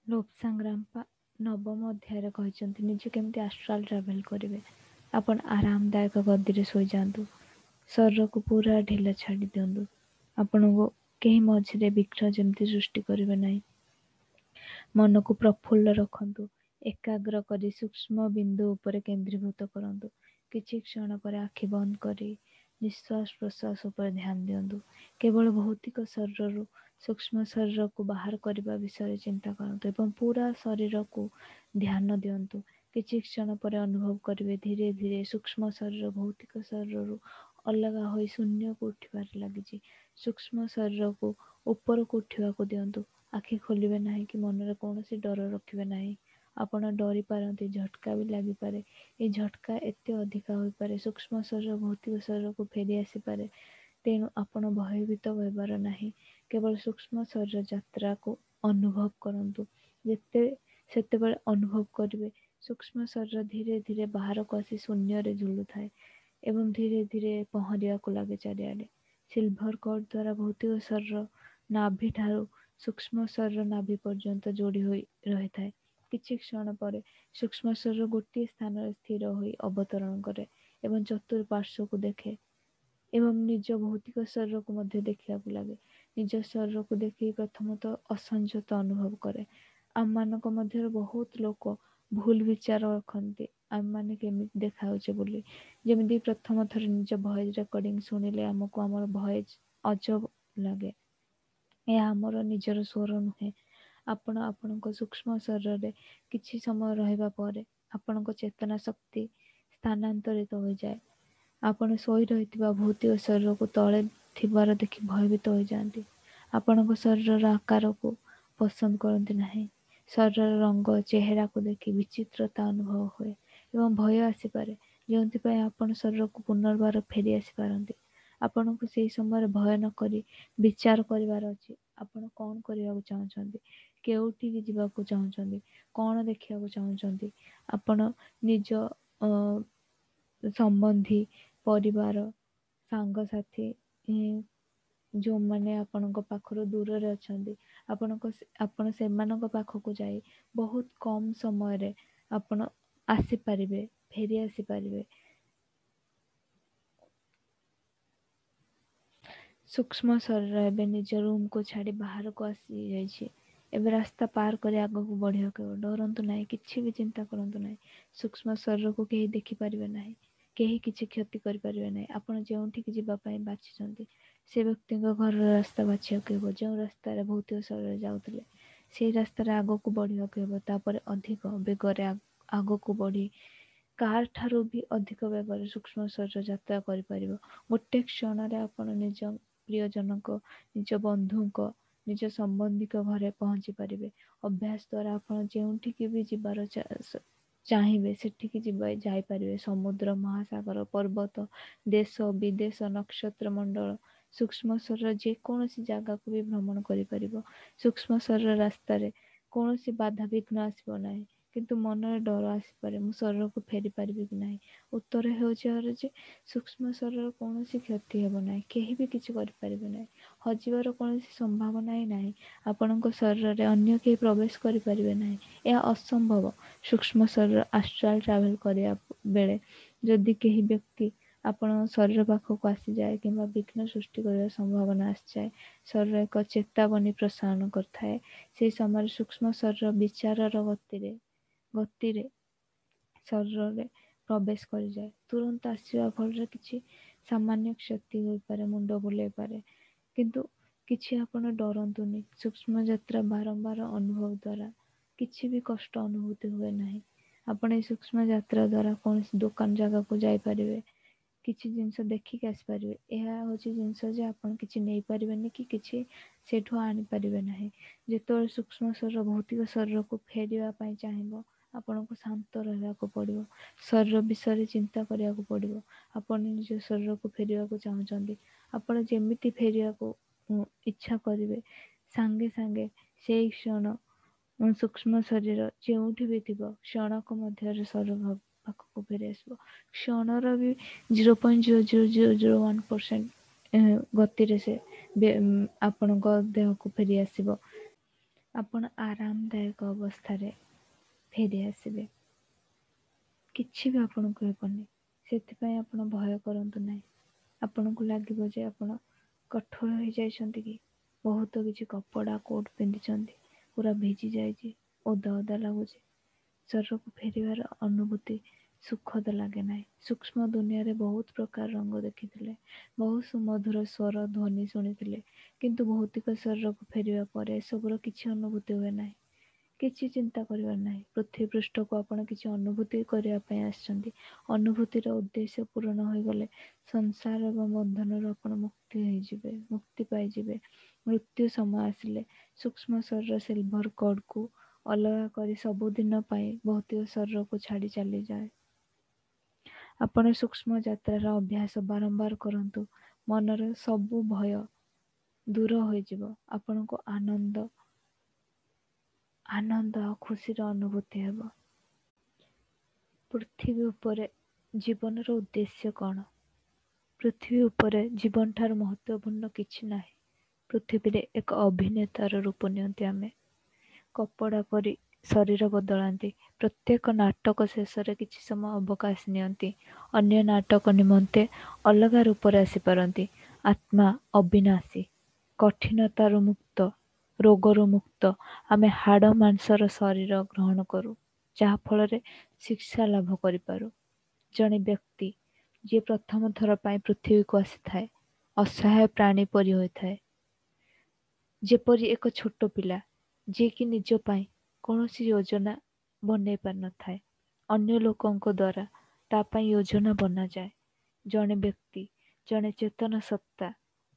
ଲୋପସାଙ୍ଗ ରାମ୍ପା ନବମ ଅଧ୍ୟାୟରେ କହିଛନ୍ତି ନିଜେ କେମିତି ଆଷ୍ଟ୍ରାଲ ଟ୍ରାଭେଲ କରିବେ। ଆପଣ ଆରାମଦାୟକ ଗଦିରେ ଶୋଇଯାଆନ୍ତୁ, ଶରୀରକୁ ପୁରା ଢିଲା ଛାଡ଼ି ଦିଅନ୍ତୁ। ଆପଣଙ୍କୁ କେହି ମଝିରେ ବିଘ୍ନ ଯେମିତି ସୃଷ୍ଟି କରିବେ ନାହିଁ। ମନକୁ ପ୍ରଫୁଲ୍ଲ ରଖନ୍ତୁ, ଏକାଗ୍ର କରି ସୂକ୍ଷ୍ମ ବିନ୍ଦୁ ଉପରେ କେନ୍ଦ୍ରୀଭୂତ କରନ୍ତୁ। କିଛି କ୍ଷଣ ପରେ ଆଖି ବନ୍ଦ କରି ନିଶ୍ୱାସ ପ୍ରଶ୍ୱାସ ଉପରେ ଧ୍ୟାନ ଦିଅନ୍ତୁ। କେବଳ ଭୌତିକ ଶରୀରରୁ ସୂକ୍ଷ୍ମ ଶରୀରକୁ ବାହାର କରିବା ବିଷୟରେ ଚିନ୍ତା କରନ୍ତୁ ଏବଂ ପୁରା ଶରୀରକୁ ଧ୍ୟାନ ଦିଅନ୍ତୁ। କିଛି କ୍ଷଣ ପରେ ଅନୁଭବ କରିବେ ଧୀରେ ଧୀରେ ସୂକ୍ଷ୍ମ ଶରୀର ଭୌତିକ ଶରୀରରୁ ଅଲଗା ହୋଇ ଶୂନ୍ୟକୁ ଉଠିବାରେ ଲାଗିଛି। ସୂକ୍ଷ୍ମ ଶରୀରକୁ ଉପରକୁ ଉଠିବାକୁ ଦିଅନ୍ତୁ। ଆଖି ଖୋଲିବେ ନାହିଁ କି ମନରେ କୌଣସି ଡର ରଖିବେ ନାହିଁ। ଆପଣ ଡରି ପାରନ୍ତି, ଝଟକା ବି ଲାଗିପାରେ। ଏ ଝଟକା ଏତେ ଅଧିକା ହୋଇପାରେ ସୂକ୍ଷ୍ମ ଶରୀର ଭୌତିକ ଶରୀରକୁ ଫେରି ଆସିପାରେ। ତେଣୁ ଆପଣ ଭୟଭୀତ ହେବାର ନାହିଁ। କେବଳ ସୂକ୍ଷ୍ମ ଶରୀର ଯାତ୍ରାକୁ ଅନୁଭବ କରନ୍ତୁ। ଯେତେ ସେତେବେଳେ ଅନୁଭବ କରିବେ ସୂକ୍ଷ୍ମ ଶରୀର ଧୀରେ ଧୀରେ ବାହାରକୁ ଆସି ଶୂନ୍ୟରେ ଝୁଲୁଥାଏ ଏବଂ ଧୀରେ ଧୀରେ ପହଁରିବାକୁ ଲାଗେ ଚାରିଆଡ଼େ। ସିଲଭର କର୍ଡ ଦ୍ୱାରା ଭୌତିକ ଶରୀର ନାଭି ଠାରୁ ସୂକ୍ଷ୍ମ ଶରୀର ନାଭି ପର୍ଯ୍ୟନ୍ତ ଯୋଡ଼ି ହୋଇ ରହିଥାଏ। କିଛି କ୍ଷଣ ପରେ ସୂକ୍ଷ୍ମ ଶରୀର ଗୋଟିଏ ସ୍ଥାନରେ ସ୍ଥିର ହୋଇ ଅବତରଣ କରେ ଏବଂ ଚତୁଃପାର୍ଶ୍ୱକୁ ଦେଖେ ଏବଂ ନିଜ ଭୌତିକ ଶରୀରକୁ ମଧ୍ୟ ଦେଖିବାକୁ ଲାଗେ। ନିଜ ଶରୀରକୁ ଦେଖି ପ୍ରଥମତଃ ଅସଂଯତ ଅନୁଭବ କରେ। ଆମମାନଙ୍କ ମଧ୍ୟରେ ବହୁତ ଲୋକ ଭୁଲ ବିଚାର ରଖନ୍ତି ଆମେମାନେ କେମିତି ଦେଖାଯାଉଛେ ବୋଲି। ଯେମିତି ପ୍ରଥମ ଥର ନିଜ ଭଏସ୍ ରେକର୍ଡିଂ ଶୁଣିଲେ ଆମକୁ ଆମର ଭଏସ୍ ଅଜବ ଲାଗେ। ଏହା ଆମର ନିଜର ସ୍ୱର ନୁହେଁ। ଆପଣ ଆପଣଙ୍କ ସୂକ୍ଷ୍ମ ଶରୀରରେ କିଛି ସମୟ ରହିବା ପରେ ଆପଣଙ୍କ ଚେତନା ଶକ୍ତି ସ୍ଥାନାନ୍ତରିତ ହୋଇଯାଏ। ଆପଣ ଶୋଇ ରହିଥିବା ଭୌତିକ ଶରୀରକୁ ତଳେ ଥିବାର ଦେଖି ଭୟଭୀତ ହୋଇଯାଆନ୍ତି। ଆପଣଙ୍କ ଶରୀରର ଆକାରକୁ ପସନ୍ଦ କରନ୍ତି ନାହିଁ। ଶରୀରର ରଙ୍ଗ, ଚେହେରାକୁ ଦେଖି ବିଚିତ୍ରତା ଅନୁଭବ ହୁଏ ଏବଂ ଭୟ ଆସିପାରେ, ଯେଉଁଥିପାଇଁ ଆପଣ ଶରୀରକୁ ପୁନର୍ବାର ଫେରି ଆସିପାରନ୍ତି। ଆପଣଙ୍କୁ ସେହି ସମୟରେ ଭୟ ନକରି ବିଚାର କରିବାର ଅଛି। ଆପଣ କ'ଣ କରିବାକୁ ଚାହୁଁଛନ୍ତି, କେଉଁଠିକି ଯିବାକୁ ଚାହୁଁଛନ୍ତି, କ'ଣ ଦେଖିବାକୁ ଚାହୁଁଛନ୍ତି। ଆପଣ ନିଜ ସମ୍ବନ୍ଧୀ, ପରିବାର, ସାଙ୍ଗସାଥି ଯେଉଁମାନେ ଆପଣଙ୍କ ପାଖରୁ ଦୂରରେ ଅଛନ୍ତି, ଆପଣଙ୍କ ଆପଣ ସେମାନଙ୍କ ପାଖକୁ ଯାଇ ବହୁତ କମ୍ ସମୟରେ ଆପଣ ଆସିପାରିବେ, ଫେରି ଆସିପାରିବେ। ସୂକ୍ଷ୍ମ ଶରୀର ଏବେ ନିଜ ରୁମ୍କୁ ଛାଡ଼ି ବାହାରକୁ ଆସିଯାଇଛି। ଏବେ ରାସ୍ତା ପାର କରି ଆଗକୁ ବଢ଼ିବାକୁ ହେବ। ଡରନ୍ତୁ ନାହିଁ, କିଛି ବି ଚିନ୍ତା କରନ୍ତୁ ନାହିଁ। ସୂକ୍ଷ୍ମ ଶରୀରକୁ କେହି ଦେଖିପାରିବେ ନାହିଁ, କେହି କିଛି କ୍ଷତି କରିପାରିବେ ନାହିଁ। ଆପଣ ଯେଉଁଠିକି ଯିବା ପାଇଁ ବାଛିଛନ୍ତି ସେ ବ୍ୟକ୍ତିଙ୍କ ଘରର ରାସ୍ତା ବାଛିବାକୁ ହେବ। ଯେଉଁ ରାସ୍ତାରେ ଭୌତିକ ଶରୀର ଯାଉଥିଲେ ସେଇ ରାସ୍ତାରେ ଆଗକୁ ବଢ଼ିବାକୁ ହେବ। ତାପରେ ଅଧିକ ବେଗରେ ଆଗକୁ ବଢ଼ି କାର ଠାରୁ ବି ଅଧିକ ବେଗରେ ସୂକ୍ଷ୍ମ ଶରୀର ଯାତ୍ରା କରିପାରିବ। ଗୋଟେ କ୍ଷଣରେ ଆପଣ ନିଜ ପ୍ରିୟଜନଙ୍କ, ନିଜ ବନ୍ଧୁଙ୍କ, ନିଜ ସମ୍ବନ୍ଧୀଙ୍କ ଘରେ ପହଞ୍ଚି ପାରିବେ। ଅଭ୍ୟାସ ଦ୍ୱାରା ଆପଣ ଯେଉଁଠିକି ବି ଯିବାର ଚାହିଁବେ ସେଠିକି ଯିବା ଯାଇପାରିବେ। ସମୁଦ୍ର, ମହାସାଗର, ପର୍ବତ, ଦେଶ, ବିଦେଶ, ନକ୍ଷତ୍ର ମଣ୍ଡଳ, ସୂକ୍ଷ୍ମ ଶରୀର ଯେକୌଣସି ଜାଗାକୁ ବି ଭ୍ରମଣ କରିପାରିବ। ସୂକ୍ଷ୍ମ ଶରୀର ରାସ୍ତାରେ କୌଣସି ବାଧାବିଘ୍ନ ଆସିବ ନାହିଁ, କିନ୍ତୁ ମନରେ ଡର ଆସିପାରେ, ମୁଁ ଶରୀରକୁ ଫେରି ପାରିବି କି ନାହିଁ? ଉତ୍ତର ହେଉଛି ଏହାର ଯେ ସୂକ୍ଷ୍ମ ଶରୀରର କୌଣସି କ୍ଷତି ହେବ ନାହିଁ, କେହି ବି କିଛି କରିପାରିବେ ନାହିଁ, ହଜିବାର କୌଣସି ସମ୍ଭାବନା ହିଁ ନାହିଁ। ଆପଣଙ୍କ ଶରୀରରେ ଅନ୍ୟ କେହି ପ୍ରବେଶ କରିପାରିବେ ନାହିଁ, ଏହା ଅସମ୍ଭବ। ସୂକ୍ଷ୍ମ ଶରୀର ଆଷ୍ଟ୍ରାଲ ଟ୍ରାଭେଲ କରିବା ବେଳେ ଯଦି କେହି ବ୍ୟକ୍ତି ଆପଣଙ୍କ ଶରୀର ପାଖକୁ ଆସିଯାଏ କିମ୍ବା ବିଘ୍ନ ସୃଷ୍ଟି କରିବାର ସମ୍ଭାବନା ଆସିଯାଏ, ଶରୀର ଏକ ଚେତାବନୀ ପ୍ରସାରଣ କରିଥାଏ। ସେହି ସମୟରେ ସୂକ୍ଷ୍ମ ଶରୀର ବିଚାରର ଗତିରେ ଗତିରେ ଶରୀରରେ ପ୍ରବେଶ କରିଯାଏ। ତୁରନ୍ତ ଆସିବା ଫଳରେ କିଛି ସାମାନ୍ୟ କ୍ଷତି ହୋଇପାରେ, ମୁଣ୍ଡ ବୁଲେଇ ପାରେ, କିନ୍ତୁ କିଛି ଆପଣ ଡରନ୍ତୁନି। ସୂକ୍ଷ୍ମ ଯାତ୍ରା ବାରମ୍ବାର ଅନୁଭବ ଦ୍ୱାରା କିଛି ବି କଷ୍ଟ ଅନୁଭୂତି ହୁଏ ନାହିଁ। ଆପଣ ଏହି ସୂକ୍ଷ୍ମ ଯାତ୍ରା ଦ୍ୱାରା କୌଣସି ଦୋକାନ ଜାଗାକୁ ଯାଇପାରିବେ, କିଛି ଜିନିଷ ଦେଖିକି ଆସିପାରିବେ। ଏହା ହେଉଛି ଜିନିଷ ଯେ ଆପଣ କିଛି ନେଇପାରିବେନି କି କିଛି ସେଇଠୁ ଆଣିପାରିବେ ନାହିଁ। ଯେତେବେଳେ ସୂକ୍ଷ୍ମ ଶରୀର ଭୌତିକ ଶରୀରକୁ ଫେରିବା ପାଇଁ ଚାହିଁବ, ଆପଣଙ୍କୁ ଶାନ୍ତ ରହିବାକୁ ପଡ଼ିବ, ଶରୀର ବିଷୟରେ ଚିନ୍ତା କରିବାକୁ ପଡ଼ିବ। ଆପଣ ନିଜ ଶରୀରକୁ ଫେରିବାକୁ ଚାହୁଁଛନ୍ତି, ଆପଣ ଯେମିତି ଫେରିବାକୁ ଇଚ୍ଛା କରିବେ, ସାଙ୍ଗେ ସାଙ୍ଗେ ସେଇ କ୍ଷଣ ସୂକ୍ଷ୍ମ ଶରୀର ଯେଉଁଠି ବି ଥିବ କ୍ଷଣକ ମଧ୍ୟରେ ଶରୀର ପାଖକୁ ଫେରି ଆସିବ। କ୍ଷଣର ବି zero point zero zero zero zero one percent ଗତିରେ ସେ ଆପଣଙ୍କ ଦେହକୁ ଫେରି ଆସିବ। ଆପଣ ଆରାମଦାୟକ ଅବସ୍ଥାରେ ଫେରି ଆସିବେ, କିଛି ବି ଆପଣଙ୍କୁ ହେବନି। ସେଥିପାଇଁ ଆପଣ ଭୟ କରନ୍ତୁ ନାହିଁ। ଆପଣଙ୍କୁ ଲାଗିବ ଯେ ଆପଣ କଠୋର ହେଇଯାଇଛନ୍ତି କି, ବହୁତ କିଛି କପଡ଼ା କୋଟ୍ ପିନ୍ଧିଛନ୍ତି, ପୁରା ଭିଜି ଯାଇଛି, ଓଦା ଓଦା ଲାଗୁଛି। ଶରୀରକୁ ଫେରିବାର ଅନୁଭୂତି ସୁଖଦ ଲାଗେ ନାହିଁ। ସୂକ୍ଷ୍ମ ଦୁନିଆରେ ବହୁତ ପ୍ରକାର ରଙ୍ଗ ଦେଖିଥିଲେ, ବହୁତ ସୁମଧୁର ସ୍ୱର ଧ୍ୱନି ଶୁଣିଥିଲେ, କିନ୍ତୁ ଭୌତିକ ଶରୀରକୁ ଫେରିବା ପରେ ଏସବୁର କିଛି ଅନୁଭୂତି ହୁଏ ନାହିଁ। କିଛି ଚିନ୍ତା କରିବାର ନାହିଁ। ପୃଥିବୀ ପୃଷ୍ଠକୁ ଆପଣ କିଛି ଅନୁଭୂତି କରିବା ପାଇଁ ଆସିଛନ୍ତି। ଅନୁଭୂତିର ଉଦ୍ଦେଶ୍ୟ ପୂରଣ ହୋଇଗଲେ ସଂସାର ଏବଂ ବନ୍ଧନରୁ ଆପଣ ମୁକ୍ତି ହେଇଯିବେ, ମୁକ୍ତି ପାଇଯିବେ। ମୃତ୍ୟୁ ସମୟ ଆସିଲେ ସୂକ୍ଷ୍ମ ଶରୀର ସିଲଭର କର୍ଡକୁ ଅଲଗା କରି ସବୁଦିନ ପାଇଁ ଭୌତିକ ଶରୀରକୁ ଛାଡ଼ି ଚାଲିଯାଏ। ଆପଣ ସୂକ୍ଷ୍ମ ଯାତ୍ରାର ଅଭ୍ୟାସ ବାରମ୍ବାର କରନ୍ତୁ, ମନର ସବୁ ଭୟ ଦୂର ହୋଇଯିବ। ଆପଣଙ୍କୁ ଆନନ୍ଦ ଆନନ୍ଦ ଆଉ ଖୁସିର ଅନୁଭୂତି ହେବ। ପୃଥିବୀ ଉପରେ ଜୀବନର ଉଦ୍ଦେଶ୍ୟ କ'ଣ? ପୃଥିବୀ ଉପରେ ଜୀବନଠାରୁ ମହତ୍ତ୍ୱପୂର୍ଣ୍ଣ କିଛି ନାହିଁ। ପୃଥିବୀରେ ଏକ ଅଭିନେତାର ରୂପ ନିଅନ୍ତି ଆମେ, କପଡ଼ା ପରି ଶରୀର ବଦଳାନ୍ତି। ପ୍ରତ୍ୟେକ ନାଟକ ଶେଷରେ କିଛି ସମୟ ଅବକାଶ ନିଅନ୍ତି, ଅନ୍ୟ ନାଟକ ନିମନ୍ତେ ଅଲଗା ରୂପରେ ଆସିପାରନ୍ତି। ଆତ୍ମା ଅବିନାଶୀ, କଠିନତାରୁ ମୁକ୍ତ, ରୋଗରୁ ମୁକ୍ତ। ଆମେ ହାଡ଼ ମାଂସର ଶରୀର ଗ୍ରହଣ କରୁ, ଯାହାଫଳରେ ଶିକ୍ଷା ଲାଭ କରିପାରୁ। ଜଣେ ବ୍ୟକ୍ତି ଯିଏ ପ୍ରଥମ ଥର ପାଇଁ ପୃଥିବୀକୁ ଆସିଥାଏ, ଅସହାୟ ପ୍ରାଣୀ ପରି ହୋଇଥାଏ, ଯେପରି ଏକ ଛୋଟ ପିଲା ଯିଏକି ନିଜ ପାଇଁ କୌଣସି ଯୋଜନା ବନେଇ ପାରିନଥାଏ, ଅନ୍ୟ ଲୋକଙ୍କ ଦ୍ୱାରା ତା ପାଇଁ ଯୋଜନା ବନାଯାଏ। ଜଣେ ବ୍ୟକ୍ତି, ଜଣେ ଚେତନ ସତ୍ତା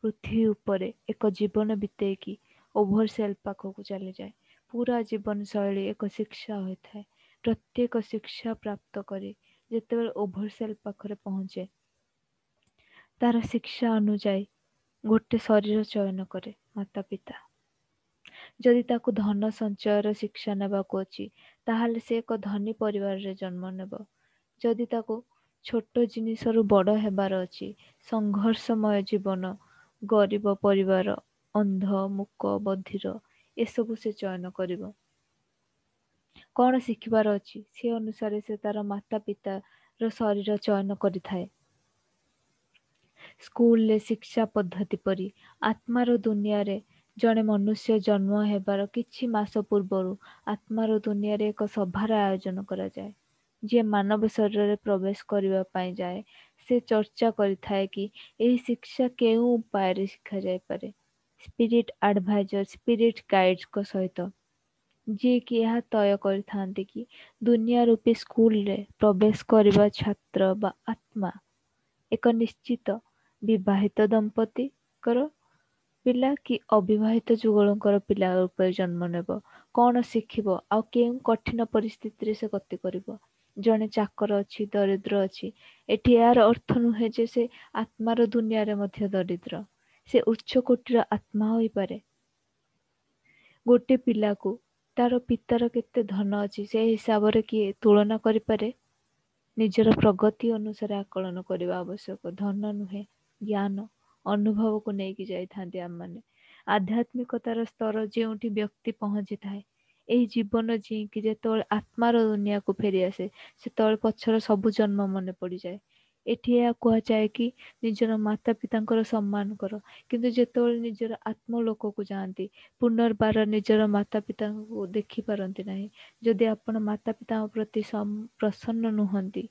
ପୃଥିବୀ ଉପରେ ଏକ ଜୀବନ ବିତେଇକି ଓଭରସେଲ୍ ପାଖକୁ ଚାଲିଯାଏ। ପୁରା ଜୀବନଶୈଳୀ ଏକ ଶିକ୍ଷା ହୋଇଥାଏ। ପ୍ରତ୍ୟେକ ଶିକ୍ଷା ପ୍ରାପ୍ତ କରି ଯେତେବେଳେ ଓଭରସେଲ୍ ପାଖରେ ପହଞ୍ଚେ, ତାର ଶିକ୍ଷା ଅନୁଯାୟୀ ଗୋଟେ ଶରୀର ଚୟନ କରେ ମାତା ପିତା। ଯଦି ତାକୁ ଧନ ସଞ୍ଚୟର ଶିକ୍ଷା ନେବାକୁ ଅଛି, ତାହେଲେ ସେ ଏକ ଧନୀ ପରିବାରରେ ଜନ୍ମ ନେବ। ଯଦି ତାକୁ ଛୋଟ ଜିନିଷରୁ ବଡ଼ ହେବାର ଅଛି, ସଂଘର୍ଷମୟ ଜୀବନ, ଗରିବ ପରିବାର, ଅନ୍ଧ, ମୂକ, ବଧିର, ଏସବୁ ସେ ଚୟନ କରିବ। କ'ଣ ଶିଖିବାର ଅଛି ସେ ଅନୁସାରେ ସେ ତାର ମାତା ପିତାର ଶରୀର ଚୟନ କରିଥାଏ। ସ୍କୁଲରେ ଶିକ୍ଷା ପଦ୍ଧତି ପରି ଆତ୍ମାର ଦୁନିଆରେ ଜଣେ ମନୁଷ୍ୟ ଜନ୍ମ ହେବାର କିଛି ମାସ ପୂର୍ବରୁ ଆତ୍ମାର ଦୁନିଆରେ ଏକ ସଭାର ଆୟୋଜନ କରାଯାଏ। ଯିଏ ମାନବ ଶରୀରରେ ପ୍ରବେଶ କରିବା ପାଇଁ ଯାଏ, ସେ ଚର୍ଚ୍ଚା କରିଥାଏ କି ଏହି ଶିକ୍ଷା କେଉଁ ଉପାୟରେ ଶିଖାଯାଇପାରେ। ସ୍ପିରିଟ୍ ଆଡଭାଇଜର, ସ୍ପିରିଟ୍ ଗାଇଡ୍ସଙ୍କ ସହିତ, ଯିଏକି ଏହା ତୟ କରିଥାନ୍ତି କି ଦୁନିଆ ରୂପୀ ସ୍କୁଲରେ ପ୍ରବେଶ କରିବା ଛାତ୍ର ବା ଆତ୍ମା ଏକ ନିଶ୍ଚିତ ବିବାହିତ ଦମ୍ପତିଙ୍କର ପିଲା କି ଅବିବାହିତ ଯୁଗଳଙ୍କର ପିଲା ରୂପରେ ଜନ୍ମ ନେବ, କ'ଣ ଶିଖିବ ଆଉ କେଉଁ କଠିନ ପରିସ୍ଥିତିରେ ସେ ଗତି କରିବ। ଜଣେ ଚାକର ଅଛି, ଦରିଦ୍ର ଅଛି। ଏଠି ଏହାର ଅର୍ଥ ନୁହେଁ ଯେ ସେ ଆତ୍ମାର ଦୁନିଆରେ ମଧ୍ୟ ଦରିଦ୍ର। ସେ ଉଚ୍ଚ କୋଟିର ଆତ୍ମା ହୋଇପାରେ। ଗୋଟେ ପିଲାକୁ ତାର ପିତାର କେତେ ଧନ ଅଛି ସେ ହିସାବରେ କିଏ ତୁଳନା କରିପାରେ? ନିଜର ପ୍ରଗତି ଅନୁସାରେ ଆକଳନ କରିବା ଆବଶ୍ୟକ। ଧନ ନୁହେଁ, ଜ୍ଞାନ, ଅନୁଭବକୁ ନେଇକି ଯାଇଥାନ୍ତି ଆମମାନେ। ଆଧ୍ୟାତ୍ମିକତାର ସ୍ତର ଯେଉଁଠି ବ୍ୟକ୍ତି ପହଞ୍ଚିଥାଏ, ଏହି ଜୀବନ ଜିଇଁକି ଯେତେବେଳେ ଆତ୍ମାର ଦୁନିଆକୁ ଫେରିଆସେ, ସେତେବେଳେ ପଛର ସବୁ ଜନ୍ମ ମନେ ପଡ଼ିଯାଏ। ଏଠି ଏହା କୁହାଯାଏ କି ନିଜର ମାତା ପିତାଙ୍କର ସମ୍ମାନ କର, କିନ୍ତୁ ଯେତେବେଳେ ନିଜର ଆତ୍ମଲୋକକୁ ଯାଆନ୍ତି, ପୁନର୍ବାର ନିଜର ମାତା ପିତାଙ୍କୁ ଦେଖିପାରନ୍ତି ନାହିଁ। ଯଦି ଆପଣ ମାତା ପିତାଙ୍କ ପ୍ରତି ପ୍ରସନ୍ନ ନୁହନ୍ତି,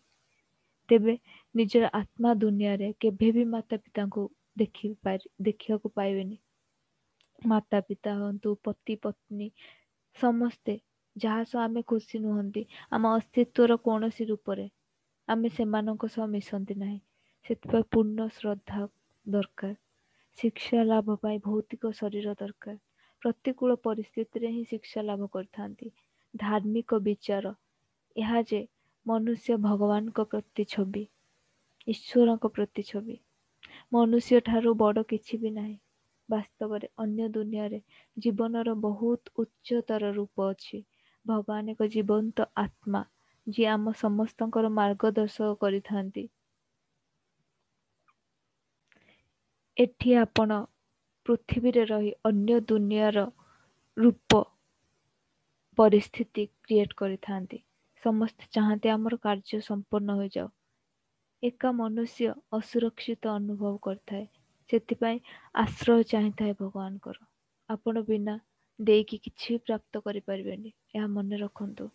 ତେବେ ନିଜର ଆତ୍ମା ଦୁନିଆରେ କେବେ ବି ମାତା ପିତାଙ୍କୁ ଦେଖି ଦେଖିବାକୁ ପାଇବେନି। ମାତା ପିତା ହୁଅନ୍ତୁ, ପତି ପତ୍ନୀ, ସମସ୍ତେ ଯାହା ସହ ଆମେ ଖୁସି ନୁହନ୍ତି, ଆମ ଅସ୍ତିତ୍ୱର କୌଣସି ରୂପରେ ଆମେ ସେମାନଙ୍କ ସହ ମିଶନ୍ତି ନାହିଁ। ସେଥିପାଇଁ ପୂର୍ଣ୍ଣ ଶ୍ରଦ୍ଧା ଦରକାର। ଶିକ୍ଷା ଲାଭ ପାଇଁ ଭୌତିକ ଶରୀର ଦରକାର। ପ୍ରତିକୂଳ ପରିସ୍ଥିତିରେ ହିଁ ଶିକ୍ଷା ଲାଭ କରିଥାନ୍ତି। ଧାର୍ମିକ ବିଚାର ଏହା ଯେ ମନୁଷ୍ୟ ଭଗବାନଙ୍କ ପ୍ରତିଛବି, ଈଶ୍ୱରଙ୍କ ପ୍ରତିଛବି। ମନୁଷ୍ୟ ଠାରୁ ବଡ଼ କିଛି ବି ନାହିଁ। ବାସ୍ତବରେ ଅନ୍ୟ ଦୁନିଆରେ ଜୀବନର ବହୁତ ଉଚ୍ଚତର ରୂପ ଅଛି। ଭଗବାନ ଏକ ଜୀବନ୍ତ ଆତ୍ମା, ଯିଏ ଆମ ସମସ୍ତଙ୍କର ମାର୍ଗଦର୍ଶକ କରିଥାନ୍ତି। ଏଠି ଆପଣ ପୃଥିବୀରେ ରହି ଅନ୍ୟ ଦୁନିଆର ରୂପ ପରିସ୍ଥିତି କ୍ରିଏଟ୍ କରିଥାନ୍ତି। ସମସ୍ତେ ଚାହାନ୍ତି ଆମର କାର୍ଯ୍ୟ ସମ୍ପୂର୍ଣ୍ଣ ହୋଇଯାଉ। ଏକା ମନୁଷ୍ୟ ଅସୁରକ୍ଷିତ ଅନୁଭବ କରିଥାଏ, ସେଥିପାଇଁ ଆଶ୍ରୟ ଚାହିଁଥାଏ ଭଗବାନଙ୍କର। ଆପଣ ବିନା ଦେଇକି କିଛି ବି ପ୍ରାପ୍ତ କରିପାରିବେନି, ଏହା ମନେ ରଖନ୍ତୁ।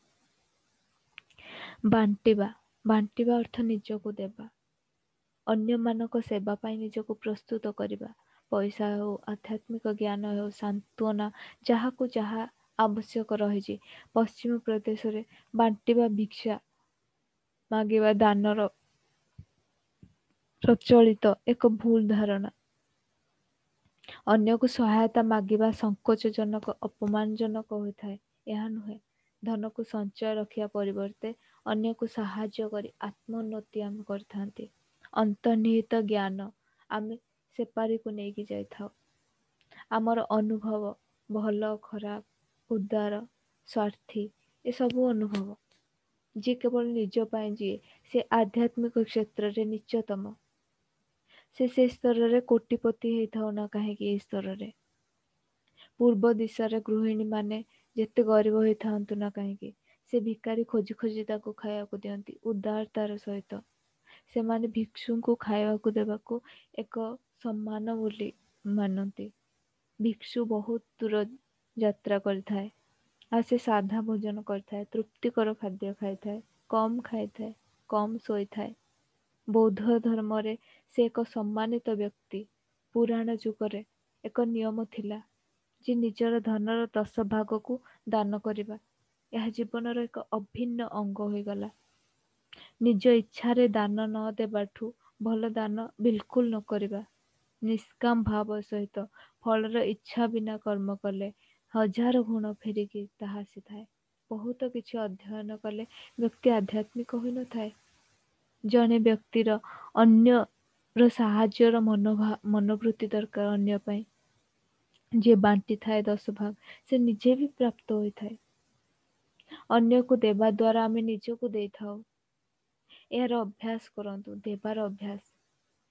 ବାଣ୍ଟିବା, ବାଣ୍ଟିବା ଅର୍ଥ ନିଜକୁ ଦେବା, ଅନ୍ୟମାନଙ୍କ ସେବା ପାଇଁ ନିଜକୁ ପ୍ରସ୍ତୁତ କରିବା। ପଇସା ହେଉ, ଆଧ୍ୟାତ୍ମିକ ଜ୍ଞାନ ହେଉ, ସାନ୍ତ୍ୱନା, ଯାହାକୁ ଯାହା ଆବଶ୍ୟକ ରହିଛି। ପଶ୍ଚିମ ପ୍ରଦେଶରେ ବାଣ୍ଟିବା ଭିକ୍ଷା ମାଗିବା ଦାନର ପ୍ରଚଳିତ ଏକ ଭୁଲ ଧାରଣା। ଅନ୍ୟକୁ ସହାୟତା ମାଗିବା ସଙ୍କୋଚଜନକ, ଅପମାନଜନକ ହୋଇଥାଏ। ଏହା ନୁହେଁ। ଧନକୁ ସଞ୍ଚୟ ରଖିବା ପରିବର୍ତ୍ତେ ଅନ୍ୟକୁ ସାହାଯ୍ୟ କରି ଆତ୍ମୋନ୍ନତି ଆମେ କରିଥାନ୍ତି। ଅନ୍ତର୍ନିହିତ ଜ୍ଞାନ ଆମେ ସେପାରିକୁ ନେଇକି ଯାଇଥାଉ। ଆମର ଅନୁଭବ ଭଲ, ଖରାପ, ଉଦାର, ସ୍ୱାର୍ଥୀ, ଏସବୁ ଅନୁଭବ। ଯିଏ କେବଳ ନିଜ ପାଇଁ ଯିଏ, ସେ ଆଧ୍ୟାତ୍ମିକ କ୍ଷେତ୍ରରେ ନିଚତମ। ସେ ସେ ସ୍ତରରେ କୋଟିପତି ହେଇଥାଉ ନା କାହିଁକି। ଏହି ସ୍ତରରେ ପୂର୍ବ ଦିଶାରେ ଗୃହିଣୀମାନେ ଯେତେ ଗରିବ ହେଇଥାନ୍ତୁ ନା କାହିଁକି, ସେ ଭିକାରୀ ଖୋଜି ଖୋଜି ତାକୁ ଖାଇବାକୁ ଦିଅନ୍ତି ଉଦାରତାର ସହିତ। ସେମାନେ ଭିକ୍ଷୁଙ୍କୁ ଖାଇବାକୁ ଦେବାକୁ ଏକ ସମ୍ମାନ ବୋଲି ମାନନ୍ତି। ଭିକ୍ଷୁ ବହୁତ ଦୂର ଯାତ୍ରା କରିଥାଏ ଆଉ ସେ ସାଧା ଭୋଜନ କରିଥାଏ, ତୃପ୍ତିକର ଖାଦ୍ୟ ଖାଇଥାଏ, କମ୍ ଖାଇଥାଏ, କମ୍ ଶୋଇଥାଏ। ବୌଦ୍ଧ ଧର୍ମରେ ସେ ଏକ ସମ୍ମାନିତ ବ୍ୟକ୍ତି। ପୁରାଣ ଯୁଗରେ ଏକ ନିୟମ ଥିଲା ଯେ ନିଜର ଧନର ଦଶ ଭାଗକୁ ଦାନ କରିବା। ଏହା ଜୀବନର ଏକ ଅଭିନ୍ନ ଅଙ୍ଗ ହୋଇଗଲା। ନିଜ ଇଚ୍ଛାରେ ଦାନ ନ ଦେବାଠୁ ଭଲ ଦାନ ବିଲକୁଲ ନ କରିବା। ନିଷ୍କାମ ଭାବ ସହିତ ଫଳର ଇଚ୍ଛା ବିନା କର୍ମ କଲେ ହଜାର ଗୁଣ ଫେରିକି ତାହା ଆସିଥାଏ। ବହୁତ କିଛି ଅଧ୍ୟୟନ କଲେ ବ୍ୟକ୍ତି ଆଧ୍ୟାତ୍ମିକ ହୋଇନଥାଏ। ଜଣେ ବ୍ୟକ୍ତିର ଅନ୍ୟର ସାହାଯ୍ୟର ମନୋଭା ମନୋବୃତ୍ତି ଦରକାର ଅନ୍ୟ ପାଇଁ। ଯିଏ ବାଣ୍ଟିଥାଏ ଦଶ ଭାଗ, ସେ ନିଜେ ବି ପ୍ରାପ୍ତ ହୋଇଥାଏ। ଅନ୍ୟକୁ ଦେବା ଦ୍ୱାରା ଆମେ ନିଜକୁ ଦେଇଥାଉ। ଏହାର ଅଭ୍ୟାସ କରନ୍ତୁ, ଦେବାର ଅଭ୍ୟାସ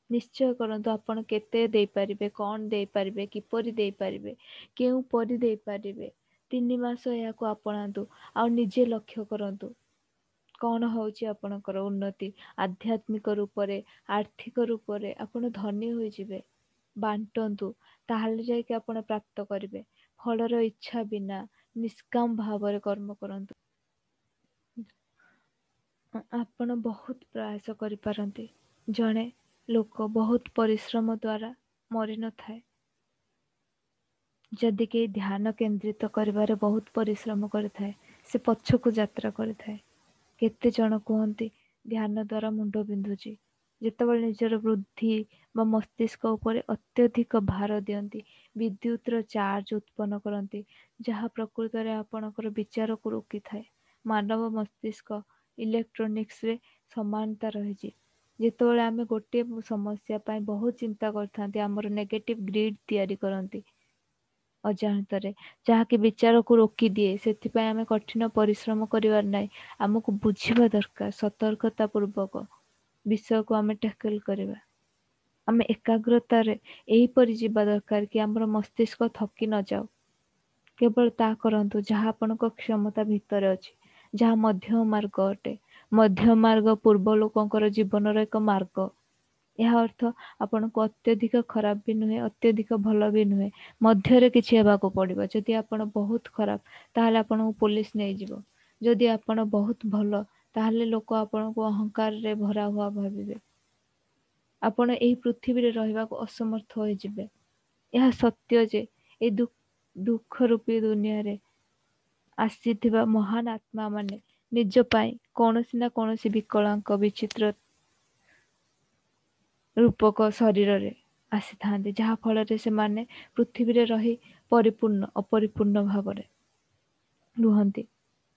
ନିଶ୍ଚୟ କରନ୍ତୁ। ଆପଣ କେତେ ଦେଇପାରିବେ, କ'ଣ ଦେଇପାରିବେ, କିପରି ଦେଇପାରିବେ, କେଉଁ ପରି ଦେଇପାରିବେ। ତିନି ମାସ ଏହାକୁ ଆପଣାନ୍ତୁ ଆଉ ନିଜେ ଲକ୍ଷ୍ୟ କରନ୍ତୁ କ'ଣ ହେଉଛି ଆପଣଙ୍କର ଉନ୍ନତି। ଆଧ୍ୟାତ୍ମିକ ରୂପରେ, ଆର୍ଥିକ ରୂପରେ ଆପଣ ଧନୀ ହୋଇଯିବେ। ବାଣ୍ଟନ୍ତୁ, ତାହେଲେ ଯାଇକି ଆପଣ ପ୍ରାପ୍ତ କରିବେ। ଫଳର ଇଚ୍ଛା ବିନା ନିଷ୍କାମ ଭାବରେ କର୍ମ କରନ୍ତୁ। ଆପଣ ବହୁତ ପ୍ରୟାସ କରିପାରନ୍ତି। ଜଣେ ଲୋକ ବହୁତ ପରିଶ୍ରମ ଦ୍ୱାରା ମରିନଥାଏ। ଯଦି କେହି ଧ୍ୟାନ କେନ୍ଦ୍ରିତ କରିବାରେ ବହୁତ ପରିଶ୍ରମ କରିଥାଏ, ସେ ପଛକୁ ଯାତ୍ରା କରିଥାଏ। କେତେ ଜଣ କୁହନ୍ତି ଧ୍ୟାନ ଦ୍ୱାରା ମୁଣ୍ଡ ବିନ୍ଧୁଛି। ଯେତେବେଳେ ନିଜର ବୃଦ୍ଧି ବା ମସ୍ତିଷ୍କ ଉପରେ ଅତ୍ୟଧିକ ଭାର ଦିଅନ୍ତି, ବିଦ୍ୟୁତର ଚାର୍ଜ ଉତ୍ପନ୍ନ କରନ୍ତି, ଯାହା ପ୍ରକୃତରେ ଆପଣଙ୍କର ବିଚାରକୁ ରୋକିଥାଏ। ମାନବ ମସ୍ତିଷ୍କ ଇଲେକ୍ଟ୍ରୋନିକ୍ସରେ ସମାନତା ରହିଛି। ଯେତେବେଳେ ଆମେ ଗୋଟିଏ ସମସ୍ୟା ପାଇଁ ବହୁତ ଚିନ୍ତା କରିଥାନ୍ତି, ଆମର ନେଗେଟିଭ ଗ୍ରିଡ୍ ତିଆରି କରନ୍ତି ଅଜାଣତରେ, ଯାହାକି ବିଚାରକୁ ରୋକିଦିଏ। ସେଥିପାଇଁ ଆମେ କଠିନ ପରିଶ୍ରମ କରିବାର ନାହିଁ, ଆମକୁ ବୁଝିବା ଦରକାର। ସତର୍କତା ପୂର୍ବକ ବିଷୟକୁ ଆମେ ଟ୍ୟାକଲ କରିବା। ଆମେ ଏକାଗ୍ରତାରେ ଏହିପରି ଯିବା ଦରକାର କି ଆମର ମସ୍ତିଷ୍କ ଥକି ନଯାଉ। କେବଳ ତାହା କରନ୍ତୁ ଯାହା ଆପଣଙ୍କ କ୍ଷମତା ଭିତରେ ଅଛି, ଯାହା ମଧ୍ୟ ମାର୍ଗ ଅଟେ। ମଧ୍ୟ ମାର୍ଗ ପୂର୍ବ ଲୋକଙ୍କର ଜୀବନର ଏକ ମାର୍ଗ। ଏହା ଅର୍ଥ ଆପଣଙ୍କୁ ଅତ୍ୟଧିକ ଖରାପ ବି ନୁହେଁ, ଅତ୍ୟଧିକ ଭଲ ବି ନୁହେଁ, ମଧ୍ୟରେ କିଛି ହେବାକୁ ପଡ଼ିବ। ଯଦି ଆପଣ ବହୁତ ଖରାପ, ତାହେଲେ ଆପଣଙ୍କୁ ପୋଲିସ ନେଇଯିବ। ଯଦି ଆପଣ ବହୁତ ଭଲ, ତାହେଲେ ଲୋକ ଆପଣଙ୍କୁ ଅହଙ୍କାରରେ ଭରା ହୁଆ ଭାବିବେ। ଆପଣ ଏହି ପୃଥିବୀରେ ରହିବାକୁ ଅସମର୍ଥ ହୋଇଯିବେ। ଏହା ସତ୍ୟ ଯେ ଏହି ଦୁଃଖ ରୂପୀ ଦୁନିଆରେ ଆସିଥିବା ମହାନ ଆତ୍ମାମାନେ ନିଜ ପାଇଁ କୌଣସି ନା କୌଣସି ବିକଳାଙ୍କ ବିଚିତ୍ର ରୂପକ ଶରୀରରେ ଆସିଥାନ୍ତି, ଯାହା ଫଳରେ ସେମାନେ ପୃଥିବୀରେ ରହି ପରିପୂର୍ଣ୍ଣ ଅପରିପୂର୍ଣ୍ଣ ଭାବରେ ରୁହନ୍ତି।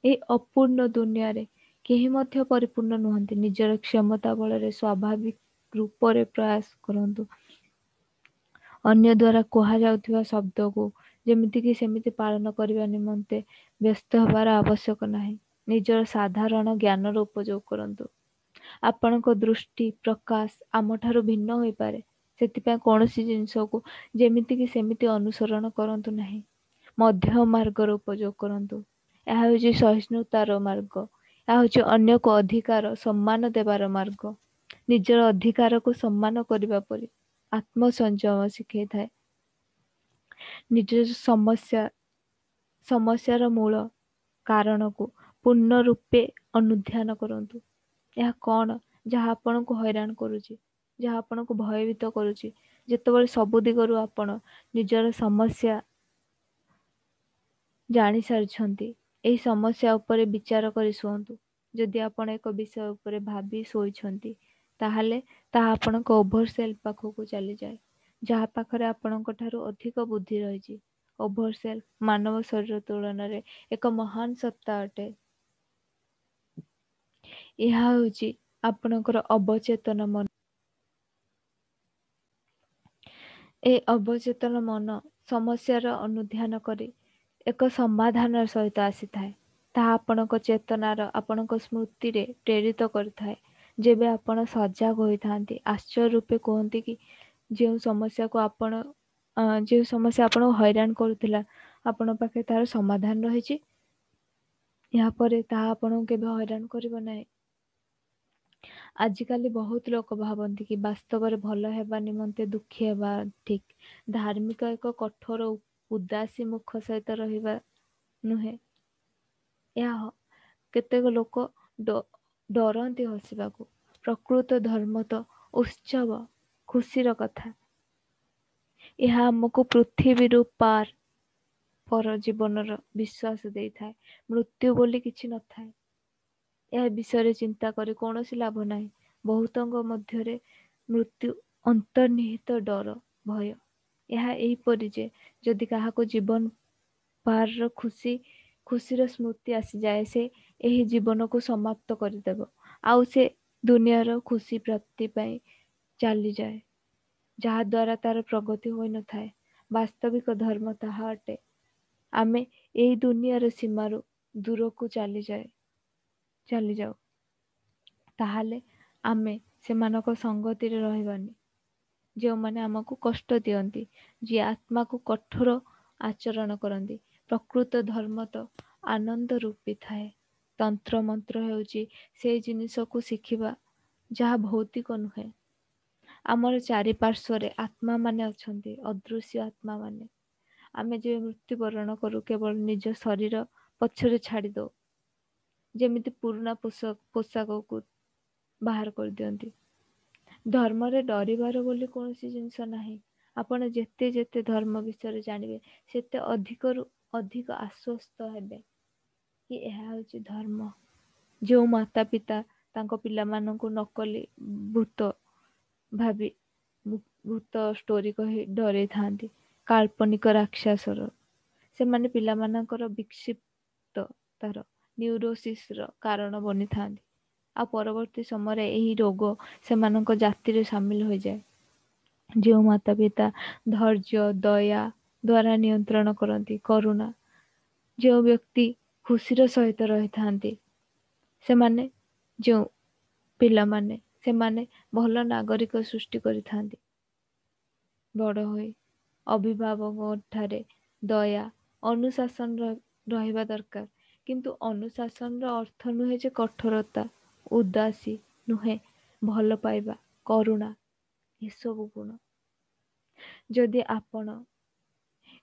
ଏହି ଅପୂର୍ଣ୍ଣ ଦୁନିଆରେ କେହି ମଧ୍ୟ ପରିପୂର୍ଣ୍ଣ ନୁହନ୍ତି। ନିଜର କ୍ଷମତା ବଳରେ ସ୍ୱାଭାବିକ ରୂପରେ ପ୍ରୟାସ କରନ୍ତୁ। ଅନ୍ୟ ଦ୍ୱାରା କୁହାଯାଉଥିବା ଶବ୍ଦକୁ ଯେମିତିକି ସେମିତି ପାଳନ କରିବା ନିମନ୍ତେ ବ୍ୟସ୍ତ ହେବାର ଆବଶ୍ୟକ ନାହିଁ। ନିଜର ସାଧାରଣ ଜ୍ଞାନର ଉପଯୋଗ କରନ୍ତୁ। ଆପଣଙ୍କ ଦୃଷ୍ଟି ପ୍ରକାଶ ଆମଠାରୁ ଭିନ୍ନ ହୋଇପାରେ, ସେଥିପାଇଁ କୌଣସି ଜିନିଷକୁ ଯେମିତିକି ସେମିତି ଅନୁସରଣ କରନ୍ତୁ ନାହିଁ। ମଧ୍ୟ ମାର୍ଗର ଉପଯୋଗ କରନ୍ତୁ। ଏହା ହେଉଛି ସହିଷ୍ଣୁତାର ମାର୍ଗ। ଏହା ହେଉଛି ଅନ୍ୟକୁ ଅଧିକାର ସମ୍ମାନ ଦେବାର ମାର୍ଗ। ନିଜର ଅଧିକାରକୁ ସମ୍ମାନ କରିବା ପରି ଆତ୍ମସଂଯମ ଶିଖେଇଥାଏ। ନିଜ ସମସ୍ୟା ସମସ୍ୟାର ମୂଳ କାରଣକୁ ପୂର୍ଣ୍ଣ ରୂପେ ଅନୁଧ୍ୟାନ କରନ୍ତୁ। ଏହା କଣ ଯାହା ଆପଣଙ୍କୁ ହଇରାଣ କରୁଛି, ଯାହା ଆପଣଙ୍କୁ ଭୟଭୀତ କରୁଛି? ଯେତେବେଳେ ସବୁ ଦିଗରୁ ଆପଣ ନିଜର ସମସ୍ୟା ଜାଣି ସାରିଛନ୍ତି, ଏହି ସମସ୍ୟା ଉପରେ ବିଚାର କରି ଶୁଅନ୍ତୁ। ଯଦି ଆପଣ ଏକ ବିଷୟ ଉପରେ ଭାବି ଶୋଇଛନ୍ତି, ତାହେଲେ ତାହା ଆପଣଙ୍କ ଓଭରସେଲ୍ଫ ପାଖକୁ ଚାଲିଯାଏ, ଯାହା ପାଖରେ ଆପଣଙ୍କ ଠାରୁ ଅଧିକ ବୁଦ୍ଧି ରହିଛି। ଓଭରସେଲ୍ଫ ମାନବ ଶରୀର ତୁଳନାରେ ଏକ ମହାନ ସତ୍ତା ଅଟେ। ଏହା ହେଉଛି ଆପଣଙ୍କର ଅବଚେତନ ମନ। ଏ ଅବଚେତନ ମନ ସମସ୍ୟାର ଅନୁଧ୍ୟାନ କରି ଏକ ସମାଧାନ ସହିତ ଆସିଥାଏ। ତାହା ଆପଣଙ୍କ ଚେତନାର, ଆପଣଙ୍କ ସ୍ମୃତିରେ ପ୍ରେରିତ କରିଥାଏ। ଯେବେ ଆପଣ ସଜାଗ ହୋଇଥାନ୍ତି, ଆଶ୍ଚର୍ଯ୍ୟ ରୂପେ କୁହନ୍ତି କି ଯେଉଁ ସମସ୍ୟାକୁ ଆପଣ ଯେଉଁ ସମସ୍ୟା ଆପଣଙ୍କୁ ହଇରାଣ କରୁଥିଲା, ଆପଣଙ୍କ ପାଖରେ ତାହାର ସମାଧାନ ରହିଛି। ଏହାପରେ ତାହା ଆପଣଙ୍କୁ କେବେ ହଇରାଣ କରିବ ନାହିଁ। ଆଜିକାଲି ବହୁତ ଲୋକ ଭାବନ୍ତି କି ବାସ୍ତବରେ ଭଲ ହେବା ନିମନ୍ତେ ଦୁଃଖୀ ହେବା ଠିକ୍। ଧାର୍ମିକ ଏକ କଠୋର ଉଦାସୀ ମୁଖ ସହିତ ରହିବା ନୁହେଁ। ଏହା କେତେକ ଲୋକ ଡରନ୍ତି ହସିବାକୁ। ପ୍ରକୃତ ଧର୍ମ ତ ଉତ୍ସବ, ଖୁସିର କଥା। ଏହା ଆମକୁ ପୃଥିବୀରୁ ପାର ପର ଜୀବନର ବିଶ୍ୱାସ ଦେଇଥାଏ। ମୃତ୍ୟୁ ବୋଲି କିଛି ନଥାଏ। ଏହା ବିଷୟରେ ଚିନ୍ତା କରି କୌଣସି ଲାଭ ନାହିଁ। ବହୁତଙ୍କ ମଧ୍ୟରେ ମୃତ୍ୟୁ ଅନ୍ତର୍ନିହିତ ଡର, ଭୟ। ଏହା ଏହିପରି ଯେ ଯଦି କାହାକୁ ଜୀବନ ପାରର ଖୁସି ଖୁସିର ସ୍ମୃତି ଆସିଯାଏ, ସେ ଏହି ଜୀବନକୁ ସମାପ୍ତ କରିଦେବ ଆଉ ସେ ଦୁନିଆର ଖୁସି ପ୍ରାପ୍ତି ପାଇଁ ଚାଲିଯାଏ, ଯାହାଦ୍ୱାରା ତାର ପ୍ରଗତି ହୋଇନଥାଏ। ବାସ୍ତବିକ ଧର୍ମ ତାହା ଅଟେ। ଆମେ ଏହି ଦୁନିଆର ସୀମାରୁ ଦୂରକୁ ଚାଲିଯାଏ ଚାଲିଯାଉ, ତାହେଲେ ଆମେ ସେମାନଙ୍କ ସଙ୍ଗତିରେ ରହିବାନି ଯେଉଁମାନେ ଆମକୁ କଷ୍ଟ ଦିଅନ୍ତି, ଯିଏ ଆତ୍ମାକୁ କଠୋର ଆଚରଣ କରନ୍ତି। ପ୍ରକୃତ ଧର୍ମ ତ ଆନନ୍ଦ ରୂପୀ ଥାଏ। ତନ୍ତ୍ର ମନ୍ତ୍ର ହେଉଛି ସେଇ ଜିନିଷକୁ ଶିଖିବା ଯାହା ଭୌତିକ ନୁହେଁ। ଆମର ଚାରିପାର୍ଶ୍ୱରେ ଆତ୍ମାମାନେ ଅଛନ୍ତି, ଅଦୃଶ୍ୟ ଆତ୍ମାମାନେ। ଆମେ ଯେବେ ମୃତ୍ୟୁବରଣ କରୁ, କେବଳ ନିଜ ଶରୀର ପଛରେ ଛାଡ଼ି ଦଉ, ଯେମିତି ପୁରୁଣା ପୋଷାକକୁ ବାହାର କରିଦିଅନ୍ତି। ଧର୍ମରେ ଡରିବାର ବୋଲି କୌଣସି ଜିନିଷ ନାହିଁ। ଆପଣ ଯେତେ ଯେତେ ଧର୍ମ ବିଷୟରେ ଜାଣିବେ, ସେତେ ଅଧିକରୁ ଅଧିକ ଆଶ୍ୱସ୍ତ ହେବେ କି ଏହା ହେଉଛି ଧର୍ମ। ଯେଉଁ ମାତା ପିତା ତାଙ୍କ ପିଲାମାନଙ୍କୁ ନକଲି ଭୂତ ଭାବି ଭୂତ ଷ୍ଟୋରି କହି ଡରେଇଥାନ୍ତି, କାଳ୍ପନିକ ରାକ୍ଷସର। ସେମାନେ ପିଲାମାନଙ୍କର ବିକ୍ଷିପ୍ତ ତାର ନ୍ୟୁରୋସିସର କାରଣ ବନିଥାନ୍ତି, ଆଉ ପରବର୍ତ୍ତୀ ସମୟରେ ଏହି ରୋଗ ସେମାନଙ୍କ ଜାତିରେ ସାମିଲ ହୋଇଯାଏ। ଯେଉଁ ମାତା ପିତା ଧୈର୍ଯ୍ୟ, ଦୟା ଦ୍ୱାରା ନିୟନ୍ତ୍ରଣ କରନ୍ତି, କରୁଣା, ଯେଉଁ ବ୍ୟକ୍ତି ଖୁସିର ସହିତ ରହିଥାନ୍ତି, ସେମାନେ ଯେଉଁ ପିଲାମାନେ ସେମାନେ ଭଲ ନାଗରିକ ସୃଷ୍ଟି କରିଥାନ୍ତି। ବଡ଼ ହୋଇ ଅଭିଭାବକଙ୍କ ଠାରେ ଦୟା, ଅନୁଶାସନ ରହିବା ଦରକାର। କିନ୍ତୁ ଅନୁଶାସନର ଅର୍ଥ ନୁହେଁ ଯେ କଠୋରତା, ଉଦାସୀ ନୁହେଁ, ଭଲ ପାଇବା, କରୁଣା, ଏସବୁ ଗୁଣ। ଯଦି ଆପଣ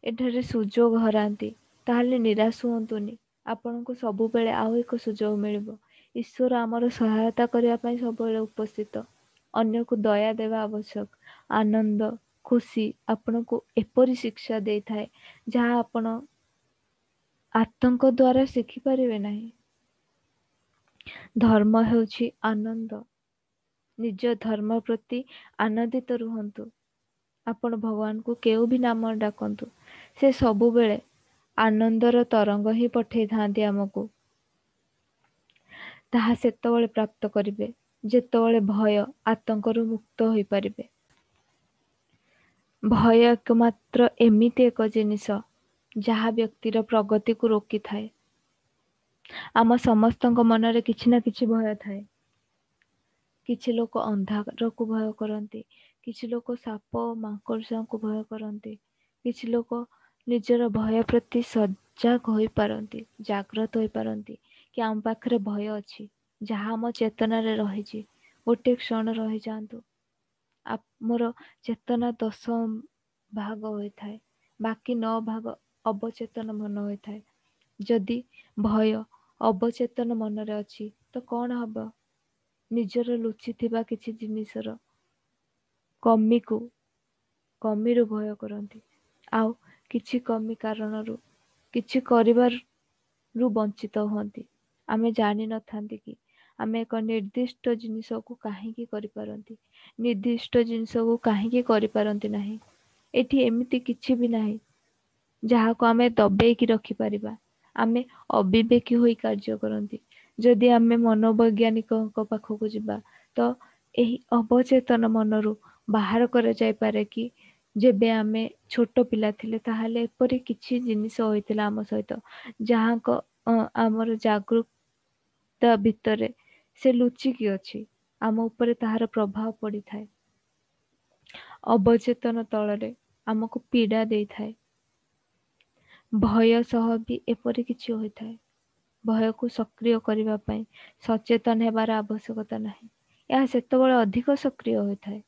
ଏଠାରେ ସୁଯୋଗ ହରାନ୍ତି, ତାହେଲେ ନିରାଶ ହୁଅନ୍ତୁନି। ଆପଣଙ୍କୁ ସବୁବେଳେ ଆଉ ଏକ ସୁଯୋଗ ମିଳିବ। ଈଶ୍ୱର ଆମର ସହାୟତା କରିବା ପାଇଁ ସବୁବେଳେ ଉପସ୍ଥିତ। ଅନ୍ୟକୁ ଦୟା ଦେବା ଆବଶ୍ୟକ। ଆନନ୍ଦ, ଖୁସି ଆପଣଙ୍କୁ ଏପରି ଶିକ୍ଷା ଦେଇଥାଏ ଯାହା ଆପଣ ଆତଙ୍କ ଦ୍ୱାରା ଶିଖିପାରିବେ ନାହିଁ। ଧର୍ମ ହେଉଛି ଆନନ୍ଦ। ନିଜ ଧର୍ମ ପ୍ରତି ଆନନ୍ଦିତ ରୁହନ୍ତୁ। ଆପଣ ଭଗବାନଙ୍କୁ କେଉଁ ବି ନାମ ଡାକନ୍ତୁ, ସେ ସବୁବେଳେ ଆନନ୍ଦର ତରଙ୍ଗ ହିଁ ପଠେଇଥାନ୍ତି ଆମକୁ। ତାହା ସେତେବେଳେ ପ୍ରାପ୍ତ କରିବେ ଯେତେବେଳେ ଭୟ, ଆତଙ୍କରୁ ମୁକ୍ତ ହୋଇପାରିବେ। ଭୟ ଏକମାତ୍ର ଏମିତି ଏକ ଜିନିଷ ଯାହା ବ୍ୟକ୍ତିର ପ୍ରଗତିକୁ ରୋକିଥାଏ। ଆମ ସମସ୍ତଙ୍କ ମନରେ କିଛି ନା କିଛି ଭୟ ଥାଏ। କିଛି ଲୋକ ଅନ୍ଧାରକୁ ଭୟ କରନ୍ତି, କିଛି ଲୋକ ସାପ ଓ ମାଙ୍କଡ଼ଙ୍କୁ ଭୟ କରନ୍ତି, କିଛି ଲୋକ ନିଜର ଭୟ ପ୍ରତି ସଜାଗ ହୋଇପାରନ୍ତି, ଜାଗ୍ରତ ହୋଇପାରନ୍ତି କି ଆମ ପାଖରେ ଭୟ ଅଛି, ଯାହା ଆମ ଚେତନାରେ ରହିଛି। ଗୋଟେ କ୍ଷଣ ରହିଯାଆନ୍ତୁ। ଆମର ଚେତନା ଦଶ ଭାଗ ହୋଇଥାଏ, ବାକି ନଅ ଭାଗ ଅବଚେତନ ମନ ହୋଇଥାଏ। ଯଦି ଭୟ ଅବଚେତନ ମନରେ ଅଛି ତ କ'ଣ ହବ? ନିଜର ଲୁଚିଥିବା କିଛି ଜିନିଷର କମିକୁ କମିରୁ ଭୟ କରନ୍ତି, ଆଉ କିଛି କମି କାରଣରୁ କିଛି କରିବାରୁ ବଞ୍ଚିତ ହୁଅନ୍ତି। ଆମେ ଜାଣିନଥାନ୍ତି କି ଆମେ ଏକ ନିର୍ଦ୍ଦିଷ୍ଟ ଜିନିଷକୁ କାହିଁକି କରିପାରନ୍ତି, ନିର୍ଦ୍ଦିଷ୍ଟ ଜିନିଷକୁ କାହିଁକି କରିପାରନ୍ତି ନାହିଁ। ଏଠି ଏମିତି କିଛି ବି ନାହିଁ ଯାହାକୁ ଆମେ ଦବେଇକି ରଖିପାରିବା। ଆମେ ଅବିବେକୀ ହୋଇ କାର୍ଯ୍ୟ କରନ୍ତି। ଯଦି ଆମେ ମନୋବୈଜ୍ଞାନିକଙ୍କ ପାଖକୁ ଯିବା ତ ଏହି ଅବଚେତନ ମନରୁ ବାହାର କରାଯାଇପାରେ କି ଯେବେ ଆମେ ଛୋଟ ପିଲା ଥିଲେ ତାହେଲେ ଏପରି କିଛି ଜିନିଷ ହୋଇଥିଲା ଆମ ସହିତ, ଯାହାଙ୍କ ଆମର ଜାଗୃତା ଭିତରେ ସେ ଲୁଚିକି ଅଛି, ଆମ ଉପରେ ତାହାର ପ୍ରଭାବ ପଡ଼ିଥାଏ। ଅବଚେତନ ତଳରେ ଆମକୁ ପୀଡ଼ା ଦେଇଥାଏ। ଭୟ ସହ ବି ଏପରି କିଛି ହୋଇଥାଏ। ଭୟକୁ ସକ୍ରିୟ କରିବା ପାଇଁ ସଚେତନ ହେବାର ଆବଶ୍ୟକତା ନାହିଁ। ଏହା ସେତେବେଳେ ଅଧିକ ସକ୍ରିୟ ହୋଇଥାଏ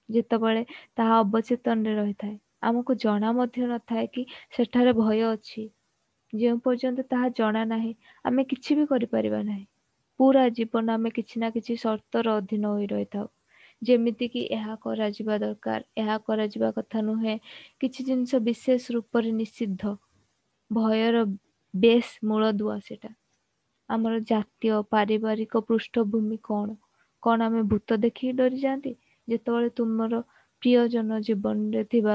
ଯେତେବେଳେ ତାହା ଅବଚେତନରେ ରହିଥାଏ। ଆମକୁ ଜଣା ମଧ୍ୟ ନଥାଏ କି ସେଠାରେ ଭୟ ଅଛି। ଯେଉଁ ପର୍ଯ୍ୟନ୍ତ ତାହା ଜଣା ନାହିଁ ଆମେ କିଛି ବି କରିପାରିବା ନାହିଁ। ପୁରା ଜୀବନ ଆମେ କିଛି ନା କିଛି ସର୍ତ୍ତର ଅଧୀନ ହୋଇ ରହିଥାଉ, ଯେମିତିକି ଏହା କରାଯିବା ଦରକାର, ଏହା କରାଯିବା କଥା ନୁହେଁ। କିଛି ଜିନିଷ ବିଶେଷ ରୂପରେ ନିଷିଦ୍ଧ। ଭୟର ବେଶ ମୂଳଦୁଆ ସେଟା। ଆମର ଜାତୀୟ ପାରିବାରିକ ପୃଷ୍ଠଭୂମି କ'ଣ? କ'ଣ ଆମେ ଭୂତ ଦେଖିକି ଡରିଯାଆନ୍ତି? ଯେତେବେଳେ ତୁମର ପ୍ରିୟଜନ ଜୀବନରେ ଥିବା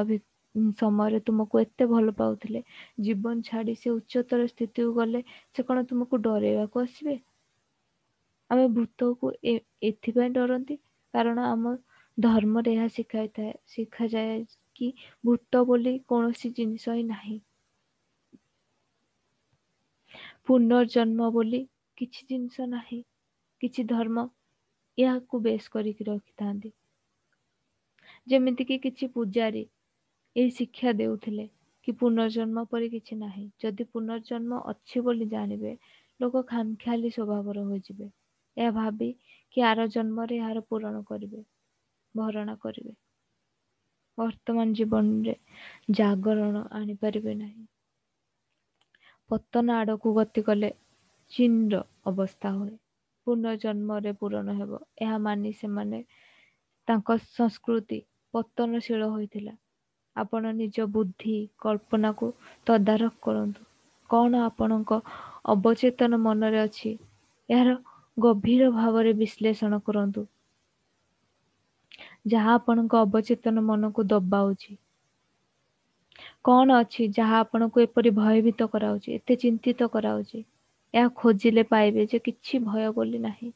ସମୟରେ ତୁମକୁ ଏତେ ଭଲ ପାଉଥିଲେ, ଜୀବନ ଛାଡ଼ି ସେ ଉଚ୍ଚତର ସ୍ଥିତିକୁ ଗଲେ ସେ କ'ଣ ତୁମକୁ ଡରେଇବାକୁ ଆସିବେ? ଆମେ ଭୂତକୁ ଏଥିପାଇଁ ଡରନ୍ତି କାରଣ ଆମ ଧର୍ମରେ ଏହା ଶିଖାଇଥାଏ ଶିଖାଯାଏ କି ଭୂତ ବୋଲି କୌଣସି ଜିନିଷ ହିଁ ନାହିଁ। ପୁନର୍ଜନ୍ମ ବୋଲି କିଛି ଜିନିଷ ନାହିଁ। କିଛି ଧର୍ମ ଏହାକୁ ବେଶ କରିକି ରଖିଥାନ୍ତି। ଯେମିତିକି କିଛି ପୂଜାରୀ ଏହି ଶିକ୍ଷା ଦେଉଥିଲେ କି ପୁନର୍ଜନ୍ମ ପରି କିଛି ନାହିଁ। ଯଦି ପୁନର୍ଜନ୍ମ ଅଛି ବୋଲି ଜାଣିବେ, ଲୋକ ଖାମଖିଆଲି ସ୍ୱଭାବର ହୋଇଯିବେ, ଏହା ଭାବି କି ଆର ଜନ୍ମରେ ଏହାର ପୂରଣ କରିବେ, ଭରଣା କରିବେ। ବର୍ତ୍ତମାନ ଜୀବନରେ ଜାଗରଣ ଆଣିପାରିବେ ନାହିଁ। ପତନ ଆଡ଼କୁ ଗତି କଲେ ଚୀନର ଅବସ୍ଥା ହୁଏ। ପୁନର୍ଜନ୍ମରେ ପୂରଣ ହେବ ଏହା ମାନି ସେମାନେ ତାଙ୍କ ସଂସ୍କୃତି ପତନଶୀଳ ହୋଇଥିଲା। ଆପଣ ନିଜ ବୁଦ୍ଧି କଳ୍ପନାକୁ ତଦାରଖ କରନ୍ତୁ। କ'ଣ ଆପଣଙ୍କ ଅବଚେତନ ମନରେ ଅଛି ଏହାର ଗଭୀର ଭାବରେ ବିଶ୍ଳେଷଣ କରନ୍ତୁ। ଯାହା ଆପଣଙ୍କ ଅବଚେତନ ମନକୁ ଦବାଉଛି? କଣ ଅଛି ଯାହା ଆପଣଙ୍କୁ ଏପରି ଭୟଭୀତ କରାଉଛି, ଏତେ ଚିନ୍ତିତ କରାଉଛି? ଏହା ଖୋଜିଲେ ପାଇବେ ଯେ କିଛି ଭୟ ବୋଲି ନାହିଁ।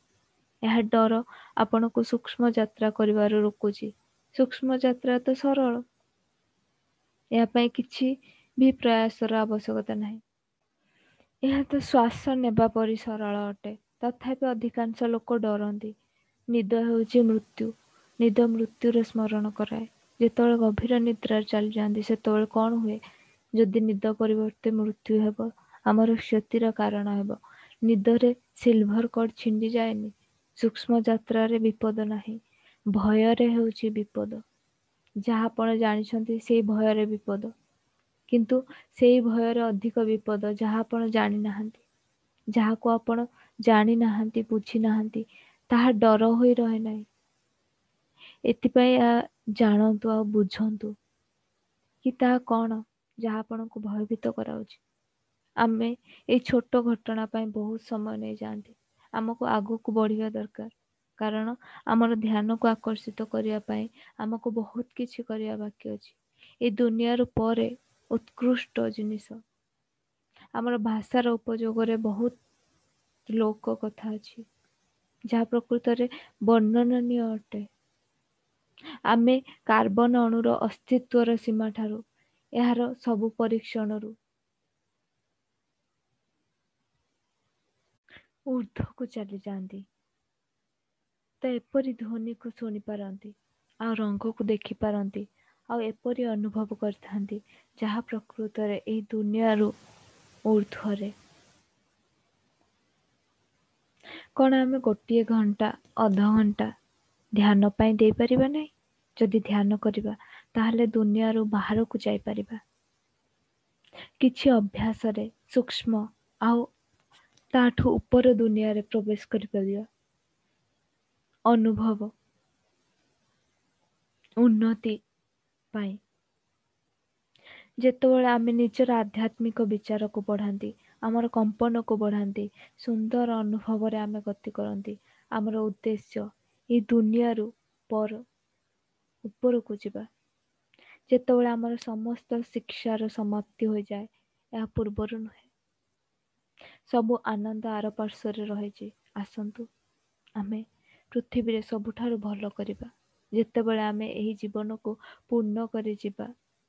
ଏହା ଡର ଆପଣଙ୍କୁ ସୂକ୍ଷ୍ମ ଯାତ୍ରା କରିବାରୁ ରୋକୁଛି। ସୂକ୍ଷ୍ମ ଯାତ୍ରା ତ ସରଳ, ଏହା ପାଇଁ କିଛି ବି ପ୍ରୟାସର ଆବଶ୍ୟକତା ନାହିଁ। ଏହା ତ ଶ୍ୱାସ ନେବା ପରି ସରଳ ଅଟେ। ତଥାପି ଅଧିକାଂଶ ଲୋକ ଡରନ୍ତି। ନିଦ ହେଉଛି ମୃତ୍ୟୁ। ନିଦ ମୃତ୍ୟୁର ସ୍ମରଣ କରାଏ। ଯେତେବେଳେ ଗଭୀର ନିଦ୍ରାରେ ଚାଲିଯାଆନ୍ତି ସେତେବେଳେ କଣ ହୁଏ? ଯଦି ନିଦ ପରିବର୍ତ୍ତେ ମୃତ୍ୟୁ ହେବ, ଆମର କ୍ଷତିର କାରଣ ହେବ। ନିଦରେ ସିଲଭର କର୍ଡ ଛିଣ୍ଡି ଯାଏନି। ସୂକ୍ଷ୍ମ ଯାତ୍ରାରେ ବିପଦ ନାହିଁ। ଭୟରେ ହେଉଛି ବିପଦ। ଯାହା ଆପଣ ଜାଣିଛନ୍ତି ସେଇ ଭୟରେ ବିପଦ, କିନ୍ତୁ ସେଇ ଭୟରେ ଅଧିକ ବିପଦ ଯାହା ଆପଣ ଜାଣିନାହାନ୍ତି। ଯାହାକୁ ଆପଣ ଜାଣିନାହାନ୍ତି, ବୁଝିନାହାନ୍ତି, ତାହା ଡର ହୋଇ ରହେ ନାହିଁ। ଏଥିପାଇଁ ଏହା ଜାଣନ୍ତୁ ଆଉ ବୁଝନ୍ତୁ କି ତାହା କଣ ଯାହା ଆପଣଙ୍କୁ ଭୟଭୀତ କରାଉଛି। ଆମେ ଏଇ ଛୋଟ ଘଟଣା ପାଇଁ ବହୁତ ସମୟ ନେଇଯାଆନ୍ତି। ଆମକୁ ଆଗକୁ ବଢିବା ଦରକାର, କାରଣ ଆମର ଧ୍ୟାନକୁ ଆକର୍ଷିତ କରିବା ପାଇଁ ଆମକୁ ବହୁତ କିଛି କରିବା ବାକି ଅଛି। ଏଇ ଦୁନିଆର ପରେ ଉତ୍କୃଷ୍ଟ ଜିନିଷ। ଆମର ଭାଷାର ଉପଯୋଗରେ ବହୁତ ଲୋକ କଥା ଅଛି ଯାହା ପ୍ରକୃତରେ ବର୍ଣ୍ଣନୀୟ ଅଟେ। ଆମେ କାର୍ବନ ଅଣୁର ଅସ୍ତିତ୍ୱର ସୀମାଠାରୁ ଏହାର ସବୁ ପରୀକ୍ଷଣରୁ ଊର୍ଦ୍ଧ୍ୱକୁ ଚାଲିଯାଆନ୍ତି ତ ଏପରି ଧ୍ୱନିକୁ ଶୁଣିପାରନ୍ତି ଆଉ ରଙ୍ଗକୁ ଦେଖିପାରନ୍ତି ଆଉ ଏପରି ଅନୁଭବ କରିଥାନ୍ତି ଯାହା ପ୍ରକୃତରେ ଏହି ଦୁନିଆରୁ ଊର୍ଦ୍ଧ୍ୱରେ। କଣ ଆମେ ଗୋଟିଏ ଘଣ୍ଟା ଅଧଘଣ୍ଟା ଧ୍ୟାନ ପାଇଁ ଦେଇପାରିବା ନାହିଁ? ଯଦି ଧ୍ୟାନ କରିବା ତାହେଲେ ଦୁନିଆରୁ ବାହାରକୁ ଯାଇପାରିବା। କିଛି ଅଭ୍ୟାସରେ ସୂକ୍ଷ୍ମ ଆଉ ତାଠୁ ଉପର ଦୁନିଆରେ ପ୍ରବେଶ କରିପାରିବା। ଅନୁଭବ ଉନ୍ନତି ପାଇଁ ଯେତେବେଳେ ଆମେ ନିଜର ଆଧ୍ୟାତ୍ମିକ ବିଚାରକୁ ବଢ଼ାନ୍ତି, ଆମର କମ୍ପନକୁ ବଢ଼ାନ୍ତି, ସୁନ୍ଦର ଅନୁଭବରେ ଆମେ ଗତି କରନ୍ତି, ଆମର ଉଦ୍ଦେଶ୍ୟ ଏଇ ଦୁନିଆରୁ ପର ଉପରକୁ ଯିବା। ଯେତେବେଳେ ଆମର ସମସ୍ତ ଶିକ୍ଷାର ସମାପ୍ତି ହୋଇଯାଏ, ଏହା ପୂର୍ବରୁ ନୁହେଁ। ସବୁ ଆନନ୍ଦ ଆର ପାର୍ଶ୍ୱରେ ରହିଛି। ଆସନ୍ତୁ ଆମେ ପୃଥିବୀରେ ସବୁଠାରୁ ଭଲ କରିବା। ଯେତେବେଳେ ଆମେ ଏହି ଜୀବନକୁ ପୂର୍ଣ୍ଣ କରିଯିବା,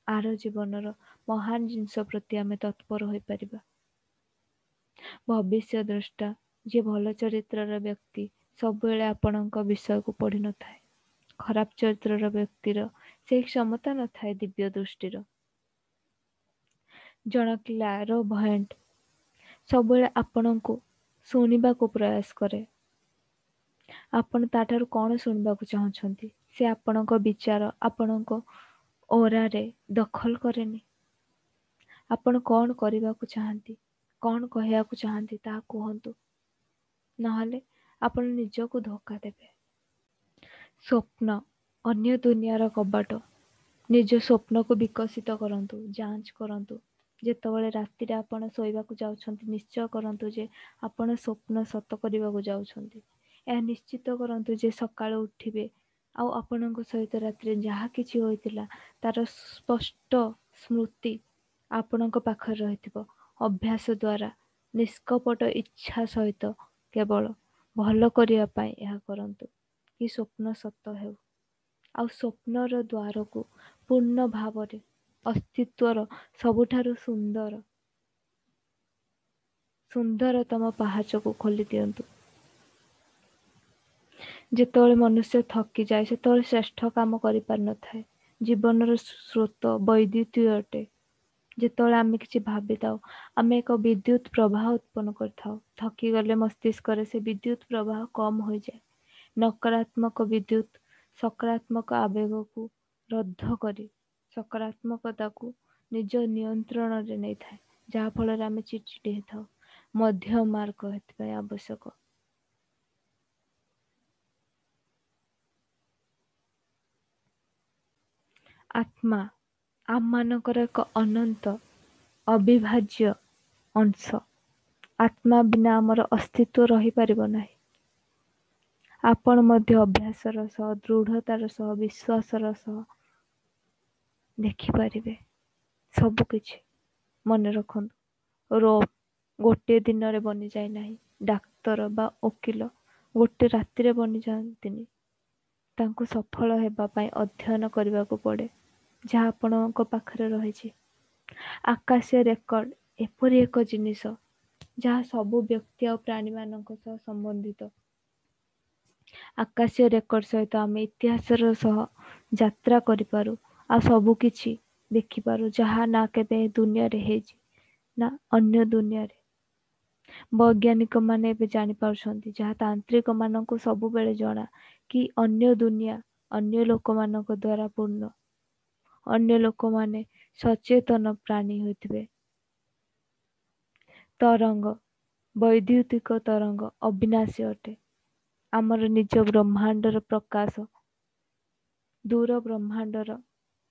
ଆର ଜୀବନର ମହାନ ଜିନିଷ ପ୍ରତି ଆମେ ତତ୍ପର ହୋଇପାରିବା। ଭବିଷ୍ୟ ଦ୍ରଷ୍ଟା ଯିଏ ଭଲ ଚରିତ୍ରର ବ୍ୟକ୍ତି ସବୁବେଳେ ଆପଣଙ୍କ ବିଷୟକୁ ପଢ଼ିନଥାଏ। ଖରାପ ଚରିତ୍ରର ବ୍ୟକ୍ତିର ସେହି କ୍ଷମତା ନଥାଏ ଦିବ୍ୟ ଦୃଷ୍ଟିର। ଜଣ କ୍ଲାରୋଭଏଣ୍ଟ ସବୁବେଳେ ଆପଣଙ୍କୁ ଶୁଣିବାକୁ ପ୍ରୟାସ କରେ। ଆପଣ ତାଠାରୁ କଣ ଶୁଣିବାକୁ ଚାହୁଁଛନ୍ତି ସେ ଆପଣଙ୍କ ବିଚାର, ଆପଣଙ୍କ ଓରାରେ ଦଖଲ କରେନି। ଆପଣ କଣ କରିବାକୁ ଚାହାନ୍ତି, କଣ କହିବାକୁ ଚାହାନ୍ତି ତାହା କୁହନ୍ତୁ, ନହେଲେ ଆପଣ ନିଜକୁ ଧୋକା ଦେବେ। ସ୍ୱପ୍ନ ଅନ୍ୟ ଦୁନିଆର କବାଟ। ନିଜ ସ୍ୱପ୍ନକୁ ବିକଶିତ କରନ୍ତୁ, ଯାଞ୍ଚ କରନ୍ତୁ। ଯେତେବେଳେ ରାତିରେ ଆପଣ ଶୋଇବାକୁ ଯାଉଛନ୍ତି, ନିଶ୍ଚୟ କରନ୍ତୁ ଯେ ଆପଣ ସ୍ୱପ୍ନ ସତ କରିବାକୁ ଯାଉଛନ୍ତି। ଏହା ନିଶ୍ଚିତ କରନ୍ତୁ ଯେ ସକାଳୁ ଉଠିବେ ଆଉ ଆପଣଙ୍କ ସହିତ ରାତିରେ ଯାହା କିଛି ହୋଇଥିଲା ତାର ସ୍ପଷ୍ଟ ସ୍ମୃତି ଆପଣଙ୍କ ପାଖରେ ରହିଥିବ। ଅଭ୍ୟାସ ଦ୍ୱାରା ନିଷ୍କପଟ ଇଚ୍ଛା ସହିତ କେବଳ ଭଲ କରିବା ପାଇଁ ଏହା କରନ୍ତୁ କି ସ୍ୱପ୍ନ ସତ ହେଉ। ଆଉ ସ୍ୱପ୍ନର ଦ୍ୱାରକୁ ପୂର୍ଣ୍ଣ ଭାବରେ ଅସ୍ତିତ୍ୱର ସବୁଠାରୁ ସୁନ୍ଦର ସୁନ୍ଦରତମ ପାହାଚକୁ ଖୋଲି ଦିଅନ୍ତୁ। ଯେତେବେଳେ ମନୁଷ୍ୟ ଥକିଯାଏ ସେତେବେଳେ ଶ୍ରେଷ୍ଠ କାମ କରିପାରିନଥାଏ। ଜୀବନର ସ୍ରୋତ ବୈଦ୍ୟୁତୀୟ ଅଟେ। ଯେତେବେଳେ ଆମେ କିଛି ଭାବିଥାଉ ଆମେ ଏକ ବିଦ୍ୟୁତ ପ୍ରବାହ ଉତ୍ପନ୍ନ କରିଥାଉ। ଥକିଗଲେ ମସ୍ତିଷ୍କରେ ସେ ବିଦ୍ୟୁତ ପ୍ରବାହ କମ୍ ହୋଇଯାଏ। ନକାରାତ୍ମକ ବିଦ୍ୟୁତ ସକାରାତ୍ମକ ଆବେଗକୁ ରଦ୍ଦ କରି ସକାରାତ୍ମକତାକୁ ନିଜ ନିୟନ୍ତ୍ରଣରେ ନେଇଥାଏ, ଯାହାଫଳରେ ଆମେ ଚିଡ଼ିଚିଡ଼ି ହେଇଥାଉ। ମଧ୍ୟ ମାର୍ଗ ଏଥିପାଇଁ ଆବଶ୍ୟକ। ଆତ୍ମା ଆମମାନଙ୍କର ଏକ ଅନନ୍ତ ଅବିଭାଜ୍ୟ ଅଂଶ। ଆତ୍ମା ବିନା ଆମର ଅସ୍ତିତ୍ୱ ରହିପାରିବ ନାହିଁ। ଆପଣ ମଧ୍ୟ ଅଭ୍ୟାସର ସହ, ଦୃଢ଼ତାର ସହ, ବିଶ୍ୱାସର ସହ ଦେଖିପାରିବେ ସବୁକିଛି। ମନେ ରଖନ୍ତୁ, ରୋମ ଗୋଟିଏ ଦିନରେ ବନିଯାଏ ନାହିଁ। ଡାକ୍ତର ବା ଓକିଲ ଗୋଟେ ରାତିରେ ବନିଯାଆନ୍ତିନି। ତାଙ୍କୁ ସଫଳ ହେବା ପାଇଁ ଅଧ୍ୟୟନ କରିବାକୁ ପଡ଼େ, ଯାହା ଆପଣଙ୍କ ପାଖରେ ରହିଛି। ଆକାଶୀୟ ରେକର୍ଡ ଏପରି ଏକ ଜିନିଷ ଯାହା ସବୁ ବ୍ୟକ୍ତି ଆଉ ପ୍ରାଣୀମାନଙ୍କ ସହ ସମ୍ବନ୍ଧିତ। ଆକାଶୀୟ ରେକର୍ଡ ସହିତ ଆମେ ଇତିହାସର ସହ ଯାତ୍ରା କରିପାରୁ ଆଉ ସବୁକିଛି ଦେଖିପାରୁ, ଯାହା ନା କେବେ ଦୁନିଆରେ ହେଇଛି ନା ଅନ୍ୟ ଦୁନିଆରେ। ବୈଜ୍ଞାନିକମାନେ ଏବେ ଜାଣିପାରୁଛନ୍ତି, ଯାହା ତାନ୍ତ୍ରିକମାନଙ୍କୁ ସବୁବେଳେ ଜଣା, କି ଅନ୍ୟ ଦୁନିଆ ଅନ୍ୟ ଲୋକମାନଙ୍କ ଦ୍ୱାରା ପୂର୍ଣ୍ଣ। ଅନ୍ୟ ଲୋକମାନେ ସଚେତନ ପ୍ରାଣୀ ହୋଇଥିବେ। ତରଙ୍ଗ, ବୈଦ୍ୟୁତିକ ତରଙ୍ଗ ଅବିନାଶୀ ଅଟେ। ଆମର ନିଜ ବ୍ରହ୍ମାଣ୍ଡର ପ୍ରକାଶ ଦୂର ବ୍ରହ୍ମାଣ୍ଡର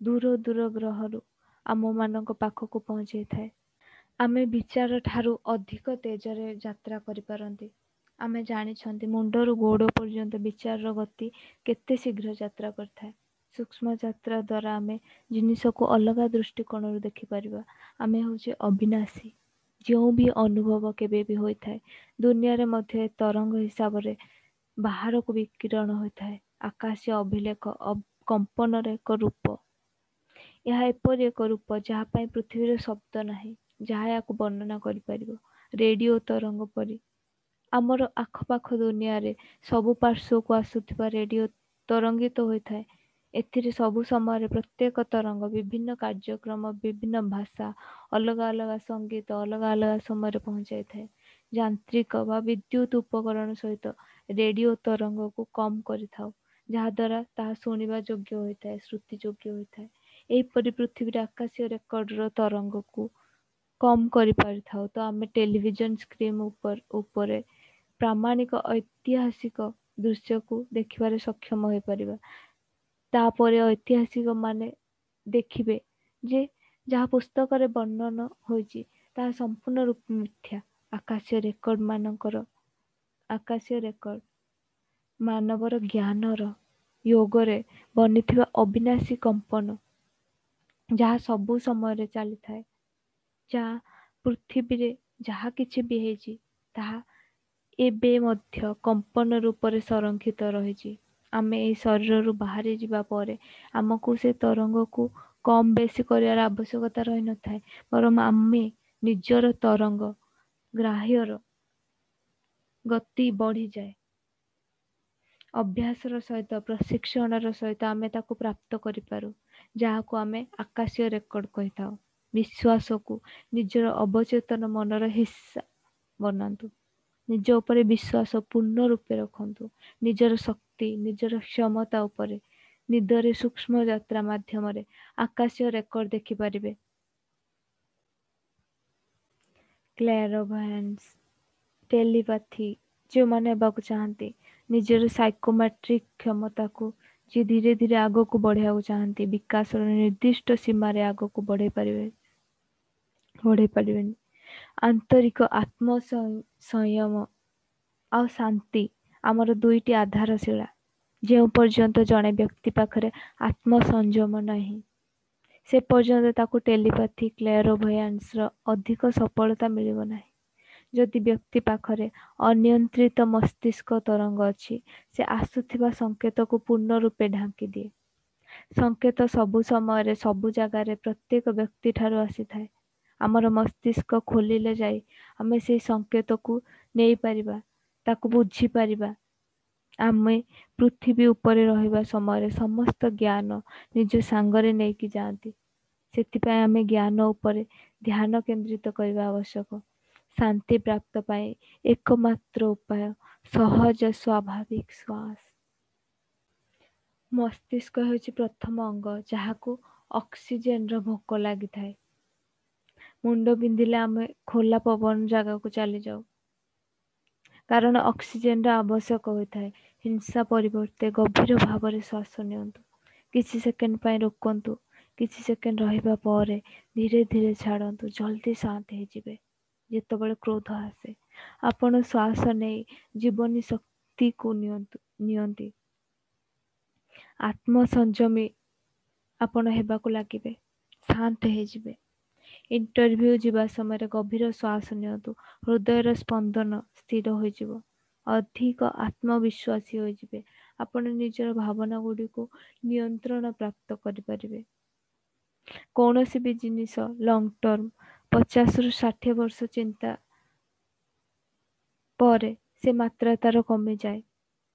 ଦୂର ଦୂର ଗ୍ରହରୁ ଆମମାନଙ୍କ ପାଖକୁ ପହଞ୍ଚେଇଥାଏ। ଆମେ ବିଚାର ଠାରୁ ଅଧିକ ତେଜରେ ଯାତ୍ରା କରିପାରନ୍ତି। ଆମେ ଜାଣିଛନ୍ତି ମୁଣ୍ଡରୁ ଗୋଡ଼ ପର୍ଯ୍ୟନ୍ତ ବିଚାରର ଗତି କେତେ ଶୀଘ୍ର ଯାତ୍ରା କରିଥାଏ। ସୂକ୍ଷ୍ମ ଯାତ୍ରା ଦ୍ୱାରା ଆମେ ଜିନିଷକୁ ଅଲଗା ଦୃଷ୍ଟିକୋଣରୁ ଦେଖିପାରିବା। ଆମେ ହେଉଛେ ଅବିନାଶୀ। ଯେଉଁ ବି ଅନୁଭବ କେବେ ବି ହୋଇଥାଏ, ଦୁନିଆରେ ମଧ୍ୟ ତରଙ୍ଗ ହିସାବରେ ବାହାରକୁ ବିକିରଣ ହୋଇଥାଏ। ଆକାଶୀୟ ଅଭିଲେଖ କମ୍ପନର ଏକ ରୂପ। ଏହା ଏପରି ଏକ ରୂପ ଯାହା ପାଇଁ ପୃଥିବୀର ଶବ୍ଦ ନାହିଁ ଯାହା ଏହାକୁ ବର୍ଣ୍ଣନା କରିପାରିବ। ରେଡ଼ିଓ ତରଙ୍ଗ ପରି ଆମର ଆଖପାଖ ଦୁନିଆରେ ସବୁ ପାର୍ଶ୍ୱକୁ ଆସୁଥିବା ରେଡ଼ିଓ ତରଙ୍ଗିତ ହୋଇଥାଏ। ଏଥିରେ ସବୁ ସମୟରେ ପ୍ରତ୍ୟେକ ତରଙ୍ଗ ବିଭିନ୍ନ କାର୍ଯ୍ୟକ୍ରମ, ବିଭିନ୍ନ ଭାଷା, ଅଲଗା ଅଲଗା ସଙ୍ଗୀତ ଅଲଗା ଅଲଗା ସମୟରେ ପହଞ୍ଚାଇଥାଏ। ଯାନ୍ତ୍ରିକ ବା ବିଦ୍ୟୁତ ଉପକରଣ ସହିତ ରେଡ଼ିଓ ତରଙ୍ଗକୁ କମ୍ କରିଥାଉ, ଯାହାଦ୍ୱାରା ତାହା ଶୁଣିବା ଯୋଗ୍ୟ ହୋଇଥାଏ, ଶ୍ରୁତି ଯୋଗ୍ୟ ହୋଇଥାଏ। ଏହିପରି ପୃଥିବୀର ଆକାଶୀୟ ରେକର୍ଡର ତରଙ୍ଗକୁ କମ୍ କରିପାରିଥାଉ ତ ଆମେ ଟେଲିଭିଜନ ସ୍କ୍ରିନ୍ ଉପରେ ପ୍ରାମାଣିକ ଐତିହାସିକ ଦୃଶ୍ୟକୁ ଦେଖିବାରେ ସକ୍ଷମ ହୋଇପାରିବା। ତାପରେ ଐତିହାସିକ ମାନେ ଦେଖିବେ ଯେ ଯାହା ପୁସ୍ତକରେ ବର୍ଣ୍ଣନ ହୋଇଛି ତାହା ସମ୍ପୂର୍ଣ୍ଣ ରୂପେ ମିଥ୍ୟା। ଆକାଶୀୟ ରେକର୍ଡ ମାନଙ୍କର ଆକାଶୀୟ ରେକର୍ଡ ମାନବର ଜ୍ଞାନର ୟୋଗରେ ବନିଥିବା ଅବିନାଶୀ କମ୍ପନ, ଯାହା ସବୁ ସମୟରେ ଚାଲିଥାଏ, ଯାହା ପୃଥିବୀରେ ଯାହା କିଛି ବି ହେଇଛି ତାହା ଏବେ ମଧ୍ୟ କମ୍ପନ ରୂପରେ ସଂରକ୍ଷିତ ରହିଛି। ଆମେ ଏହି ଶରୀରରୁ ବାହାରି ଯିବା ପରେ ଆମକୁ ସେ ତରଙ୍ଗକୁ କମ୍ ବେଶୀ କରିବାର ଆବଶ୍ୟକତା ରହିନଥାଏ, ବରଂ ଆମେ ନିଜର ତରଙ୍ଗ ଗ୍ରାହ୍ୟର ଗତି ବଢ଼ିଯାଏ। ଅଭ୍ୟାସର ସହିତ, ପ୍ରଶିକ୍ଷଣର ସହିତ ଆମେ ତାକୁ ପ୍ରାପ୍ତ କରିପାରୁ, ଯାହାକୁ ଆମେ ଆକାଶୀୟ ରେକର୍ଡ କହିଥାଉ। ବିଶ୍ୱାସକୁ ନିଜର ଅବଚେତନ ମନର ହିସ୍ସା ବନାନ୍ତୁ। ନିଜ ଉପରେ ବିଶ୍ୱାସ ପୂର୍ଣ୍ଣ ରୂପେ ରଖନ୍ତୁ। ନିଜର ଶକ୍ତି, ନିଜର କ୍ଷମତା ଉପରେ ନିଦରେ ସୂକ୍ଷ୍ମ ଯାତ୍ରା ମାଧ୍ୟମରେ ଆକାଶୀୟ ରେକର୍ଡ ଦେଖିପାରିବେ। କ୍ଲେୟାରଭଏନ୍ସ, ଟେଲିପାଥି ଯେଉଁମାନେ ହେବାକୁ ଚାହାନ୍ତି, ନିଜର ସାଇକୋମେଟ୍ରିକ୍ କ୍ଷମତାକୁ ଯିଏ ଧୀରେ ଧୀରେ ଆଗକୁ ବଢ଼େଇବାକୁ ଚାହାନ୍ତି, ବିକାଶର ନିର୍ଦ୍ଦିଷ୍ଟ ସୀମାରେ ଆଗକୁ ବଢ଼େଇ ପାରିବେ ବଢ଼େଇ ପାରିବେନି। ଆନ୍ତରିକ ଆତ୍ମ ସଂୟମ ଆଉ ଶାନ୍ତି ଆମର ଦୁଇଟି ଆଧାରଶିଳା। ଯେଉଁ ପର୍ଯ୍ୟନ୍ତ ଜଣେ ବ୍ୟକ୍ତି ପାଖରେ ଆତ୍ମସଂଯମ ନାହିଁ, ସେ ପର୍ଯ୍ୟନ୍ତ ତାକୁ ଟେଲିପାଥି, କ୍ଲେୟାରଭଏନ୍ସର ଅଧିକ ସଫଳତା ମିଳିବ ନାହିଁ। ଯଦି ବ୍ୟକ୍ତି ପାଖରେ ଅନିୟନ୍ତ୍ରିତ ମସ୍ତିଷ୍କ ତରଙ୍ଗ ଅଛି, ସେ ଆସୁଥିବା ସଂକେତକୁ ପୂର୍ଣ୍ଣ ରୂପେ ଢାଙ୍କି ଦିଏ। ସଂକେତ ସବୁ ସମୟରେ, ସବୁ ଜାଗାରେ, ପ୍ରତ୍ୟେକ ବ୍ୟକ୍ତିଠାରୁ ଆସିଥାଏ। ଆମର ମସ୍ତିଷ୍କ ଖୋଲିଲେ ଯାଇ ଆମେ ସେଇ ସଂକେତକୁ ନେଇପାରିବା, ତାକୁ ବୁଝିପାରିବା। ଆମେ ପୃଥିବୀ ଉପରେ ରହିବା ସମୟରେ ସମସ୍ତ ଜ୍ଞାନ ନିଜ ସାଙ୍ଗରେ ନେଇକି ଯାଆନ୍ତି। ସେଥିପାଇଁ ଆମେ ଜ୍ଞାନ ଉପରେ ଧ୍ୟାନ କେନ୍ଦ୍ରିତ କରିବା ଆବଶ୍ୟକ। ଶାନ୍ତି ପ୍ରାପ୍ତ ପାଇଁ ଏକମାତ୍ର ଉପାୟ ସହଜ ସ୍ୱାଭାବିକ ଶ୍ୱାସ। ମସ୍ତିଷ୍କ ହେଉଛି ପ୍ରଥମ ଅଙ୍ଗ ଯାହାକୁ ଅକ୍ସିଜେନର ଭୋକ ଲାଗିଥାଏ। ମୁଣ୍ଡ ବିନ୍ଧିଲେ ଆମେ ଖୋଲା ପବନ ଜାଗାକୁ ଚାଲିଯାଉ, କାରଣ ଅକ୍ସିଜେନର ଆବଶ୍ୟକ ହୋଇଥାଏ। ହିଂସା ପରିବର୍ତ୍ତେ ଗଭୀର ଭାବରେ ଶ୍ୱାସ ନିଅନ୍ତୁ। କିଛି ସେକେଣ୍ଡ ପାଇଁ ରୋକନ୍ତୁ। କିଛି ସେକେଣ୍ଡ ରହିବା ପରେ ଧୀରେ ଧୀରେ ଛାଡ଼ନ୍ତୁ। ଜଲ୍ଦି ଶାନ୍ତ ହେଇଯିବେ। ଯେତେବେଳେ କ୍ରୋଧ ଆସେ, ଆପଣ ଶ୍ୱାସ ନେଇ ଜୀବନୀ ଶକ୍ତିକୁ ନିଅନ୍ତୁ। ନିଅନ୍ତି। ଆତ୍ମସଂଯମୀ ଆପଣ ହେବାକୁ ଲାଗିବେ, ଶାନ୍ତ ହେଇଯିବେ। ଇଣ୍ଟରଭ୍ୟୁ ଯିବା ସମୟରେ ଗଭୀର ଶ୍ୱାସ ନିଅନ୍ତୁ, ହୃଦୟର ସ୍ପନ୍ଦନ ସ୍ଥିର ହୋଇଯିବ, ଅଧିକ ଆତ୍ମବିଶ୍ୱାସୀ ହୋଇଯିବେ। ଆପଣ ନିଜର ଭାବନା ଗୁଡ଼ିକୁ ନିୟନ୍ତ୍ରଣ ପ୍ରାପ୍ତ କରିପାରିବେ। କୌଣସି ବି ଜିନିଷ ଲଙ୍ଗ ଟର୍ମ ପଚାଶରୁ ଷାଠିଏ ବର୍ଷ ଚିନ୍ତା ପରେ ସେ ମାତ୍ରା ତାର କମିଯାଏ।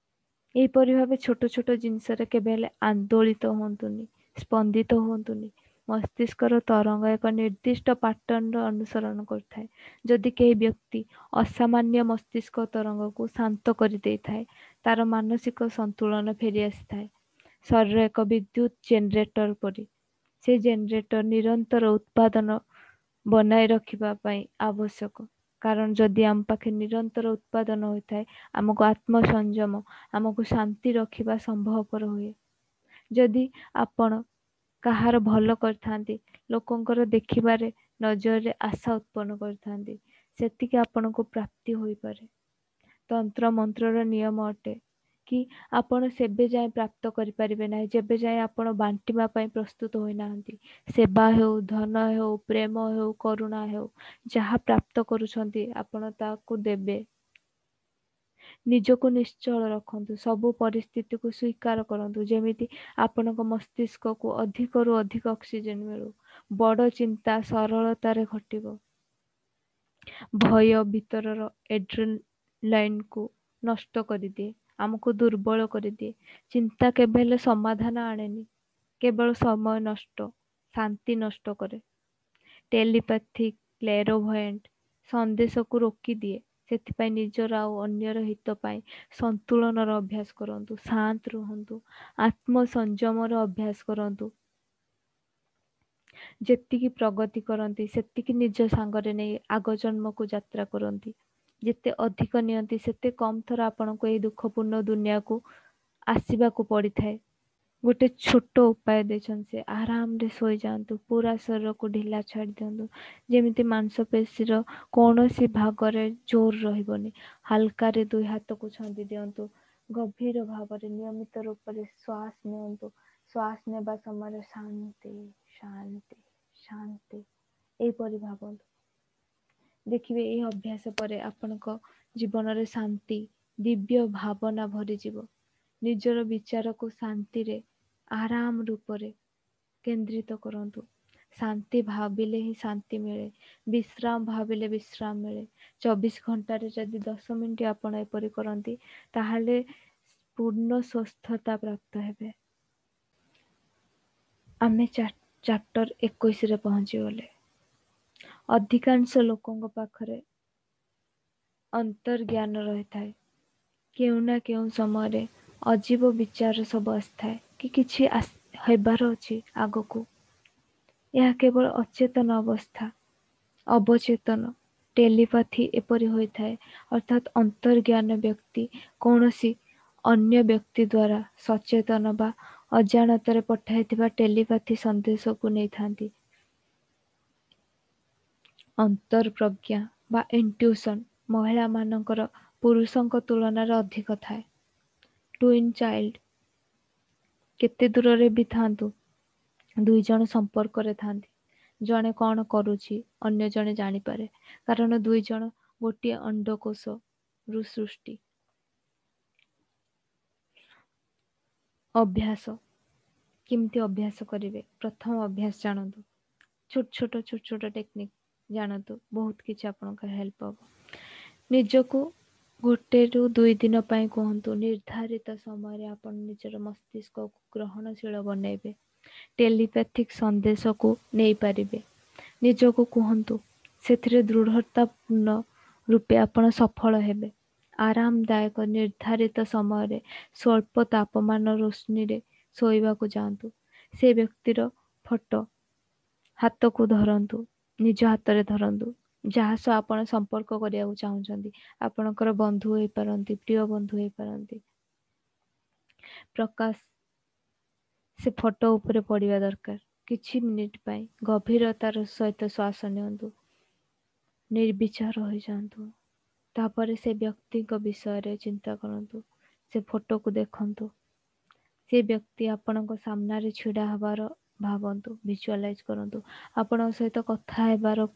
ଏହିପରି ଭାବେ ଛୋଟ ଛୋଟ ଜିନିଷରେ କେବେ ହେଲେ ଆନ୍ଦୋଳିତ ହୁଅନ୍ତୁନି, ସ୍ପନ୍ଦିତ ହୁଅନ୍ତୁନି। ମସ୍ତିଷ୍କର ତରଙ୍ଗ ଏକ ନିର୍ଦ୍ଦିଷ୍ଟ ପାଟର୍ନର ଅନୁସରଣ କରିଥାଏ। ଯଦି କେହି ବ୍ୟକ୍ତି ଅସାମାନ୍ୟ ମସ୍ତିଷ୍କ ତରଙ୍ଗକୁ ଶାନ୍ତ କରିଦେଇଥାଏ, ତାର ମାନସିକ ସନ୍ତୁଳନ ଫେରି ଆସିଥାଏ। ଶରୀର ଏକ ବିଦ୍ୟୁତ ଜେନେରେଟର ପରି। ସେ ଜେନେରେଟର ନିରନ୍ତର ଉତ୍ପାଦନ ବନାଇ ରଖିବା ପାଇଁ ଆବଶ୍ୟକ। କାରଣ ଯଦି ଆମ ପାଖେ ନିରନ୍ତର ଉତ୍ପାଦନ ହୋଇଥାଏ, ଆମକୁ ଆତ୍ମସଂଯମ, ଆମକୁ ଶାନ୍ତି ରଖିବା ସମ୍ଭବପର ହୁଏ। ଯଦି ଆପଣ କାହାର ଭଲ କରିଥାନ୍ତି, ଲୋକଙ୍କର ଦେଖିବାରେ ନଜରରେ ଆଶା ଉତ୍ପନ୍ନ କରିଥାନ୍ତି, ସେତିକି ଆପଣଙ୍କୁ ପ୍ରାପ୍ତି ହୋଇପାରେ। ତନ୍ତ୍ର ମନ୍ତ୍ରର ନିୟମ ଅଟେ କି ଆପଣ ସେବେ ଯାଏଁ ପ୍ରାପ୍ତ କରିପାରିବେ ନାହିଁ ଯେବେ ଯାଏଁ ଆପଣ ବାଣ୍ଟିବା ପାଇଁ ପ୍ରସ୍ତୁତ ହୋଇନାହାନ୍ତି। ସେବା ହେଉ, ଧନ ହେଉ, ପ୍ରେମ ହେଉ, କରୁଣା ହେଉ, ଯାହା ପ୍ରାପ୍ତ କରୁଛନ୍ତି ଆପଣ ତାକୁ ଦେବେ। ନିଜକୁ ନିଶ୍ଚଳ ରଖନ୍ତୁ, ସବୁ ପରିସ୍ଥିତିକୁ ସ୍ୱୀକାର କରନ୍ତୁ, ଯେମିତି ଆପଣଙ୍କ ମସ୍ତିଷ୍କକୁ ଅଧିକରୁ ଅଧିକ ଅକ୍ସିଜେନ ମିଳୁ। ବଡ଼ ଚିନ୍ତା ସରଳତାରେ ଘଟିବ। ଭୟ ଭିତରର ଏଡ୍ରେନାଲାଇନକୁ ନଷ୍ଟ କରିଦିଏ, ଆମକୁ ଦୁର୍ବଳ କରିଦିଏ। ଚିନ୍ତା କେବେ ହେଲେ ସମାଧାନ ଆଣେନି, କେବଳ ସମୟ ନଷ୍ଟ, ଶାନ୍ତି ନଷ୍ଟ କରେ। ଟେଲିପାଥିକ, କ୍ଲେରୋଭଏଣ୍ଟ ସନ୍ଦେଶକୁ ରୋକିଦିଏ। ସେଥିପାଇଁ ନିଜର ଆଉ ଅନ୍ୟର ହିତ ପାଇଁ ସନ୍ତୁଳନର ଅଭ୍ୟାସ କରନ୍ତୁ, ଶାନ୍ତ ରୁହନ୍ତୁ, ଆତ୍ମସଂଯମର ଅଭ୍ୟାସ କରନ୍ତୁ। ଯେତିକି ପ୍ରଗତି କରନ୍ତି ସେତିକି ନିଜ ସାଙ୍ଗରେ ନେଇ ଆଗ ଜନ୍ମକୁ ଯାତ୍ରା କରନ୍ତି। ଯେତେ ଅଧିକ ନିଅନ୍ତି ସେତେ କମ୍ ଥର ଆପଣଙ୍କୁ ଏହି ଦୁଃଖପୂର୍ଣ୍ଣ ଦୁନିଆକୁ ଆସିବାକୁ ପଡ଼ିଥାଏ। ଗୋଟେ ଛୋଟ ଉପାୟ ଦେଇଛନ୍ତି ସେ, ଆରାମରେ ଶୋଇଯାଆନ୍ତୁ, ପୁରା ଶରୀରକୁ ଢିଲା ଛାଡ଼ି ଦିଅନ୍ତୁ, ଯେମିତି ମାଂସପେଶୀର କୌଣସି ଭାଗରେ ଜୋର ରହିବନି। ହାଲକାରେ ଦୁଇ ହାତକୁ ଛନ୍ଦି ଦିଅନ୍ତୁ, ଗଭୀର ଭାବରେ ନିୟମିତ ରୂପରେ ଶ୍ୱାସ ନିଅନ୍ତୁ। ଶ୍ୱାସ ନେବା ସମୟରେ ଶାନ୍ତି ଶାନ୍ତି ଶାନ୍ତି ଏହିପରି ଭାବନ୍ତୁ। ଦେଖିବେ ଏହି ଅଭ୍ୟାସ ପରେ ଆପଣଙ୍କ ଜୀବନରେ ଶାନ୍ତି, ଦିବ୍ୟ ଭାବନା ଭରିଯିବ। ନିଜର ବିଚାରକୁ ଶାନ୍ତିରେ ଆରାମ ରୂପରେ କେନ୍ଦ୍ରିତ କରନ୍ତୁ। ଶାନ୍ତି ଭାବିଲେ ହିଁ ଶାନ୍ତି ମିଳେ, ବିଶ୍ରାମ ଭାବିଲେ ବିଶ୍ରାମ ମିଳେ। ଚବିଶ ଘଣ୍ଟାରେ ଯଦି ଦଶ ମିନିଟ୍ ଆପଣ ଏପରି କରନ୍ତି, ତାହେଲେ ପୂର୍ଣ୍ଣ ସୁସ୍ଥତା ପ୍ରାପ୍ତ ହେବେ। ଆମେ ଚାପ୍ଟର ଏକୋଇଶରେ ପହଞ୍ଚିଗଲେ। ଅଧିକାଂଶ ଲୋକଙ୍କ ପାଖରେ ଅନ୍ତର୍ଜ୍ଞାନ ରହିଥାଏ। କେଉଁ ନା କେଉଁ ସମୟରେ ଅଜୀବ ବିଚାର ସବୁ ଆସିଥାଏ କି କିଛି ହେବାର ଅଛି ଆଗକୁ। ଏହା କେବଳ ଅଚେତନ ଅବସ୍ଥା, ଅବଚେତନ ଟେଲିପାଥି ଏପରି ହୋଇଥାଏ। ଅର୍ଥାତ୍ ଅନ୍ତର୍ଜ୍ଞାନ ବ୍ୟକ୍ତି କୌଣସି ଅନ୍ୟ ବ୍ୟକ୍ତି ଦ୍ୱାରା ସଚେତନ ବା ଅଜାଣତରେ ପଠାଇଥିବା ଟେଲିପାଥି ସନ୍ଦେଶକୁ ନେଇଥାନ୍ତି। ଅନ୍ତର୍ପ୍ରଜ୍ଞା ବା ଇଣ୍ଟ୍ୟୁସନ୍ ମହିଳାମାନଙ୍କର ପୁରୁଷଙ୍କ ତୁଳନାରେ ଅଧିକ ଥାଏ। ଟୁଇନ୍ ଚାଇଲ୍ଡ କେତେ ଦୂରରେ ବି ଥାନ୍ତୁ, ଦୁଇ ଜଣ ସମ୍ପର୍କରେ ଥାନ୍ତି। ଜଣେ କ'ଣ କରୁଛି ଅନ୍ୟ ଜଣେ ଜାଣିପାରେ, କାରଣ ଦୁଇ ଜଣ ଗୋଟିଏ ଅଣ୍ଡକୋଷରୁ ସୃଷ୍ଟି। ଅଭ୍ୟାସ କେମିତି ଅଭ୍ୟାସ କରିବେ? ପ୍ରଥମ ଅଭ୍ୟାସ ଜାଣନ୍ତୁ, ଛୋଟ ଛୋଟ ଛୋଟ ଛୋଟ ଟେକ୍ନିକ୍ ଜାଣନ୍ତୁ, ବହୁତ କିଛି ଆପଣଙ୍କର ହେଲ୍ପ ହବ। ନିଜକୁ ଗୋଟେରୁ ଦୁଇ ଦିନ ପାଇଁ କୁହନ୍ତୁ, ନିର୍ଦ୍ଧାରିତ ସମୟରେ ଆପଣ ନିଜର ମସ୍ତିଷ୍କକୁ ଗ୍ରହଣଶୀଳ ବନେଇବେ, ଟେଲିପାଥିକ୍ ସନ୍ଦେଶକୁ ନେଇପାରିବେ। ନିଜକୁ କୁହନ୍ତୁ, ସେଥିରେ ଦୃଢ଼ତାପୂର୍ଣ୍ଣ ରୂପେ ଆପଣ ସଫଳ ହେବେ। ଆରାମଦାୟକ ନିର୍ଦ୍ଧାରିତ ସମୟରେ ସ୍ୱଳ୍ପ ତାପମାନ ରୋଶନୀରେ ଶୋଇବାକୁ ଯାଆନ୍ତୁ। ସେ ବ୍ୟକ୍ତିର ଫଟୋ ହାତକୁ ଧରନ୍ତୁ, ନିଜ ହାତରେ ଧରନ୍ତୁ, ଯାହା ସହ ଆପଣ ସମ୍ପର୍କ କରିବାକୁ ଚାହୁଁଛନ୍ତି। ଆପଣଙ୍କର ବନ୍ଧୁ ହେଇପାରନ୍ତି, ପ୍ରିୟ ବନ୍ଧୁ ହେଇପାରନ୍ତି। ପ୍ରକାଶ ସେ ଫଟୋ ଉପରେ ପଡ଼ିବା ଦରକାର। କିଛି ମିନିଟ୍ ପାଇଁ ଗଭୀରତାର ସହିତ ଶ୍ୱାସ ନିଅନ୍ତୁ, ନିର୍ବିଚାର ହୋଇଯାଆନ୍ତୁ। ତାପରେ ସେ ବ୍ୟକ୍ତିଙ୍କ ବିଷୟରେ ଚିନ୍ତା କରନ୍ତୁ। ସେ ଫଟୋକୁ ଦେଖନ୍ତୁ। ସେ ବ୍ୟକ୍ତି ଆପଣଙ୍କ ସାମ୍ନାରେ ଛିଡ଼ା ହେବାର ଭାବନ୍ତୁ, ଭିଜୁଆଲାଇଜ କରନ୍ତୁ। ଆପଣଙ୍କ ସହିତ କଥା ହେବାର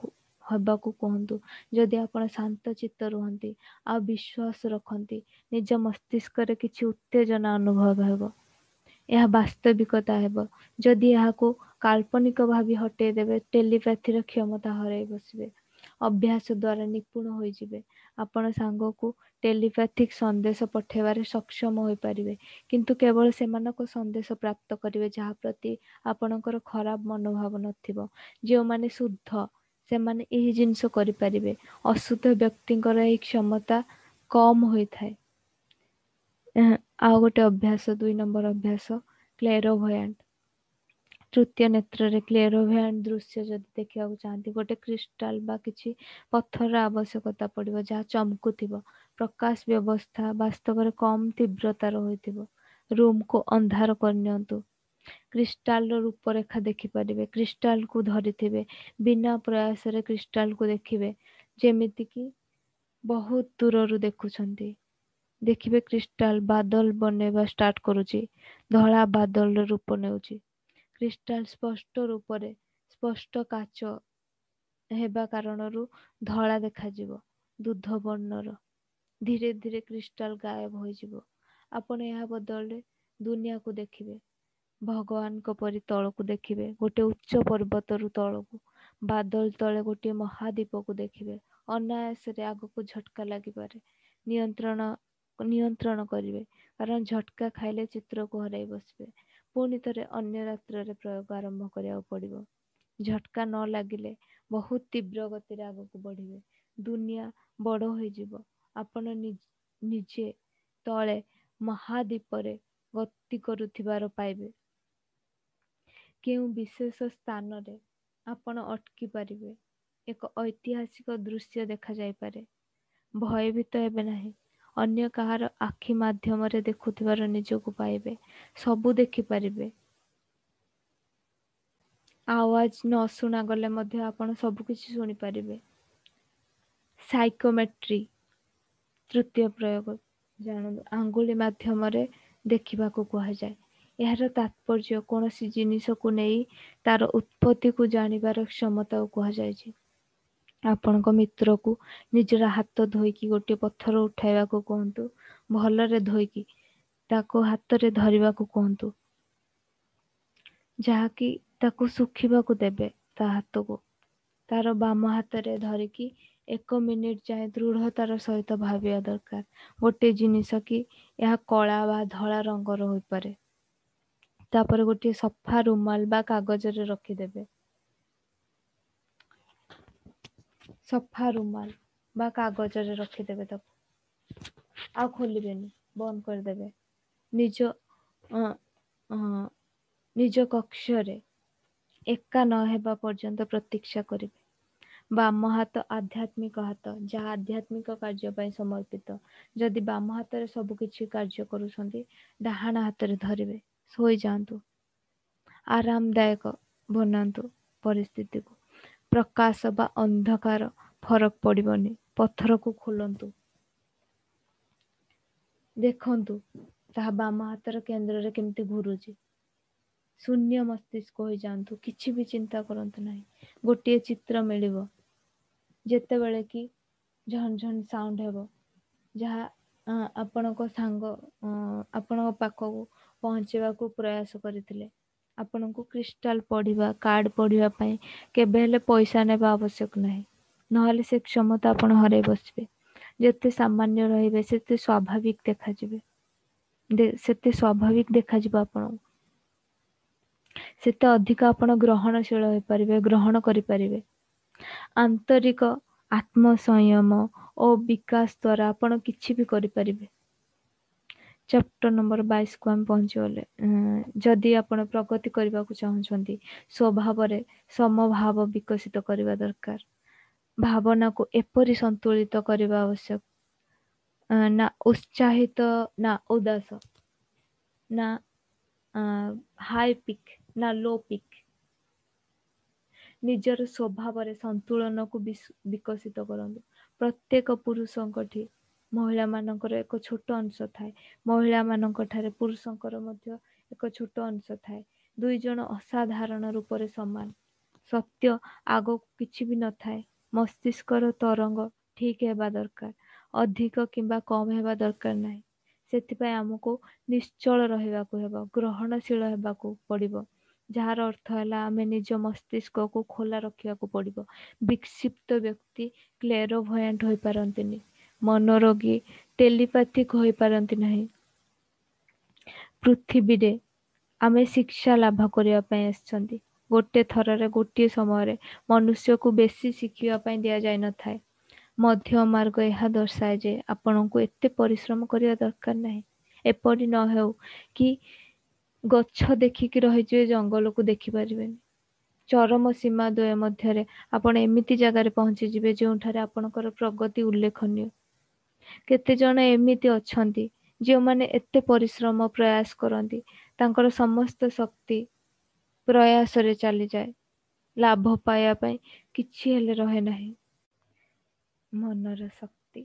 ହେବାକୁ କୁହନ୍ତୁ। ଯଦି ଆପଣ ଶାନ୍ତ ଚିତ୍ତ ରୁହନ୍ତି ଆଉ ବିଶ୍ୱାସ ରଖନ୍ତି, ନିଜ ମସ୍ତିଷ୍କରେ କିଛି ଉତ୍ତେଜନା ଅନୁଭବ ହେବ। ଏହା ବାସ୍ତବିକତା ହେବ। ଯଦି ଏହାକୁ କାଳ୍ପନିକ ଭାବି ହଟେଇ ଦେବେ, ଟେଲିପାଥିର କ୍ଷମତା ହରାଇ ବସିବେ। ଅଭ୍ୟାସ ଦ୍ୱାରା ନିପୁଣ ହୋଇଯିବେ। ଆପଣ ସାଙ୍ଗକୁ ଟେଲିପାଥିକ ସନ୍ଦେଶ ପଠାଇବାରେ ସକ୍ଷମ ହୋଇପାରିବେ, କିନ୍ତୁ କେବଳ ସେମାନଙ୍କ ସନ୍ଦେଶ ପ୍ରାପ୍ତ କରିବେ ଯାହା ପ୍ରତି ଆପଣଙ୍କର ଖରାପ ମନୋଭାବ ନଥିବ। ଯେଉଁମାନେ ଶୁଦ୍ଧ ସେମାନେ ଏହି ଜିନିଷ କରିପାରିବେ। ଅଶୁଦ୍ଧ ବ୍ୟକ୍ତିଙ୍କର ଏହି କ୍ଷମତା କମ୍ ହୋଇଥାଏ। ଆଉ ଗୋଟେ ଅଭ୍ୟାସ, ଦୁଇ ନମ୍ବର ଅଭ୍ୟାସ, କ୍ଲେରୋଭୟାଣ୍ଟ। ତୃତୀୟ ନେତ୍ରରେ କ୍ଲେରୋଭୟାଣ୍ଟ ଦୃଶ୍ୟ ଯଦି ଦେଖିବାକୁ ଚାହାନ୍ତି, ଗୋଟେ କ୍ରିଷ୍ଟାଲ ବା କିଛି ପଥରର ଆବଶ୍ୟକତା ପଡ଼ିବ ଯାହା ଚମକୁଥିବ। ପ୍ରକାଶ ବ୍ୟବସ୍ଥା ବାସ୍ତବରେ କମ୍ ତୀବ୍ରତାର ହୋଇଥିବ। ରୁମକୁ ଅନ୍ଧାର କରିନିଅନ୍ତୁ। କ୍ରିଷ୍ଟାଲର ରୂପରେଖା ଦେଖିପାରିବେ। କ୍ରିଷ୍ଟାଲକୁ ଧରିଥିବେ, ବିନା ପ୍ରୟାସରେ କ୍ରିଷ୍ଟାଲକୁ ଦେଖିବେ, ଯେମିତିକି ବହୁତ ଦୂରରୁ ଦେଖୁଛନ୍ତି। ଦେଖିବେ କ୍ରିଷ୍ଟାଲ ବାଦଲ ବନେଇବା ଷ୍ଟାର୍ଟ କରୁଛି, ଧଳା ବାଦଲର ରୂପ ନେଉଛି। କ୍ରିଷ୍ଟାଲ ସ୍ପଷ୍ଟ ରୂପରେ ସ୍ପଷ୍ଟ କାଚ ହେବା କାରଣରୁ ଧଳା ଦେଖାଯିବ, ଦୁଧ ବର୍ଣ୍ଣର। ଧୀରେ ଧୀରେ କ୍ରିଷ୍ଟାଲ ଗାୟବ ହୋଇଯିବ। ଆପଣ ଏହା ବଦଳରେ ଦୁନିଆକୁ ଦେଖିବେ, ଭଗବାନଙ୍କ ପରି ତଳକୁ ଦେଖିବେ, ଗୋଟେ ଉଚ୍ଚ ପର୍ବତରୁ ତଳକୁ, ବାଦଲ ତଳେ ଗୋଟିଏ ମହାଦୀପକୁ ଦେଖିବେ। ଅନାୟାସରେ ଆଗକୁ ଝଟକା ଲାଗିପାରେ। ନିୟନ୍ତ୍ରଣ ନିୟନ୍ତ୍ରଣ କରିବେ, କାରଣ ଝଟକା ଖାଇଲେ ଚିତ୍ରକୁ ହରାଇ ବସିବେ। ପୁଣି ଥରେ ଅନ୍ୟ ରାତ୍ରରେ ପ୍ରୟୋଗ ଆରମ୍ଭ କରିବାକୁ ପଡ଼ିବ। ଝଟକା ନ ଲାଗିଲେ ବହୁତ ତୀବ୍ର ଗତିରେ ଆଗକୁ ବଢ଼ିବେ। ଦୁନିଆ ବଡ଼ ହୋଇଯିବ। ଆପଣ ନିଜେ ତଳେ ମହାଦୀପରେ ଗତି କରୁଥିବାର ପାଇବେ। କେଉଁ ବିଶେଷ ସ୍ଥାନରେ ଆପଣ ଅଟକି ପାରିବେ। ଏକ ଐତିହାସିକ ଦୃଶ୍ୟ ଦେଖାଯାଇପାରେ। ଭୟଭୀତ ହେବେ ନାହିଁ। ଅନ୍ୟ କାହାର ଆଖି ମାଧ୍ୟମରେ ଦେଖୁଥିବାର ନିଜକୁ ପାଇବେ। ସବୁ ଦେଖିପାରିବେ। ଆୱାଜ ନ ଶୁଣାଗଲେ ମଧ୍ୟ ଆପଣ ସବୁକିଛି ଶୁଣିପାରିବେ। ସାଇକୋମେଟ୍ରି ତୃତୀୟ ପ୍ରୟୋଗ ଜାଣନ୍ତୁ। ଆଙ୍ଗୁଳି ମାଧ୍ୟମରେ ଦେଖିବାକୁ କୁହାଯାଏ। ଏହାର ତାତ୍ପର୍ଯ୍ୟ କୌଣସି ଜିନିଷକୁ ନେଇ ତାର ଉତ୍ପତ୍ତିକୁ ଜାଣିବାର କ୍ଷମତାକୁ କୁହାଯାଇଛି। ଆପଣଙ୍କ ମିତ୍ରକୁ ନିଜର ହାତ ଧୋଇକି ଗୋଟିଏ ପଥର ଉଠାଇବାକୁ କୁହନ୍ତୁ। ଭଲରେ ଧୋଇକି ତାକୁ ହାତରେ ଧରିବାକୁ କୁହନ୍ତୁ, ଯାହାକି ତାକୁ ଶୁଖିବାକୁ ଦେବେ ତା ହାତକୁ। ତାର ବାମ ହାତରେ ଧରିକି ଏକ ମିନିଟ ଯାଏଁ ଦୃଢ଼ତାର ସହିତ ଭାବିବା ଦରକାର ଗୋଟିଏ ଜିନିଷ କି ଏହା କଳା ବା ଧଳା ରଙ୍ଗର ହୋଇପାରେ। ତାପରେ ଗୋଟିଏ ସଫା ରୁମାଲ ବା କାଗଜରେ ରଖିଦେବେ। ସଫା ରୁମାଲ ବା କାଗଜରେ ରଖିଦେବେ ତାକୁ, ଆଉ ଖୋଲିବେନି, ବନ୍ଦ କରିଦେବେ। ନିଜ ନିଜ କକ୍ଷରେ ଏକା ନ ହେବା ପର୍ଯ୍ୟନ୍ତ ପ୍ରତୀକ୍ଷା କରିବେ। ବାମ ହାତ ଆଧ୍ୟାତ୍ମିକ ହାତ, ଯାହା ଆଧ୍ୟାତ୍ମିକ କାର୍ଯ୍ୟ ପାଇଁ ସମର୍ପିତ। ଯଦି ବାମ ହାତରେ ସବୁ କିଛି କାର୍ଯ୍ୟ କରୁଛନ୍ତି, ଡାହାଣ ହାତରେ ଧରିବେ। ଶୋଇଯାଆନ୍ତୁ। ଆରାମଦାୟକ ବନାନ୍ତୁ ପରିସ୍ଥିତିକୁ। ପ୍ରକାଶ ବା ଅନ୍ଧକାର ଫରକ ପଡ଼ିବନି। ପଥରକୁ ଖୋଲନ୍ତୁ, ଦେଖନ୍ତୁ ତାହା ବାମ ହାତର କେନ୍ଦ୍ରରେ କେମିତି ଘୁରୁଛି। ଶୂନ୍ୟ ମସ୍ତିଷ୍କ ହୋଇଯାଆନ୍ତୁ। କିଛି ବି ଚିନ୍ତା କରନ୍ତୁ ନାହିଁ। ଗୋଟିଏ ଚିତ୍ର ମିଳିବ ଯେତେବେଳେ କି ଝନ୍ ଝନ୍ ସାଉଣ୍ଡ ହେବ, ଯାହା ଆପଣଙ୍କ ସାଙ୍ଗ ଆପଣଙ୍କ ପାଖକୁ ପହଞ୍ଚିବାକୁ ପ୍ରୟାସ କରିଥିଲେ। ଆପଣଙ୍କୁ କ୍ରିଷ୍ଟାଲ ପଢ଼ିବା, କାର୍ଡ ପଢ଼ିବା ପାଇଁ କେବେ ହେଲେ ପଇସା ନେବା ଆବଶ୍ୟକ ନାହିଁ, ନହେଲେ ସେ କ୍ଷମତା ଆପଣ ହରାଇ ବସିବେ। ଯେତେ ସାମାନ୍ୟ ରହିବେ ସେତେ ସ୍ୱାଭାବିକ ଦେଖାଯିବେ, ସେତେ ସ୍ୱାଭାବିକ ଦେଖାଯିବ ଆପଣଙ୍କୁ, ସେତେ ଅଧିକ ଆପଣ ଗ୍ରହଣଶୀଳ ହୋଇପାରିବେ, ଗ୍ରହଣ କରିପାରିବେ। ଆନ୍ତରିକ ଆତ୍ମସଂୟମ ଓ ବିକାଶ ଦ୍ୱାରା ଆପଣ କିଛି ବି କରିପାରିବେ। ଚାପ୍ଟର ନମ୍ବର ବାଇଶକୁ ଆମେ ପହଞ୍ଚିଗଲେ। ଯଦି ଆପଣ ପ୍ରଗତି କରିବାକୁ ଚାହୁଁଛନ୍ତି, ସ୍ୱଭାବରେ ସମଭାବ ବିକଶିତ କରିବା ଦରକାର। ଭାବନାକୁ ଏପରି ସନ୍ତୁଳିତ କରିବା ଆବଶ୍ୟକ, ନା ଉତ୍ସାହିତ ନା ଉଦାସ, ନା ହାଇ ପିକ୍ ନା ଲୋ ପିକ୍। ନିଜର ସ୍ୱଭାବରେ ସନ୍ତୁଳନକୁ ବିକଶିତ କରନ୍ତୁ। ପ୍ରତ୍ୟେକ ପୁରୁଷଙ୍କଠି ମହିଳାମାନଙ୍କର ଏକ ଛୋଟ ଅଂଶ ଥାଏ। ମହିଳାମାନଙ୍କ ଠାରେ ପୁରୁଷଙ୍କର ମଧ୍ୟ ଏକ ଛୋଟ ଅଂଶ ଥାଏ। ଦୁଇ ଜଣ ଅସାଧାରଣ ରୂପରେ ସମାନ। ସତ୍ୟ ଆଗକୁ କିଛି ବି ନଥାଏ। ମସ୍ତିଷ୍କର ତରଙ୍ଗ ଠିକ୍ ହେବା ଦରକାର, ଅଧିକ କିମ୍ବା କମ୍ ହେବା ଦରକାର ନାହିଁ। ସେଥିପାଇଁ ଆମକୁ ନିଶ୍ଚଳ ରହିବାକୁ ହେବ, ଗ୍ରହଣଶୀଳ ହେବାକୁ ପଡ଼ିବ, ଯାହାର ଅର୍ଥ ହେଲା ଆମେ ନିଜ ମସ୍ତିଷ୍କକୁ ଖୋଲା ରଖିବାକୁ ପଡ଼ିବ। ବିକ୍ଷିପ୍ତ ବ୍ୟକ୍ତି କ୍ଲେରୋଭୟାଣ୍ଟ ହୋଇପାରନ୍ତିନି, ମନୋରୋଗୀ ଟେଲିପାଥିକ ହୋଇପାରନ୍ତି ନାହିଁ। ପୃଥିବୀରେ ଆମେ ଶିକ୍ଷା ଲାଭ କରିବା ପାଇଁ ଆସିଛନ୍ତି। ଗୋଟେ ଥରରେ ଗୋଟିଏ ସମୟରେ ମନୁଷ୍ୟକୁ ବେଶୀ ଶିଖିବା ପାଇଁ ଦିଆଯାଇନଥାଏ। ମଧ୍ୟ ମାର୍ଗ ଏହା ଦର୍ଶାଏ ଯେ ଆପଣଙ୍କୁ ଏତେ ପରିଶ୍ରମ କରିବା ଦରକାର ନାହିଁ। ଏପରି ନ ହେଉ କି ଗଛ ଦେଖିକି ରହିଯିବେ, ଜଙ୍ଗଲକୁ ଦେଖିପାରିବେନି। ଚରମ ସୀମା ଦ୍ୱୟ ମଧ୍ୟରେ ଆପଣ ଏମିତି ଜାଗାରେ ପହଞ୍ଚିଯିବେ ଯେଉଁଠାରେ ଆପଣଙ୍କର ପ୍ରଗତି ଉଲ୍ଲେଖନୀୟ। କେତେଜଣ ଏମିତି ଅଛନ୍ତି ଯେଉଁମାନେ ଏତେ ପରିଶ୍ରମ ପ୍ରୟାସ କରନ୍ତି, ତାଙ୍କର ସମସ୍ତ ଶକ୍ତି ପ୍ରୟାସରେ ଚାଲିଯାଏ, ଲାଭ ପାଇବା ପାଇଁ କିଛି ହେଲେ ରହେ ନାହିଁ। ମନର ଶକ୍ତି,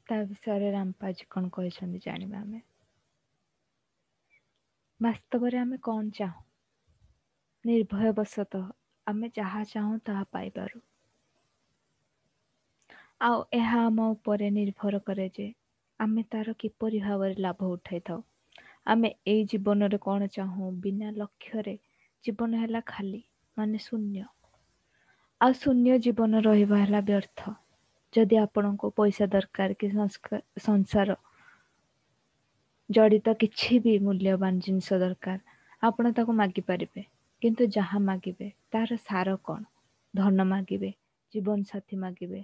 ତା ବିଷୟରେ ରାମପାଜୀ କ'ଣ କହିଛନ୍ତି ଜାଣିବା ଆମେ। ବାସ୍ତବରେ ଆମେ କ'ଣ ଚାହୁଁ? ନିର୍ଭୟବଶତଃ ଆମେ ଯାହା ଚାହୁଁ ତାହା ପାଇପାରୁ। ଆଉ ଏହା ଆମ ଉପରେ ନିର୍ଭର କରେ ଯେ ଆମେ ତାର କିପରି ଭାବରେ ଲାଭ ଉଠାଇଥାଉ। ଆମେ ଏଇ ଜୀବନରେ କ'ଣ ଚାହୁଁ? ବିନା ଲକ୍ଷ୍ୟରେ ଜୀବନ ହେଲା ଖାଲି, ମାନେ ଶୂନ୍ୟ। ଆଉ ଶୂନ୍ୟ ଜୀବନ ରହିବା ହେଲା ବ୍ୟର୍ଥ। ଯଦି ଆପଣଙ୍କୁ ପଇସା ଦରକାର କି ସଂସାର ଜଡ଼ିତ କିଛି ବି ମୂଲ୍ୟବାନ ଜିନିଷ ଦରକାର, ଆପଣ ତାକୁ ମାଗିପାରିବେ। କିନ୍ତୁ ଯାହା ମାଗିବେ ତାର ସାର କ'ଣ? ଧନ ମାଗିବେ, ଜୀବନସାଥୀ ମାଗିବେ,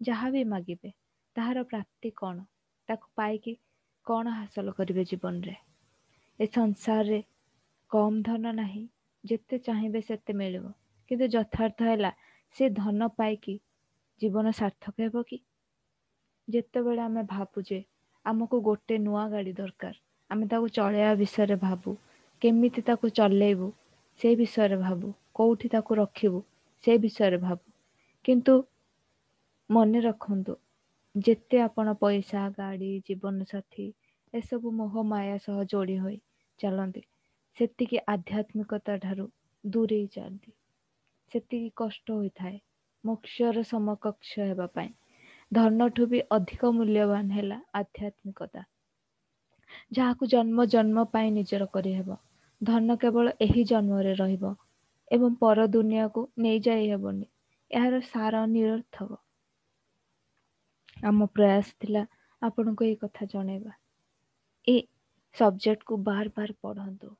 ଯାହା ବି ମାଗିବେ ତାହାର ପ୍ରାପ୍ତି କ'ଣ? ତାକୁ ପାଇକି କ'ଣ ହାସଲ କରିବେ ଜୀବନରେ? ଏ ସଂସାରରେ କମ୍ ଧନ ନାହିଁ, ଯେତେ ଚାହିଁବେ ସେତେ ମିଳିବ। କିନ୍ତୁ ଯଥାର୍ଥ ହେଲା ସେ ଧନ ପାଇକି ଜୀବନ ସାର୍ଥକ ହେବ କି? ଯେତେବେଳେ ଆମେ ଭାବୁ ଯେ ଆମକୁ ଗୋଟେ ନୂଆ ଗାଡ଼ି ଦରକାର, ଆମେ ତାକୁ ଚଳେଇବା ବିଷୟରେ ଭାବୁ, କେମିତି ତାକୁ ଚଲେଇବୁ ସେ ବିଷୟରେ ଭାବୁ, କେଉଁଠି ତାକୁ ରଖିବୁ ସେ ବିଷୟରେ ଭାବୁ। କିନ୍ତୁ ମନେ ରଖନ୍ତୁ, ଯେତେ ଆପଣ ପଇସା, ଗାଡ଼ି, ଜୀବନସାଥୀ ଏସବୁ ମୋହ ମାୟା ସହ ଯୋଡ଼ି ହୋଇ ଚାଲନ୍ତି, ସେତିକି ଆଧ୍ୟାତ୍ମିକତା ଠାରୁ ଦୂରେଇ ଯାଆନ୍ତି, ସେତିକି କଷ୍ଟ ହୋଇଥାଏ ମୋକ୍ଷର ସମକକ୍ଷ ହେବା ପାଇଁ। ଧନଠୁ ବି ଅଧିକ ମୂଲ୍ୟବାନ ହେଲା ଆଧ୍ୟାତ୍ମିକତା, ଯାହାକୁ ଜନ୍ମ ଜନ୍ମ ପାଇଁ ନିଜର କରିହେବ। ଧନ କେବଳ ଏହି ଜନ୍ମରେ ରହିବ ଏବଂ ପର ଦୁନିଆକୁ ନେଇଯାଇ ହେବନି। ଏହାର ସାର ନିରର୍ଥକ। ଆମ ପ୍ରୟାସ ଥିଲା ଆପଣଙ୍କୁ ଏଇ କଥା ଜଣେଇବା। ଏ ସବଜେକ୍ଟକୁ ବାର ବାର ପଢ଼ନ୍ତୁ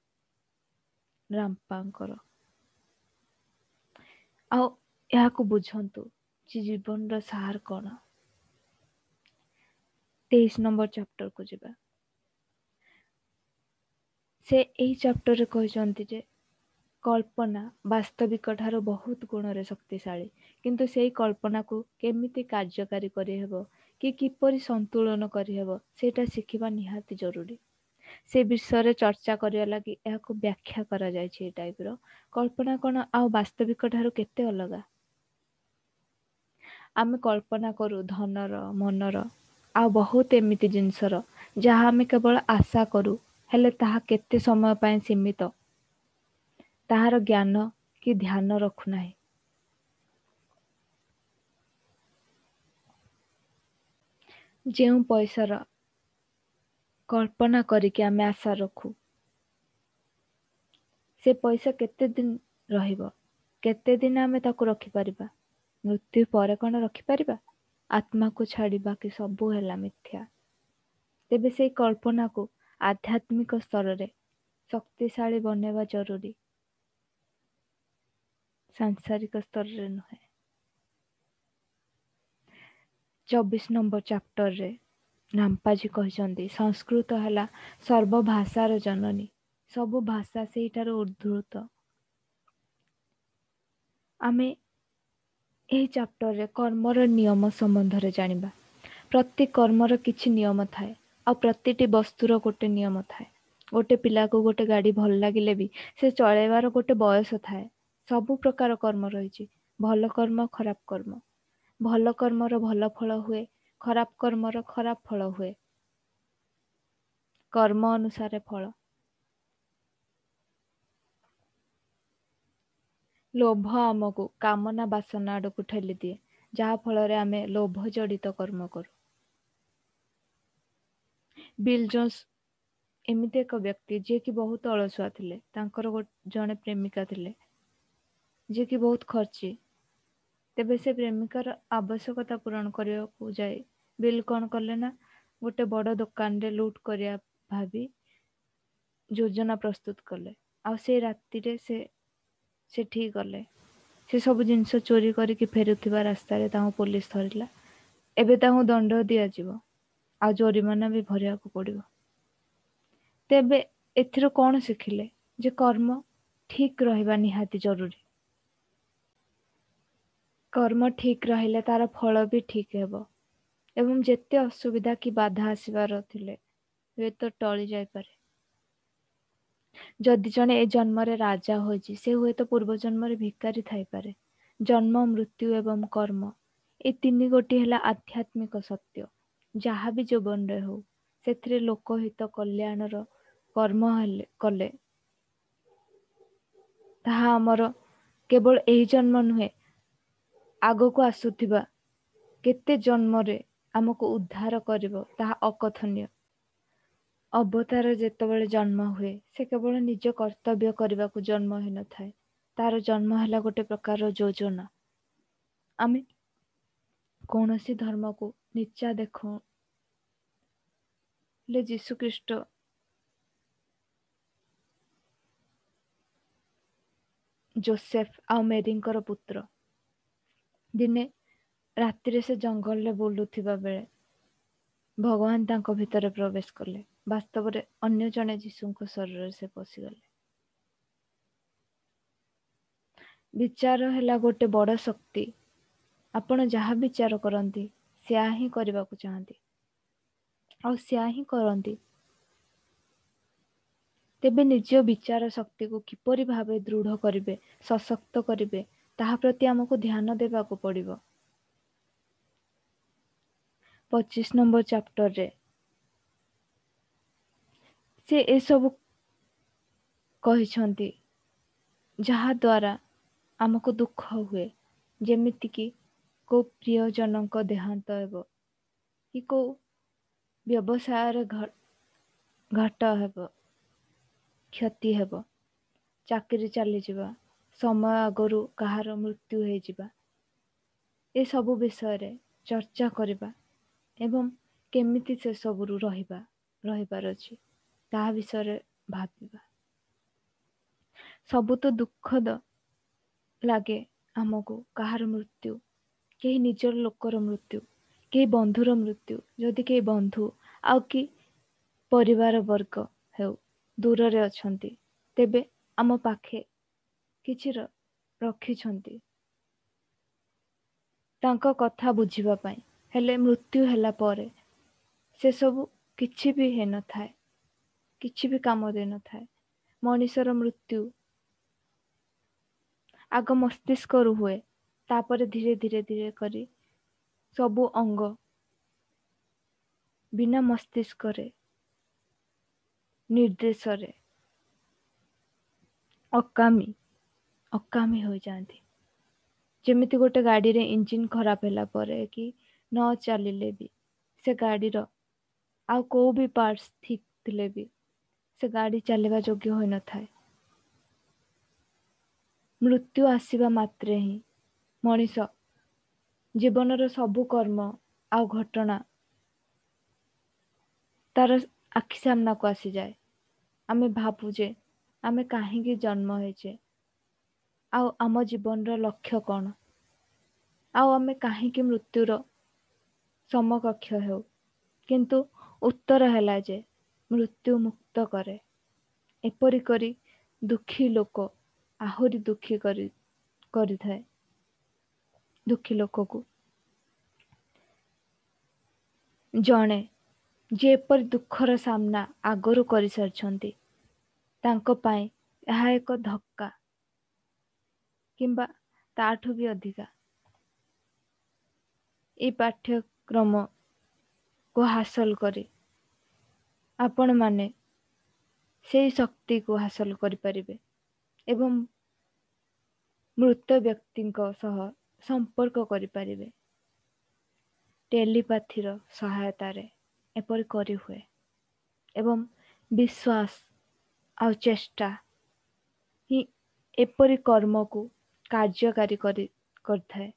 ରାମପାଙ୍କର, ଆଉ ଏହାକୁ ବୁଝନ୍ତୁ ଯେ ଜୀବନର ସାର କ'ଣ। ତେଇଶ ନମ୍ବର ଚାପ୍ଟରକୁ ଯିବା। ସେ ଏହି ଚାପ୍ଟରରେ କହିଛନ୍ତି ଯେ କଳ୍ପନା ବାସ୍ତବିକ ଠାରୁ ବହୁତ ଗୁଣରେ ଶକ୍ତିଶାଳୀ, କିନ୍ତୁ ସେଇ କଳ୍ପନାକୁ କେମିତି କାର୍ଯ୍ୟକାରୀ କରିହେବ କି କିପରି ସନ୍ତୁଳନ କରିହେବ ସେଇଟା ଶିଖିବା ନିହାତି ଜରୁରୀ। ସେ ବିଷୟରେ ଚର୍ଚ୍ଚା କରିବା ଲାଗି ଏହାକୁ ବ୍ୟାଖ୍ୟା କରାଯାଇଛି। ଏ ଟାଇପ୍ର କଳ୍ପନା କ'ଣ ଆଉ ବାସ୍ତବିକ ଠାରୁ କେତେ ଅଲଗା? ଆମେ କଳ୍ପନା କରୁ ଧନର, ମନର, ଆଉ ବହୁତ ଏମିତି ଜିନିଷର ଯାହା ଆମେ କେବଳ ଆଶା କରୁ, ହେଲେ ତାହା କେତେ ସମୟ ପାଇଁ ସୀମିତ, ତାହାର ଜ୍ଞାନ କି ଧ୍ୟାନ ରଖୁନାହିଁ। ଯେଉଁ ପଇସାର କଳ୍ପନା କରିକି ଆମେ ଆଶା ରଖୁ, ସେ ପଇସା କେତେ ଦିନ ରହିବ? କେତେ ଦିନ ଆମେ ତାକୁ ରଖିପାରିବା? ମୃତ୍ୟୁ ପରେ କ'ଣ ରଖିପାରିବା? ଆତ୍ମାକୁ ଛାଡ଼ି ବାକି ସବୁ ହେଲା ମିଥ୍ୟା। ତେବେ ସେଇ କଳ୍ପନାକୁ ଆଧ୍ୟାତ୍ମିକ ସ୍ତରରେ ଶକ୍ତିଶାଳୀ ବନେଇବା ଜରୁରୀ, ସାଂସାରିକ ସ୍ତରରେ ନୁହେଁ। ଚବିଶ ନମ୍ବର ଚାପ୍ଟରରେ ରାମପାଜୀ କହିଛନ୍ତି, ସଂସ୍କୃତ ହେଲା ସର୍ବଭାଷାର ଜନନୀ, ସବୁ ଭାଷା ସେଇଠାରୁ ଉଦ୍ଧୃତ। ଆମେ ଏହି ଚାପ୍ଟରରେ କର୍ମର ନିୟମ ସମ୍ବନ୍ଧରେ ଜାଣିବା। ପ୍ରତି କର୍ମର କିଛି ନିୟମ ଥାଏ, ଆଉ ପ୍ରତିଟି ବସ୍ତୁର ଗୋଟେ ନିୟମ ଥାଏ। ଗୋଟେ ପିଲାକୁ ଗୋଟେ ଗାଡ଼ି ଭଲ ଲାଗିଲେ ବି ସେ ଚଳେଇବାର ଗୋଟେ ବୟସ ଥାଏ। ସବୁ ପ୍ରକାର କର୍ମ ରହିଛି, ଭଲ କର୍ମ, ଖରାପ କର୍ମ। ଭଲ କର୍ମର ଭଲ ଫଳ ହୁଏ, ଖରାପ କର୍ମର ଖରାପ ଫଳ ହୁଏ। କର୍ମ ଅନୁସାରେ ଫଳ। ଲୋଭ ଆମକୁ କାମନା ବାସନା ଆଡ଼କୁ ଠେଲିଦିଏ, ଯାହା ଫଳରେ ଆମେ ଲୋଭ ଜଡ଼ିତ କର୍ମ କରୁ। ବିଲ୍ ଜୋନ୍ସ ଏମିତି ଏକ ବ୍ୟକ୍ତି ଯିଏକି ବହୁତ ଅଳସୁଆ ଥିଲେ। ତାଙ୍କର ଜଣେ ପ୍ରେମିକା ଥିଲେ ଯିଏକି ବହୁତ ଖର୍ଚ୍ଚି। ତେବେ ସେ ପ୍ରେମିକାର ଆବଶ୍ୟକତା ପୂରଣ କରିବାକୁ ଯାଇ ବିଲ୍ କ'ଣ କଲେ ନା ଗୋଟେ ବଡ଼ ଦୋକାନରେ ଲୁଟ୍ କରିବା ଭାବି ଯୋଜନା ପ୍ରସ୍ତୁତ କଲେ। ଆଉ ସେ ରାତିରେ ସେ ସେଠିକି ଗଲେ। ସେ ସବୁ ଜିନିଷ ଚୋରି କରିକି ଫେରୁଥିବା ରାସ୍ତାରେ ତାଙ୍କୁ ପୋଲିସ ଧରିଲା। ଏବେ ତାଙ୍କୁ ଦଣ୍ଡ ଦିଆଯିବ ଆଉ ଜୋରିମାନା ବି ଭରିବାକୁ ପଡ଼ିବ। ତେବେ ଏଥିରୁ କ'ଣ ଶିଖିଲେ ଯେ କର୍ମ ଠିକ୍ ରହିବା ନିହାତି ଜରୁରୀ। କର୍ମ ଠିକ୍ ରହିଲେ ତାର ଫଳ ବି ଠିକ୍ ହେବ ଏବଂ ଯେତେ ଅସୁବିଧା କି ବାଧା ଆସିବାର ଥିଲେ ହୁଏତ ଟଳି ଯାଇପାରେ। ଯଦି ଜଣେ ଏ ଜନ୍ମରେ ରାଜା ହୋଇଛି, ସେ ହୁଏତ ପୂର୍ବ ଜନ୍ମରେ ଭିକାରୀ ଥାଇପାରେ। ଜନ୍ମ, ମୃତ୍ୟୁ ଏବଂ କର୍ମ ଏ ତିନି ଗୋଟି ହେଲା ଆଧ୍ୟାତ୍ମିକ ସତ୍ୟ। ଯାହା ବି ଜୀବନରେ ହଉ, ସେଥିରେ ଲୋକହିତ କଲ୍ୟାଣର କର୍ମ ହେଲେ କଲେ ତାହା ଆମର କେବଳ ଏହି ଜନ୍ମ ନୁହେଁ, ଆଗକୁ ଆସୁଥିବା କେତେ ଜନ୍ମରେ ଆମକୁ ଉଦ୍ଧାର କରିବ ତାହା ଅକଥନୀୟ। ଅବତାର ଯେତେବେଳେ ଜନ୍ମ ହୁଏ, ସେ କେବଳ ନିଜ କର୍ତ୍ତବ୍ୟ କରିବାକୁ ଜନ୍ମ ହୋଇନଥାଏ। ତାର ଜନ୍ମ ହେଲା ଗୋଟେ ପ୍ରକାରର ଯୋଜନା। ଆମେ କୌଣସି ଧର୍ମକୁ ନିଚା ଦେଖୁ ହେଲେ ଯୀଶୁଖ୍ରୀଷ୍ଟ ଜୋସେଫ ଆଉ ମେରିଙ୍କର ପୁତ୍ର। ଦିନେ ରାତିରେ ସେ ଜଙ୍ଗଲରେ ବୁଲୁଥିବା ବେଳେ ଭଗବାନ ତାଙ୍କ ଭିତରେ ପ୍ରବେଶ କଲେ। ବାସ୍ତବରେ ଅନ୍ୟ ଜଣେ ଯୀଶୁଙ୍କ ଶରୀରରେ ସେ ପଶିଗଲେ। ବିଚାର ହେଲା ଗୋଟେ ବଡ଼ ଶକ୍ତି। ଆପଣ ଯାହା ବିଚାର କରନ୍ତି ସେୟା ହିଁ କରିବାକୁ ଚାହାନ୍ତି ଆଉ ସେୟା ହିଁ କରନ୍ତି। ତେବେ ନିଜ ବିଚାର ଶକ୍ତିକୁ କିପରି ଭାବେ ଦୃଢ଼ କରିବେ, ସଶକ୍ତ କରିବେ, ତାହା ପ୍ରତି ଆମକୁ ଧ୍ୟାନ ଦେବାକୁ ପଡ଼ିବ। ପଚିଶ ନମ୍ବର ଚାପ୍ଟରରେ ସେ ଏସବୁ କହିଛନ୍ତି ଯାହାଦ୍ୱାରା ଆମକୁ ଦୁଃଖ ହୁଏ, ଯେମିତିକି କେଉଁ ପ୍ରିୟଜନଙ୍କ ଦେହାନ୍ତ ହେବ କି କେଉଁ ବ୍ୟବସାୟରେ ଘାଟ ହେବ, କ୍ଷତି ହେବ, ଚାକିରି ଚାଲିଯିବା, ସମୟ ଆଗରୁ କାହାର ମୃତ୍ୟୁ ହେଇଯିବା, ଏସବୁ ବିଷୟରେ ଚର୍ଚ୍ଚା କରିବା ଏବଂ କେମିତି ସେସବୁରୁ ରହିବା ରହିବାର ଅଛି ତାହା ବିଷୟରେ ଭାବିବା। ସବୁ ତ ଦୁଃଖଦ ଲାଗେ ଆମକୁ, କାହାର ମୃତ୍ୟୁ, କେହି ନିଜର ଲୋକର ମୃତ୍ୟୁ, କେହି ବନ୍ଧୁର ମୃତ୍ୟୁ, ଯଦି କେହି ବନ୍ଧୁ ଆଉ କି ପରିବାର ବର୍ଗ ହେଉ ଦୂରରେ ଅଛନ୍ତି, ତେବେ ଆମ ପାଖେ କିଛି ରଖିଛନ୍ତି ତାଙ୍କ କଥା ବୁଝିବା ପାଇଁ। ହେଲେ ମୃତ୍ୟୁ ହେଲା ପରେ ସେସବୁ କିଛି ବି ହେଇନଥାଏ, କିଛି ବି କାମ ଦେଇନଥାଏ। ମଣିଷର ମୃତ୍ୟୁ ଆଗ ମସ୍ତିଷ୍କରୁ ହୁଏ, ତାପରେ ଧୀରେ ଧୀରେ ଧୀରେ କରି ସବୁ ଅଙ୍ଗ ବିନା ମସ୍ତିଷ୍କରେ ନିର୍ଦ୍ଦେଶରେ ଅକାମୀ ଅକାମୀ ହୋଇଯାଆନ୍ତି। ଯେମିତି ଗୋଟେ ଗାଡ଼ିରେ ଇଞ୍ଜିନ୍ ଖରାପ ହେଲା ପରେ କି ନ ଚାଲିଲେ ବି ସେ ଗାଡ଼ିର ଆଉ କେଉଁ ବି ପାର୍ଟସ୍ ଠିକ୍ ଥିଲେ ବି ସେ ଗାଡ଼ି ଚାଲିବା ଯୋଗ୍ୟ ହୋଇନଥାଏ। ମୃତ୍ୟୁ ଆସିବା ମାତ୍ରେ ହିଁ ମଣିଷ ଜୀବନର ସବୁ କର୍ମ ଆଉ ଘଟଣା ତାର ଆଖି ସାମ୍ନାକୁ ଆସିଯାଏ। ଆମେ ଭାବୁ ଯେ ଆମେ କାହିଁକି ଜନ୍ମ ହେଇଛେ, ଆଉ ଆମ ଜୀବନର ଲକ୍ଷ୍ୟ କ'ଣ, ଆଉ ଆମେ କାହିଁକି ମୃତ୍ୟୁର ସମକକ୍ଷ ହେଉ। କିନ୍ତୁ ଉତ୍ତର ହେଲା ଯେ ମୃତ୍ୟୁ ମୁକ୍ତ କରେ। ଏପରି କରି ଦୁଃଖୀ ଲୋକ ଆହୁରି ଦୁଃଖୀ କରି କରିଥାଏ ଦୁଃଖୀ ଲୋକକୁ। ଜଣେ ଯିଏ ଏପରି ଦୁଃଖର ସାମ୍ନା ଆଗରୁ କରିସାରିଛନ୍ତି, ତାଙ୍କ ପାଇଁ ଏହା ଏକ ଧକ୍କା କିମ୍ବା ତାଠୁ ବି ଅଧିକା। ଏଇ ପାଠ୍ୟକ୍ରମକୁ ହାସଲ କରି ଆପଣମାନେ ସେଇ ଶକ୍ତିକୁ ହାସଲ କରିପାରିବେ ଏବଂ ମୃତ ବ୍ୟକ୍ତିଙ୍କ ସହ ସମ୍ପର୍କ କରିପାରିବେ। ଟେଲିପାଥିର ସହାୟତାରେ ଏପରି କରିହୁଏ ଏବଂ ବିଶ୍ୱାସ ଆଉ ଚେଷ୍ଟା ହିଁ ଏପରି କର୍ମକୁ କାର୍ଯ୍ୟକାରୀ କରି କରିଥାଏ।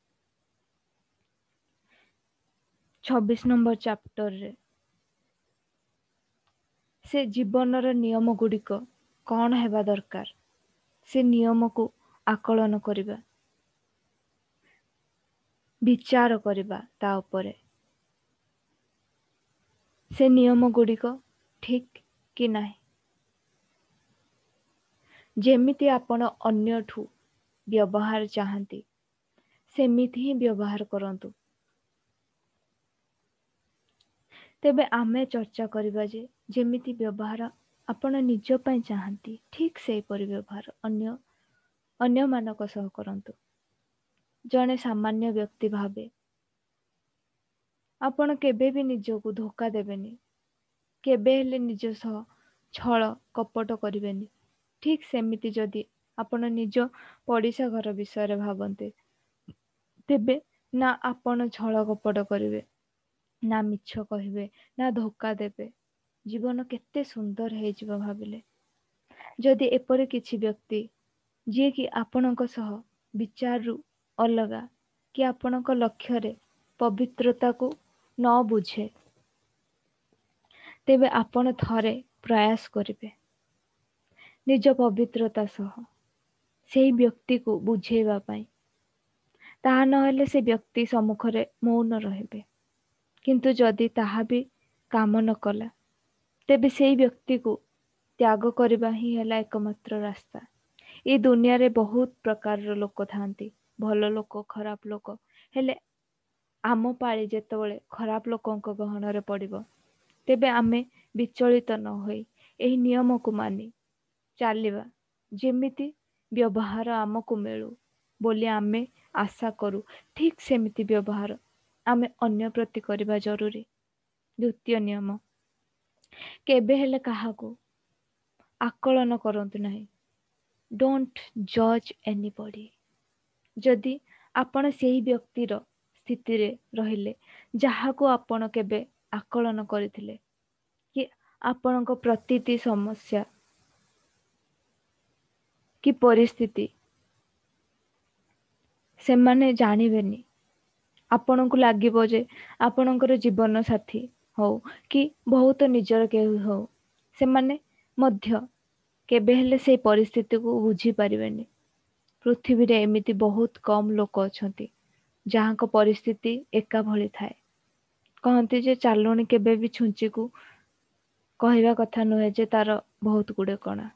ଛବିଶ ନମ୍ବର ଚାପ୍ଟରରେ ସେ ଜୀବନର ନିୟମ ଗୁଡ଼ିକ କ'ଣ ହେବା ଦରକାର ସେ ନିୟମକୁ ଆକଳନ କରିବା, ବିଚାର କରିବା ତା ଉପରେ, ସେ ନିୟମ ଗୁଡ଼ିକ ଠିକ୍ କି ନାହିଁ। ଯେମିତି ଆପଣ ଅନ୍ୟଠୁ ବ୍ୟବହାର ଚାହାନ୍ତି ସେମିତି ହିଁ ବ୍ୟବହାର କରନ୍ତୁ। ତେବେ ଆମେ ଚର୍ଚ୍ଚା କରିବା ଯେ ଯେମିତି ବ୍ୟବହାର ଆପଣ ନିଜ ପାଇଁ ଚାହାନ୍ତି ଠିକ୍ ସେହିପରି ବ୍ୟବହାର ଅନ୍ୟ ଅନ୍ୟମାନଙ୍କ ସହ କରନ୍ତୁ। ଜଣେ ସାମାନ୍ୟ ବ୍ୟକ୍ତି ଭାବେ ଆପଣ କେବେ ବି ନିଜକୁ ଧୋକା ଦେବେନି, କେବେ ହେଲେ ନିଜ ସହ ଛଳ କପଟ କରିବେନି। ଠିକ୍ ସେମିତି ଯଦି ଆପଣ ନିଜ ପଡ଼ିଶା ଘର ବିଷୟରେ ଭାବନ୍ତେ ତେବେ ନା ଆପଣ ଛଳ କପଟ କରିବେ, ନା ମିଛ କହିବେ, ନା ଧୋକା ଦେବେ। ଜୀବନ କେତେ ସୁନ୍ଦର ହେଇଯିବ ଭାବିଲେ। ଯଦି ଏପରି କିଛି ବ୍ୟକ୍ତି ଯିଏକି ଆପଣଙ୍କ ସହ ବିଚାରରୁ ଅଲଗା କି ଆପଣଙ୍କ ଲକ୍ଷ୍ୟରେ ପବିତ୍ରତାକୁ ନ ବୁଝେ, ତେବେ ଆପଣ ଥରେ ପ୍ରୟାସ କରିବେ ନିଜ ପବିତ୍ରତା ସହ ସେଇ ବ୍ୟକ୍ତିକୁ ବୁଝେଇବା ପାଇଁ। ତାହା ନହେଲେ ସେ ବ୍ୟକ୍ତି ସମ୍ମୁଖରେ ମୌନ ରହିବେ। କିନ୍ତୁ ଯଦି ତାହା ବି କାମ ନ କଲା ତେବେ ସେଇ ବ୍ୟକ୍ତିକୁ ତ୍ୟାଗ କରିବା ହିଁ ହେଲା ଏକମାତ୍ର ରାସ୍ତା। ଏଇ ଦୁନିଆରେ ବହୁତ ପ୍ରକାରର ଲୋକ ଥାଆନ୍ତି, ଭଲ ଲୋକ, ଖରାପ ଲୋକ। ହେଲେ ଆମ ପାଳି ଯେତେବେଳେ ଖରାପ ଲୋକଙ୍କ ଗହଣରେ ପଡ଼ିବ ତେବେ ଆମେ ବିଚଳିତ ନ ହୋଇ ଏହି ନିୟମକୁ ମାନି ଚାଲିବା। ଯେମିତି ବ୍ୟବହାର ଆମକୁ ମିଳୁ ବୋଲି ଆମେ ଆଶା କରୁ, ଠିକ୍ ସେମିତି ବ୍ୟବହାର ଆମେ ଅନ୍ୟ ପ୍ରତି କରିବା ଜରୁରୀ। ଦ୍ୱିତୀୟ ନିୟମ, କେବେ ହେଲେ କାହାକୁ ଆକଳନ କରନ୍ତୁ ନାହିଁ। Don't ଜଜ୍ ଏନିବଡି। ଯଦି ଆପଣ ସେହି ବ୍ୟକ୍ତିର ସ୍ଥିତିରେ ରହିଲେ ଯାହାକୁ ଆପଣ କେବେ ଆକଳନ କରିଥିଲେ କି ଆପଣଙ୍କ ପ୍ରତିଟି ସମସ୍ୟା କି ପରିସ୍ଥିତି ସେମାନେ ଜାଣିବେନି। ଆପଣଙ୍କୁ ଲାଗିବ ଯେ ଆପଣଙ୍କର ଜୀବନ ସାଥୀ ହଉ କି ବହୁତ ନିଜର କେହି ହଉ, ସେମାନେ ମଧ୍ୟ କେବେ ହେଲେ ସେଇ ପରିସ୍ଥିତିକୁ ବୁଝିପାରିବେନି। ପୃଥିବୀରେ ଏମିତି ବହୁତ କମ୍ ଲୋକ ଅଛନ୍ତି ଯାହାଙ୍କ ପରିସ୍ଥିତି ଏକା ଭଳି ଥାଏ। କହନ୍ତି ଯେ ଚାଲୁଣି କେବେ ବି ଛୁଞ୍ଚିକୁ କହିବା କଥା ନୁହେଁ ଯେ ତାର ବହୁତ ଗୁଡ଼େ କଣା।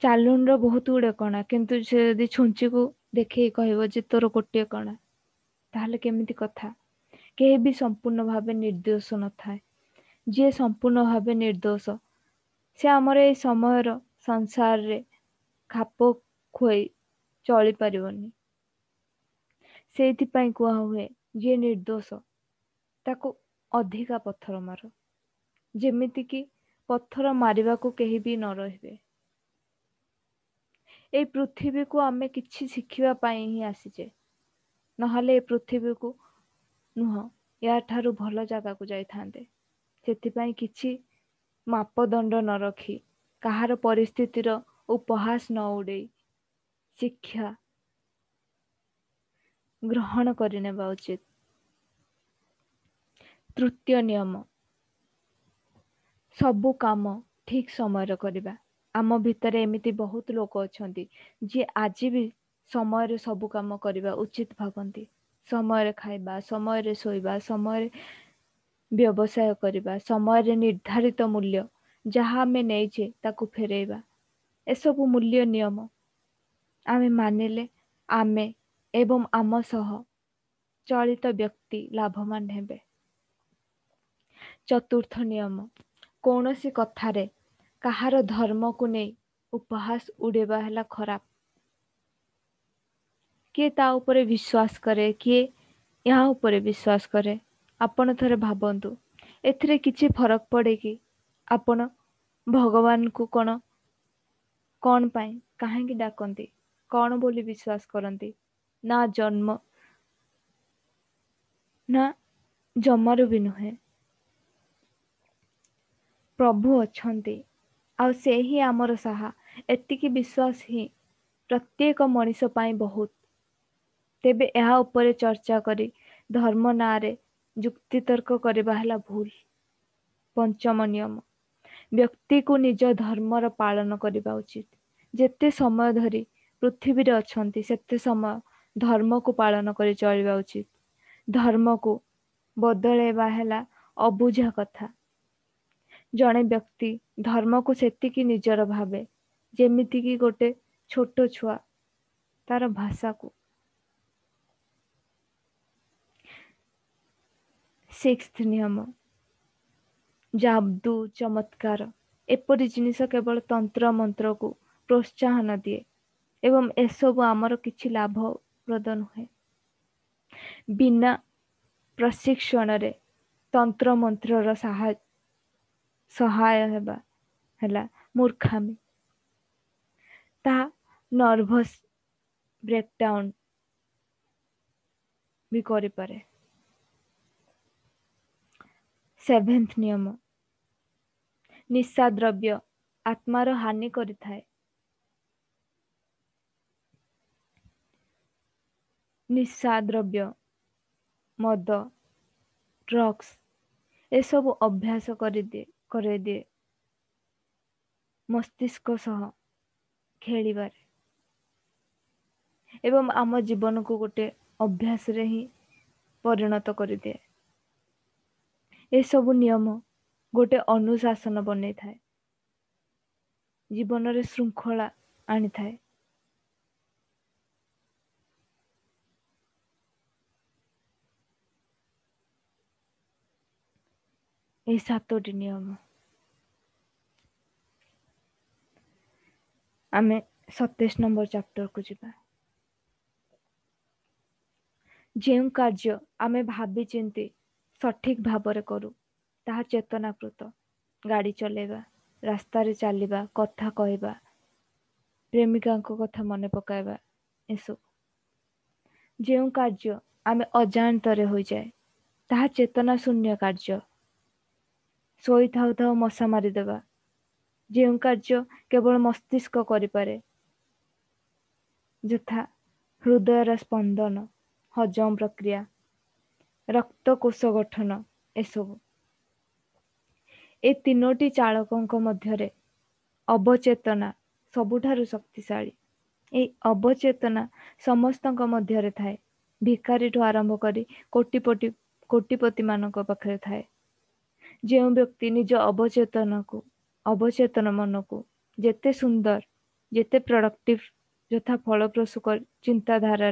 ଚାଲୁଣିର ବହୁତ ଗୁଡ଼େ କଣା, କିନ୍ତୁ ସେ ଯଦି ଛୁଞ୍ଚିକୁ ଦେଖେଇ କହିବ ଯେ ତୋର ଗୋଟିଏ କଣା, ତାହେଲେ କେମିତି କଥା? କେହି ବି ସମ୍ପୂର୍ଣ୍ଣ ଭାବେ ନିର୍ଦ୍ଦୋଷ ନଥାଏ। ଯିଏ ସମ୍ପୂର୍ଣ୍ଣ ଭାବେ ନିର୍ଦ୍ଦୋଷ ସେ ଆମର ଏଇ ସମୟର ସଂସାରରେ ଖାପ ଖୁଆଇ ଚଳିପାରିବନି। ସେଇଥିପାଇଁ କୁହା ହୁଏ ଯିଏ ନିର୍ଦ୍ଦୋଷ ତାକୁ ଅଧିକା ପଥର ମାର, ଯେମିତିକି ପଥର ମାରିବାକୁ କେହି ବି ନ ରହିବେ। ଏଇ ପୃଥିବୀକୁ ଆମେ କିଛି ଶିଖିବା ପାଇଁ ହିଁ ଆସିଛେ, ନହେଲେ ଏ ପୃଥିବୀକୁ ନୁହଁ ୟାଠାରୁ ଭଲ ଜାଗାକୁ ଯାଇଥାନ୍ତେ। ସେଥିପାଇଁ କିଛି ମାପଦଣ୍ଡ ନ ରଖି, କାହାର ପରିସ୍ଥିତିର ଉପହାସ ନ ଉଡ଼େଇ ଶିକ୍ଷା ଗ୍ରହଣ କରିନେବା ଉଚିତ। ତୃତୀୟ ନିୟମ, ସବୁ କାମ ଠିକ୍ ସମୟରେ କରିବା। ଆମ ଭିତରେ ଏମିତି ବହୁତ ଲୋକ ଅଛନ୍ତି ଯିଏ ଆଜି ବି ସମୟରେ ସବୁ କାମ କରିବା ଉଚିତ ଭାବନ୍ତି। ସମୟରେ ଖାଇବା, ସମୟରେ ଶୋଇବା, ସମୟରେ ବ୍ୟବସାୟ କରିବା, ସମୟରେ ନିର୍ଦ୍ଧାରିତ ମୂଲ୍ୟ ଯାହା ଆମେ ନେଇଛେ ତାକୁ ଫେରେଇବା, ଏସବୁ ମୂଲ୍ୟ ନିୟମ ଆମେ ମାନିଲେ ଆମେ ଏବଂ ଆମ ସହ ଚଳିତ ବ୍ୟକ୍ତି ଲାଭବାନ ହେବେ। ଚତୁର୍ଥ ନିୟମ, କୌଣସି କଥାରେ କାହାର ଧର୍ମକୁ ନେଇ ଉପହାସ ଉଡ଼େଇବା ହେଲା ଖରାପ। କିଏ ତା ଉପରେ ବିଶ୍ୱାସ କରେ, କିଏ ଏହା ଉପରେ ବିଶ୍ୱାସ କରେ। ଆପଣ ଥରେ ଭାବନ୍ତୁ, ଏଥିରେ କିଛି ଫରକ ପଡ଼େ କି? ଆପଣ ଭଗବାନଙ୍କୁ କ'ଣ କ'ଣ ପାଇଁ କାହିଁକି ଡାକନ୍ତି, କ'ଣ ବୋଲି ବିଶ୍ୱାସ କରନ୍ତି? ନା ଜନ୍ମ ନା ଜମାରୁ ବି ନୁହେଁ। ପ୍ରଭୁ ଅଛନ୍ତି ଆଉ ସେ ହିଁ ଆମର ସାହା, ଏତିକି ବିଶ୍ୱାସ ହିଁ ପ୍ରତ୍ୟେକ ମଣିଷ ପାଇଁ ବହୁତ। ତେବେ ଏହା ଉପରେ ଚର୍ଚ୍ଚା କରି ଧର୍ମ ନାଁରେ ଯୁକ୍ତିତର୍କ କରିବା ହେଲା ଭୁଲ। ପଞ୍ଚମ ନିୟମ, ବ୍ୟକ୍ତିକୁ ନିଜ ଧର୍ମର ପାଳନ କରିବା ଉଚିତ। ଯେତେ ସମୟ ଧରି ପୃଥିବୀରେ ଅଛନ୍ତି ସେତେ ସମୟ ଧର୍ମକୁ ପାଳନ କରି ଚଳିବା ଉଚିତ। ଧର୍ମକୁ ବଦଳେଇବା ହେଲା ଅବୁଝା କଥା। ଜଣେ ବ୍ୟକ୍ତି ଧର୍ମକୁ ସେତିକି ନିଜର ଭାବେ ଯେମିତିକି ଗୋଟେ ଛୋଟ ଛୁଆ ତାର ଭାଷାକୁ। ସିକ୍ସଥ ନିୟମ, ଯାଦୁ ଚମତ୍କାର ଏପରି ଜିନିଷ କେବଳ ତନ୍ତ୍ର ମନ୍ତ୍ରକୁ ପ୍ରୋତ୍ସାହନ ଦିଏ ଏବଂ ଏସବୁ ଆମର କିଛି ଲାଭପ୍ରଦ ନୁହେଁ। ବିନା ପ୍ରଶିକ୍ଷଣରେ ତନ୍ତ୍ର ମନ୍ତ୍ରର ସହାୟ ହେବା ହେଲା ମୂର୍ଖାମି। ତାହା ନର୍ଭସ୍ ବ୍ରେକଡାଉନ୍ ବି କରିପାରେ। ସେଭେନ୍ଥ ନିୟମ, ନିଶା ଦ୍ରବ୍ୟ ଆତ୍ମାର ହାନି କରିଥାଏ। ନିଶା ଦ୍ରବ୍ୟ, ମଦ, ଡ୍ରଗ୍ସ ଏସବୁ ଅଭ୍ୟାସ କରିଦିଏ କରେଇଦିଏ ମସ୍ତିଷ୍କ ସହ ଖେଳିବାରେ ଏବଂ ଆମ ଜୀବନକୁ ଗୋଟେ ଅଭ୍ୟାସରେ ହିଁ ପରିଣତ କରିଦିଏ। ଏସବୁ ନିୟମ ଗୋଟେ ଅନୁଶାସନ ବନେଇଥାଏ, ଜୀବନରେ ଶୃଙ୍ଖଳା ଆଣିଥାଏ। ଏହି ସାତୋଟି ନିୟମ ଆମେ ସତେଇଶ ନମ୍ବର ଚାପ୍ଟରକୁ ଯିବା। ଯେଉଁ କାର୍ଯ୍ୟ ଆମେ ଭାବି ଚିନ୍ତି ସଠିକ ଭାବରେ କରୁ ତାହା ଚେତନାକୃତ। ଗାଡ଼ି ଚଲେଇବା, ରାସ୍ତାରେ ଚାଲିବା, କଥା କହିବା, ପ୍ରେମିକାଙ୍କ କଥା ମନେ ପକାଇବା, ଏସବୁ। ଯେଉଁ କାର୍ଯ୍ୟ ଆମେ ଅଜାଣତରେ ହୋଇଯାଏ ତାହା ଚେତନା ଶୂନ୍ୟ କାର୍ଯ୍ୟ। ଶୋଇଥାଉ ଥାଉ ମଶା ମାରିଦେବା, ଯେଉଁ କାର୍ଯ୍ୟ କେବଳ ମସ୍ତିଷ୍କ କରିପାରେ, ଯଥା ହୃଦୟର ସ୍ପନ୍ଦନ, ହଜମ ପ୍ରକ୍ରିୟା, ରକ୍ତକୋଷ ଗଠନ, ଏସବୁ। ଏ ତିନୋଟି ଚାଳକଙ୍କ ମଧ୍ୟରେ ଅବଚେତନା ସବୁଠାରୁ ଶକ୍ତିଶାଳୀ। ଏହି ଅବଚେତନା ସମସ୍ତଙ୍କ ମଧ୍ୟରେ ଥାଏ, ଭିକାରୀଠୁ ଆରମ୍ଭ କରି କୋଟିପତି କୋଟିପତିମାନଙ୍କ ପାଖରେ ଥାଏ। ଯେଉଁ ବ୍ୟକ୍ତି ନିଜ ଅବଚେତନକୁ ଅବଚେତନ ମନକୁ ଯେତେ ସୁନ୍ଦର, ଯେତେ ପ୍ରଡକ୍ଟିଭ ଯଥା ଫଳପ୍ରସୂ ଚିନ୍ତାଧାରା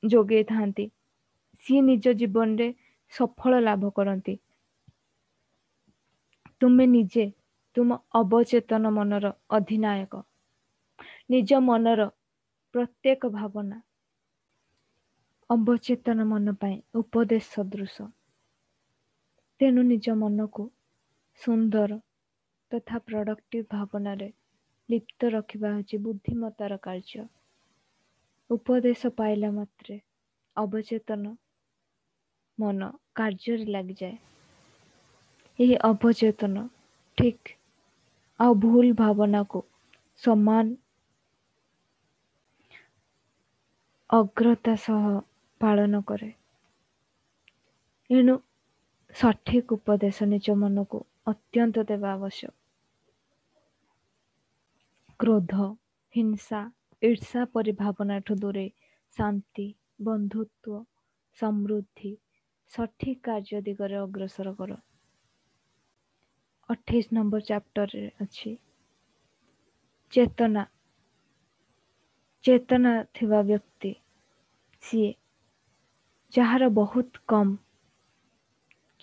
ଯୋଗେଇଥାନ୍ତି, ସିଏ ନିଜ ଜୀବନରେ ସଫଳ ଲାଭ କରନ୍ତି। ତୁମେ ନିଜେ ତୁମ ଅବଚେତନ ମନର ଅଧିନାୟକ। ନିଜ ମନର ପ୍ରତ୍ୟେକ ଭାବନା ଅବଚେତନ ମନ ପାଇଁ ଉପଦେଶ ସଦୃଶ। ତେଣୁ ନିଜ ମନକୁ ସୁନ୍ଦର ତଥା ପ୍ରଡକ୍ଟିଭ ଭାବନାରେ ଲିପ୍ତ ରଖିବା ହେଉଛି ବୁଦ୍ଧିମତାର କାର୍ଯ୍ୟ। ଉପଦେଶ ପାଇଲା ମାତ୍ରେ ଅବଚେତନ ମନ କାର୍ଯ୍ୟରେ ଲାଗିଯାଏ। ଏହି ଅବଚେତନ ଠିକ୍ ଆଉ ଭୁଲ ଭାବନାକୁ ସମାନ ଅଗ୍ରତା ସହ ପାଳନ କରେ। ଏଣୁ ସଠିକ ଉପଦେଶ ନିଜ ମନକୁ ଅତ୍ୟନ୍ତ ଦେବା ଆବଶ୍ୟକ। କ୍ରୋଧ, ହିଂସା, ଈର୍ଷା ପରି ଭାବନାଠୁ ଦୂରେଇ ଶାନ୍ତି, ବନ୍ଧୁତ୍ୱ, ସମୃଦ୍ଧି, ସଠିକ କାର୍ଯ୍ୟ ଦିଗରେ ଅଗ୍ରସର କର। ଅଠେଇଶ ନମ୍ବର ଚାପ୍ଟରରେ ଅଛି ଚେତନା। ଚେତନା ଥିବା ବ୍ୟକ୍ତି ସିଏ ଯାହାର ବହୁତ କମ୍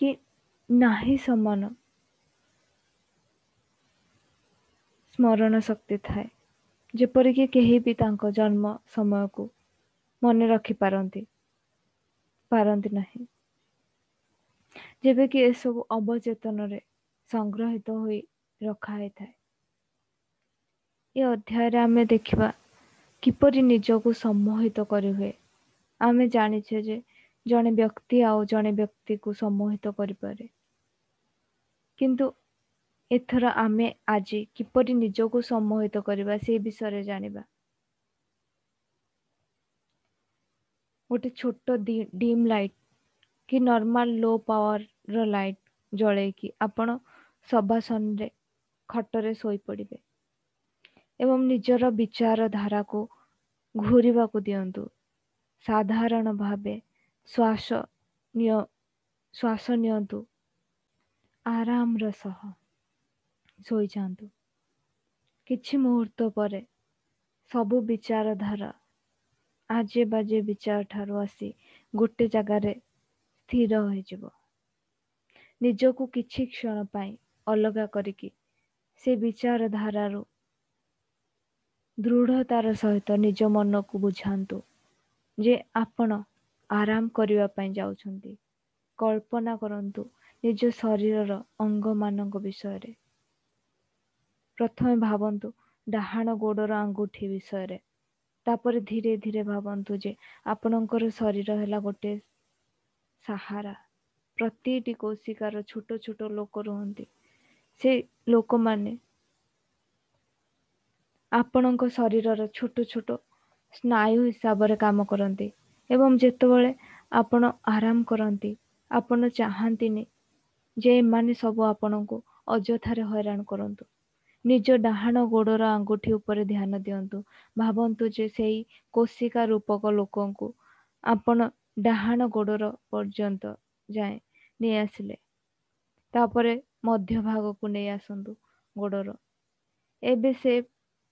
କି ନାହିଁ ସମାନ ସ୍ମରଣ ଶକ୍ତି ଥାଏ, ଯେପରିକି କେହି ବି ତାଙ୍କ ଜନ୍ମ ସମୟକୁ ମନେ ରଖିପାରନ୍ତି ପାରନ୍ତି ନାହିଁ। ଯେବେ କି ଏସବୁ ଅବଚେତନରେ ସଂଗ୍ରହିତ ହୋଇ ରଖା ହେଇଥାଏ। ଏ ଅଧ୍ୟାୟରେ ଆମେ ଦେଖିବା କିପରି ନିଜକୁ ସମ୍ମୋହିତ କରିହୁଏ। ଆମେ ଜାଣିଛେ ଯେ ଜଣେ ବ୍ୟକ୍ତି ଆଉ ଜଣେ ବ୍ୟକ୍ତିକୁ ସମ୍ମୋହିତ କରିପାରେ, କିନ୍ତୁ ଏଥର ଆମେ ଆଜି କିପରି ନିଜକୁ ସମ୍ମୋହିତ କରିବା ସେ ବିଷୟରେ ଜାଣିବା। ଗୋଟେ ଛୋଟ ଡିମ୍ ଲାଇଟ୍ କି ନର୍ମାଲ ଲୋ ପାୱାରର ଲାଇଟ୍ ଜଳେଇକି ଆପଣ ଶବାସନରେ ଖଟରେ ଶୋଇପଡ଼ିବେ ଏବଂ ନିଜର ବିଚାରଧାରାକୁ ଘୂରିବାକୁ ଦିଅନ୍ତୁ। ସାଧାରଣ ଭାବେ ଶ୍ୱାସ ନିଅ ଶ୍ୱାସ ନିଅନ୍ତୁ, ଆରାମର ସହ ଶୋଇଯାଆନ୍ତୁ। କିଛି ମୁହୂର୍ତ୍ତ ପରେ ସବୁ ବିଚାରଧାରା ଆଜେ ବାଜେ ବିଚାର ଠାରୁ ଆସି ଗୋଟେ ଜାଗାରେ ସ୍ଥିର ହୋଇଯିବ। ନିଜକୁ କିଛି କ୍ଷଣ ପାଇଁ ଅଲଗା କରିକି ସେ ବିଚାରଧାରାରୁ ଦୃଢ଼ତାର ସହିତ ନିଜ ମନକୁ ବୁଝାନ୍ତୁ ଯେ ଆପଣ ଆରାମ କରିବା ପାଇଁ ଯାଉଛନ୍ତି। କଳ୍ପନା କରନ୍ତୁ ନିଜ ଶରୀରର ଅଙ୍ଗମାନଙ୍କ ବିଷୟରେ। ପ୍ରଥମେ ଭାବନ୍ତୁ ଡାହାଣ ଗୋଡ଼ର ଆଙ୍ଗୁଠି ବିଷୟରେ, ତାପରେ ଧୀରେ ଧୀରେ ଭାବନ୍ତୁ ଯେ ଆପଣଙ୍କର ଶରୀର ହେଲା ଗୋଟେ ସାହାରା। ପ୍ରତିଟି କୋଶିକାର ଛୋଟ ଛୋଟ ଲୋକ ରୁହନ୍ତି। ସେ ଲୋକମାନେ ଆପଣଙ୍କ ଶରୀରର ଛୋଟ ଛୋଟ ସ୍ନାୟୁ ହିସାବରେ କାମ କରନ୍ତି ଏବଂ ଯେତେବେଳେ ଆପଣ ଆରାମ କରନ୍ତି, ଆପଣ ଚାହାନ୍ତିନି ଯେ ଏମାନେ ସବୁ ଆପଣଙ୍କୁ ଅଯଥାରେ ହଇରାଣ କରନ୍ତୁ। ନିଜ ଡାହାଣ ଗୋଡ଼ର ଆଙ୍ଗୁଠି ଉପରେ ଧ୍ୟାନ ଦିଅନ୍ତୁ। ଭାବନ୍ତୁ ଯେ ସେଇ କୋଶିକା ରୂପକ ଲୋକଙ୍କୁ ଆପଣ ଡାହାଣ ଗୋଡ଼ର ପର୍ଯ୍ୟନ୍ତ ଯାଏଁ ନେଇ ଆସିଲେ, ତାପରେ ମଧ୍ୟ ଭାଗକୁ ନେଇ ଆସନ୍ତୁ ଗୋଡ଼ର। ଏବେ ସେ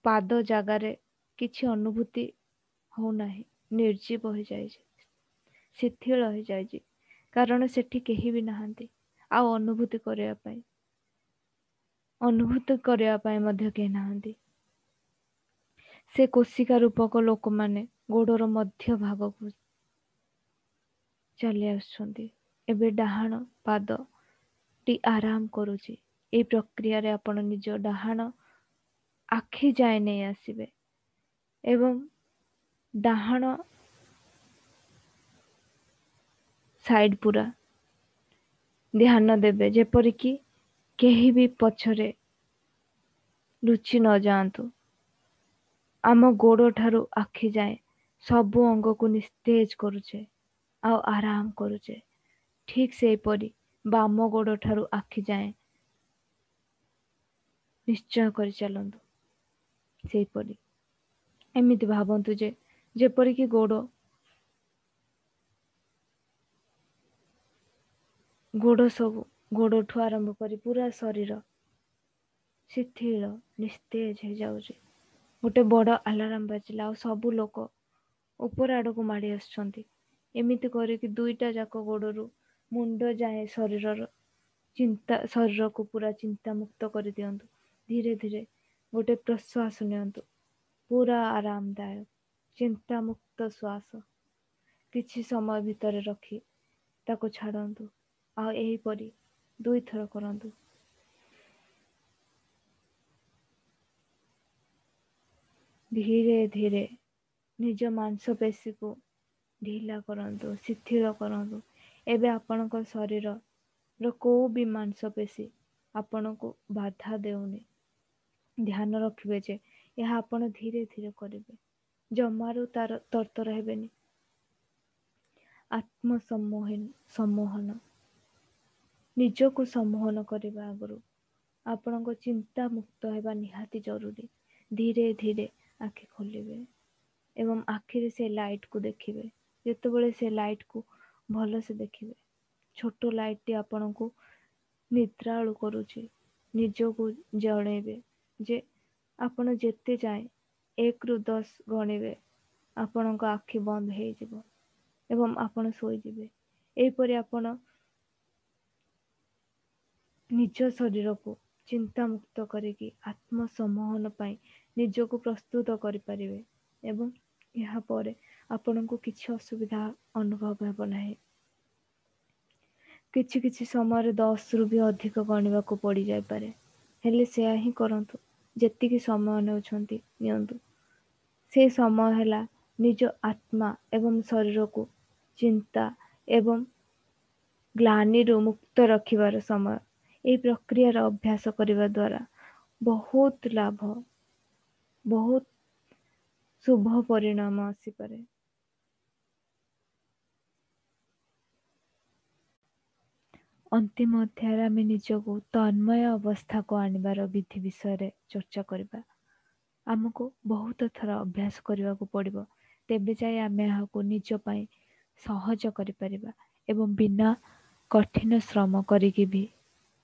ପାଦ ଜାଗାରେ କିଛି ଅନୁଭୂତି ହଉନାହିଁ, ନିର୍ଜୀବ ହୋଇଯାଇଛି, ଶିଥିଳ ହୋଇଯାଇଛି, କାରଣ ସେଠି କେହି ବି ନାହାନ୍ତି ଆଉ ଅନୁଭୂତି କରିବା ପାଇଁ ଅନୁଭୂତି କରିବା ପାଇଁ ମଧ୍ୟ କେହି ନାହାନ୍ତି। ସେ କୋଶିକା ରୂପକ ଲୋକମାନେ ଗୋଡ଼ର ମଧ୍ୟ ଭାଗକୁ ଚାଲି ଆସୁଛନ୍ତି। ଏବେ ଡାହାଣ ପାଦଟି ଆରାମ କରୁଛି। ଏହି ପ୍ରକ୍ରିୟାରେ ଆପଣ ନିଜ ଡାହାଣ ଆଖି ଯାଏଁ ନେଇ ଆସିବେ ଏବଂ ଡାହାଣ ସାଇଡ୍ ପୁରା ଧ୍ୟାନ ଦେବେ, ଯେପରିକି କେହି ବି ପଛରେ ଲୁଚି ନ ଯାଆନ୍ତୁ। ଆମ ଗୋଡ଼ ଠାରୁ ଆଖି ଯାଏଁ ସବୁ ଅଙ୍ଗକୁ ନିସ୍ତେଜ କରୁଛେ ଆଉ ଆରାମ କରୁଛେ। ଠିକ୍ ସେହିପରି ବାମ ଗୋଡ଼ ଠାରୁ ଆଖି ଯାଏଁ ନିଶ୍ଚୟ କରି ଚାଲନ୍ତୁ। ସେହିପରି ଏମିତି ଭାବନ୍ତୁ ଯେ ଯେପରିକି ଗୋଡ଼ ଗୋଡ଼ ସବୁ ଗୋଡ଼ଠୁ ଆରମ୍ଭ କରି ପୁରା ଶରୀର ଶିଥିଳ ନିସ୍ତେଜ ହେଇଯାଉଛି। ଗୋଟେ ବଡ଼ ଆଲାରାମ ବାଜିଲା ଆଉ ସବୁ ଲୋକ ଉପର ଆଡ଼କୁ ମାଡ଼ି ଆସୁଛନ୍ତି। ଏମିତି କରିକି ଦୁଇଟା ଯାକ ଗୋଡ଼ରୁ ମୁଣ୍ଡ ଯାଏଁ ଶରୀରର ଚିନ୍ତା ଶରୀରକୁ ପୁରା ଚିନ୍ତାମୁକ୍ତ କରିଦିଅନ୍ତୁ। ଧୀରେ ଧୀରେ ଗୋଟେ ପ୍ରଶ୍ୱାସ ନିଅନ୍ତୁ, ପୁରା ଆରାମଦାୟକ ଚିନ୍ତାମୁକ୍ତ ଶ୍ୱାସ। କିଛି ସମୟ ଭିତରେ ରଖି ତାକୁ ଛାଡ଼ନ୍ତୁ ଆଉ ଏହିପରି ଦୁଇଥର କରନ୍ତୁ। ଧୀରେ ଧୀରେ ନିଜ ମାଂସପେଶୀକୁ ଢିଲା କରନ୍ତୁ, ଶିଥିଳ କରନ୍ତୁ। ଏବେ ଆପଣଙ୍କ ଶରୀରର କୋଉ ବି ମାଂସପେଶୀ ଆପଣଙ୍କୁ ବାଧା ଦେଉନି। ଧ୍ୟାନ ରଖିବେ ଯେ ଏହା ଆପଣ ଧୀରେ ଧୀରେ କରିବେ, ଜମାରୁ ତାର ତରତର ହେବେନି। ଆତ୍ମସମ୍ମୋହନ ସମ୍ମୋହନ ନିଜକୁ ସମ୍ମୋହନ କରିବା ଆଗରୁ ଆପଣଙ୍କ ଚିନ୍ତା ମୁକ୍ତ ହେବା ନିହାତି ଜରୁରୀ। ଧୀରେ ଧୀରେ ଆଖି ଖୋଲିବେ ଏବଂ ଆଖିରେ ସେ ଲାଇଟ୍କୁ ଦେଖିବେ। ଯେତେବେଳେ ସେ ଲାଇଟ୍କୁ ଭଲସେ ଦେଖିବେ, ଛୋଟ ଲାଇଟ୍ଟି ଆପଣଙ୍କୁ ନିଦ୍ରାଳୁ କରୁଛି, ନିଜକୁ ଜଣେଇବେ ଯେ ଆପଣ ଯେତେ ଯାଏଁ ଏକରୁ ଦଶ ଗଣିବେ ଆପଣଙ୍କ ଆଖି ବନ୍ଦ ହେଇଯିବ ଏବଂ ଆପଣ ଶୋଇଯିବେ। ଏହିପରି ଆପଣ ନିଜ ଶରୀରକୁ ଚିନ୍ତାମୁକ୍ତ କରିକି ଆତ୍ମସମ୍ମୋହନ ପାଇଁ ନିଜକୁ ପ୍ରସ୍ତୁତ କରିପାରିବେ ଏବଂ ଏହାପରେ ଆପଣଙ୍କୁ କିଛି ଅସୁବିଧା ଅନୁଭବ ହେବ ନାହିଁ। କିଛି କିଛି ସମୟରେ ଦଶରୁ ବି ଅଧିକ ଗଣିବାକୁ ପଡ଼ିଯାଇପାରେ, ହେଲେ ସେୟା ହିଁ କରନ୍ତୁ। ଯେତିକି ସମୟ ନେଉଛନ୍ତି ନିଅନ୍ତୁ। ସେ ସମୟ ହେଲା ନିଜ ଆତ୍ମା ଏବଂ ଶରୀରକୁ ଚିନ୍ତା ଏବଂ ଗ୍ଲାନିରୁ ମୁକ୍ତ ରଖିବାର ସମୟ। ଏହି ପ୍ରକ୍ରିୟାର ଅଭ୍ୟାସ କରିବା ଦ୍ୱାରା ବହୁତ ଲାଭ, ବହୁତ ଶୁଭ ପରିଣାମ ଆସିପାରେ। ଅନ୍ତିମ ଅଧ୍ୟାୟରେ ଆମେ ନିଜକୁ ତନ୍ମୟ ଅବସ୍ଥାକୁ ଆଣିବାର ବିଧି ବିଷୟରେ ଚର୍ଚ୍ଚା କରିବା। ଆମକୁ ବହୁତ ଥର ଅଭ୍ୟାସ କରିବାକୁ ପଡ଼ିବ, ତେବେ ଯାଇ ଆମେ ଏହାକୁ ନିଜ ପାଇଁ ସହଜ କରିପାରିବା ଏବଂ ବିନା କଠିନ ଶ୍ରମ କରିକି ବି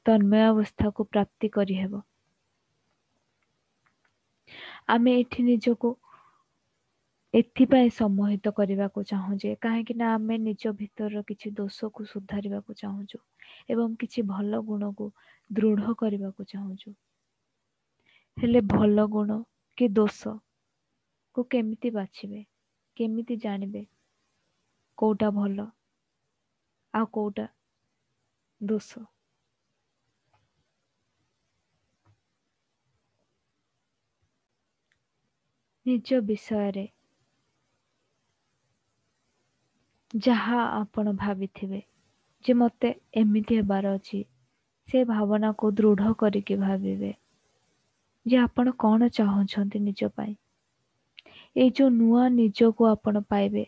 ତନ୍ମୟ ଅବସ୍ଥାକୁ ପ୍ରାପ୍ତି କରିହେବ। ଆମେ ଏଠି ନିଜକୁ ଏଥିପାଇଁ ସମ୍ମୋହିତ କରିବାକୁ ଚାହୁଁଛେ କାହିଁକି ନା ଆମେ ନିଜ ଭିତରର କିଛି ଦୋଷକୁ ସୁଧାରିବାକୁ ଚାହୁଁଛୁ ଏବଂ କିଛି ଭଲ ଗୁଣକୁ ଦୃଢ଼ କରିବାକୁ ଚାହୁଁଛୁ। ହେଲେ ଭଲ ଗୁଣ କି ଦୋଷକୁ କେମିତି ବାଛିବେ, କେମିତି ଜାଣିବେ କୋଉଟା ଭଲ ଆଉ କୋଉଟା ଦୋଷ? ନିଜ ବିଷୟରେ ଯାହା ଆପଣ ଭାବିଥିବେ ଯେ ମୋତେ ଏମିତି ହେବାର ଅଛି, ସେ ଭାବନାକୁ ଦୃଢ଼ କରିକି ଭାବିବେ ଯେ ଆପଣ କ'ଣ ଚାହୁଁଛନ୍ତି ନିଜ ପାଇଁ। ଏଇ ଯେଉଁ ନୂଆ ନିଜକୁ ଆପଣ ପାଇବେ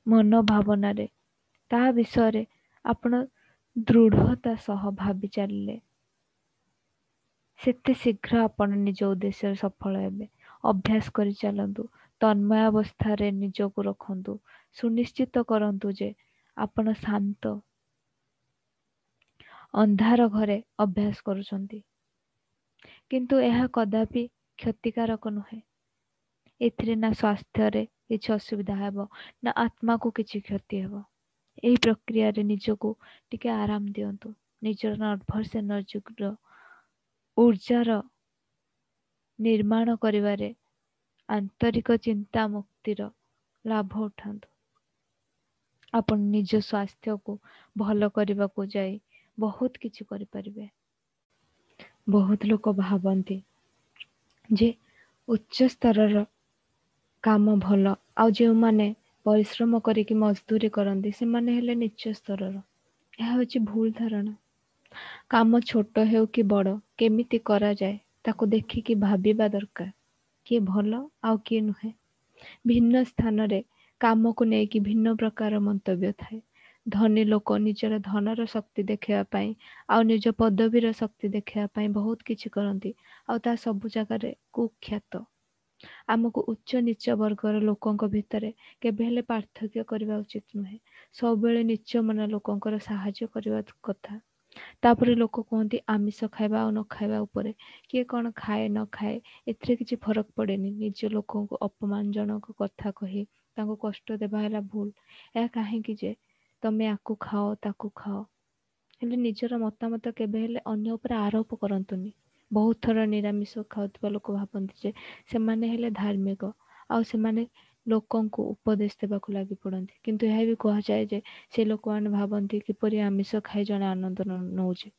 ମନ ଭାବନାରେ, ତା ବିଷୟରେ ଆପଣ ଦୃଢ଼ତା ସହ ଭାବି ଚାଲିଲେ ସେତେ ଶୀଘ୍ର ଆପଣ ନିଜ ଉଦ୍ଦେଶ୍ୟରେ ସଫଳ ହେବେ। ଅଭ୍ୟାସ କରି ଚାଲନ୍ତୁ, ତନ୍ମୟ ଅବସ୍ଥାରେ ନିଜକୁ ରଖନ୍ତୁ, ସୁନିଶ୍ଚିତ କରନ୍ତୁ ଯେ ଆପଣ ଶାନ୍ତ ଅନ୍ଧାର ଘରେ ଅଭ୍ୟାସ କରୁଛନ୍ତି, କିନ୍ତୁ ଏହା କଦାପି କ୍ଷତିକାରକ ନୁହେଁ। ଏଥିରେ ନା ସ୍ୱାସ୍ଥ୍ୟରେ କିଛି ଅସୁବିଧା ହେବ ନା ଆତ୍ମାକୁ କିଛି କ୍ଷତି ହେବ। ଏହି ପ୍ରକ୍ରିୟାରେ ନିଜକୁ ଟିକେ ଆରାମ ଦିଅନ୍ତୁ। ନିଜର ନର୍ଭସ୍ ଏନର୍ଜିର ଉର୍ଜାର ନିର୍ମାଣ କରିବାରେ ଆନ୍ତରିକ ଚିନ୍ତା ମୁକ୍ତିର ଲାଭ ଉଠାନ୍ତୁ। ଆପଣ ନିଜ ସ୍ୱାସ୍ଥ୍ୟକୁ ଭଲ କରିବାକୁ ଯାଇ ବହୁତ କିଛି କରିପାରିବେ। ବହୁତ ଲୋକ ଭାବନ୍ତି ଯେ ଉଚ୍ଚ ସ୍ତରର କାମ ଭଲ, ଆଉ ଯେଉଁମାନେ ପରିଶ୍ରମ କରିକି ମଜଦୁରୀ କରନ୍ତି ସେମାନେ ହେଲେ ନିଚ୍ଚ ସ୍ତରର। ଏହା ହେଉଛି ଭୁଲ ଧାରଣା। କାମ ଛୋଟ ହେଉ କି ବଡ଼, କେମିତି କରାଯାଏ ତାକୁ ଦେଖିକି ଭାବିବା ଦରକାର, କିଏ ଭଲ ଆଉ କିଏ ନୁହେଁ। ଭିନ୍ନ ସ୍ଥାନରେ କାମକୁ ନେଇକି ଭିନ୍ନ ପ୍ରକାର ମନ୍ତବ୍ୟ ଥାଏ। ଧନୀ ଲୋକ ନିଜର ଧନର ଶକ୍ତି ଦେଖାଇବା ପାଇଁ ଆଉ ନିଜ ପଦବୀର ଶକ୍ତି ଦେଖାଇବା ପାଇଁ ବହୁତ କିଛି କରନ୍ତି, ଆଉ ତାହା ସବୁ ଜାଗାରେ କୁଖ୍ୟାତ। ଆମକୁ ଉଚ୍ଚ ନୀଚ ବର୍ଗର ଲୋକଙ୍କ ଭିତରେ କେବେ ହେଲେ ପାର୍ଥକ୍ୟ କରିବା ଉଚିତ ନୁହେଁ। ସବୁବେଳେ ନୀଚ ମନ ଲୋକଙ୍କର ସାହାଯ୍ୟ କରିବା କଥା। ତାପରେ ଲୋକ କୁହନ୍ତି ଆମିଷ ଖାଇବା ଆଉ ନ ଖାଇବା ଉପରେ କିଏ କ'ଣ ଖାଏ ନ ଖାଏ ଏଥିରେ କିଛି ଫରକ ପଡ଼େନି। ନିଜ ଲୋକଙ୍କୁ ଅପମାନଜନକ କଥା କହି ତାଙ୍କୁ କଷ୍ଟ ଦେବା ହେଲା ଭୁଲ। ଏହା କାହିଁକି ଯେ ତମେ ଆକୁ ଖାଅ ତାକୁ ଖାଅ, ହେଲେ ନିଜର ମତାମତ କେବେ ହେଲେ ଅନ୍ୟ ଉପରେ ଆରୋପ କରନ୍ତୁନି। ବହୁତ ଥର ନିରାମିଷ ଖାଉଥିବା ଲୋକ ଭାବନ୍ତି ଯେ ସେମାନେ ହେଲେ ଧାର୍ମିକ ଆଉ ସେମାନେ ଲୋକଙ୍କୁ ଉପଦେଶ ଦେବାକୁ ଲାଗି ପଡ଼ନ୍ତି, କିନ୍ତୁ ଏହା ବି କୁହାଯାଏ ଯେ ସେ ଲୋକମାନେ ଭାବନ୍ତି କିପରି ଆମିଷ ଖାଇ ଜଣେ ଆନନ୍ଦ ନଉଛି।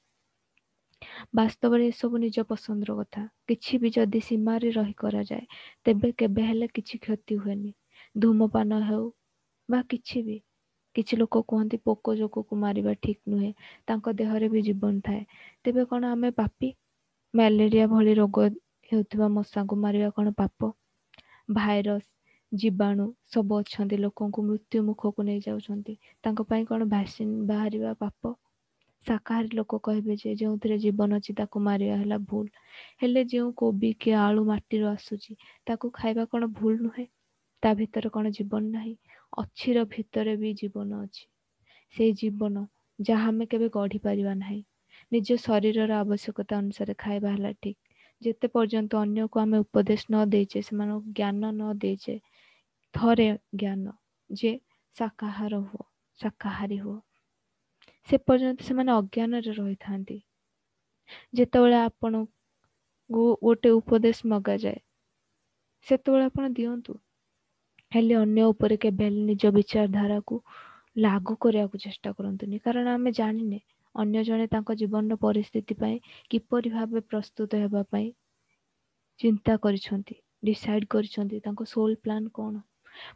ବାସ୍ତବରେ ଏସବୁ ନିଜ ପସନ୍ଦର କଥା। କିଛି ବି ଯଦି ସୀମାରେ ରହି କରାଯାଏ ତେବେ କେବେ ହେଲେ କିଛି କ୍ଷତି ହୁଏନି। ଧୂମପାନ ହେଉ ବା କିଛି ବି, କିଛି ଲୋକ କୁହନ୍ତି ପୋକ ଜୋକକୁ ମାରିବା ଠିକ୍ ନୁହେଁ, ତାଙ୍କ ଦେହରେ ବି ଜୀବନ ଥାଏ, ତେବେ କ'ଣ ଆମେ ପାପୀ? ମ୍ୟାଲେରିଆ ଭଳି ରୋଗ ହେଉଥିବା ମଶାଙ୍କୁ ମାରିବା କ'ଣ ପାପ? ଭାଇରସ୍, ଜୀବାଣୁ ସବୁ ଅଛନ୍ତି, ଲୋକଙ୍କୁ ମୃତ୍ୟୁ ମୁଖକୁ ନେଇଯାଉଛନ୍ତି, ତାଙ୍କ ପାଇଁ କ'ଣ ଭ୍ୟାକ୍ସିନ୍ ବାହାରିବା ପାପ? ଶାକାହାରୀ ଲୋକ କହିବେ ଯେ ଯେଉଁଥିରେ ଜୀବନ ଅଛି ତାକୁ ମାରିବା ହେଲା ଭୁଲ, ହେଲେ ଯେଉଁ କୋବି କି ଆଳୁ ମାଟିରୁ ଆସୁଛି ତାକୁ ଖାଇବା କ'ଣ ଭୁଲ ନୁହେଁ? ତା ଭିତରେ କ'ଣ ଜୀବନ ନାହିଁ? ଅଛିର ଭିତରେ ବି ଜୀବନ ଅଛି। ସେଇ ଜୀବନ ଯାହା ଆମେ କେବେ ଗଢ଼ି ପାରିବା ନାହିଁ। ନିଜ ଶରୀରର ଆବଶ୍ୟକତା ଅନୁସାରେ ଖାଇବା ହେଲା ଠିକ୍। ଯେତେ ପର୍ଯ୍ୟନ୍ତ ଅନ୍ୟକୁ ଆମେ ଉପଦେଶ ନ ଦେଇଛେ, ସେମାନଙ୍କୁ ଜ୍ଞାନ ନ ଦେଇଛେ, ଥରେ ଜ୍ଞାନ ଯେ ଶାକାହାର ହୁଅ, ଶାକାହାରୀ ହୁଅ, ସେ ପର୍ଯ୍ୟନ୍ତ ସେମାନେ ଅଜ୍ଞାନରେ ରହିଥାନ୍ତି। ଯେତେବେଳେ ଆପଣଙ୍କୁ ଗୋଟେ ଉପଦେଶ ମଗାଯାଏ ସେତେବେଳେ ଆପଣ ଦିଅନ୍ତୁ, ହେଲେ ଅନ୍ୟ ଉପରେ କେବେ ହେଲେ ନିଜ ବିଚାରଧାରାକୁ ଲାଗୁ କରିବାକୁ ଚେଷ୍ଟା କରନ୍ତୁନି। କାରଣ ଆମେ ଜାଣିନେ ଅନ୍ୟ ଜଣେ ତାଙ୍କ ଜୀବନର ପରିସ୍ଥିତି ପାଇଁ କିପରି ଭାବେ ପ୍ରସ୍ତୁତ ହେବା ପାଇଁ ଚିନ୍ତା କରିଛନ୍ତି, ଡିସାଇଡ୍ କରିଛନ୍ତି, ତାଙ୍କ ସୋଲ୍ ପ୍ଲାନ୍ କ'ଣ।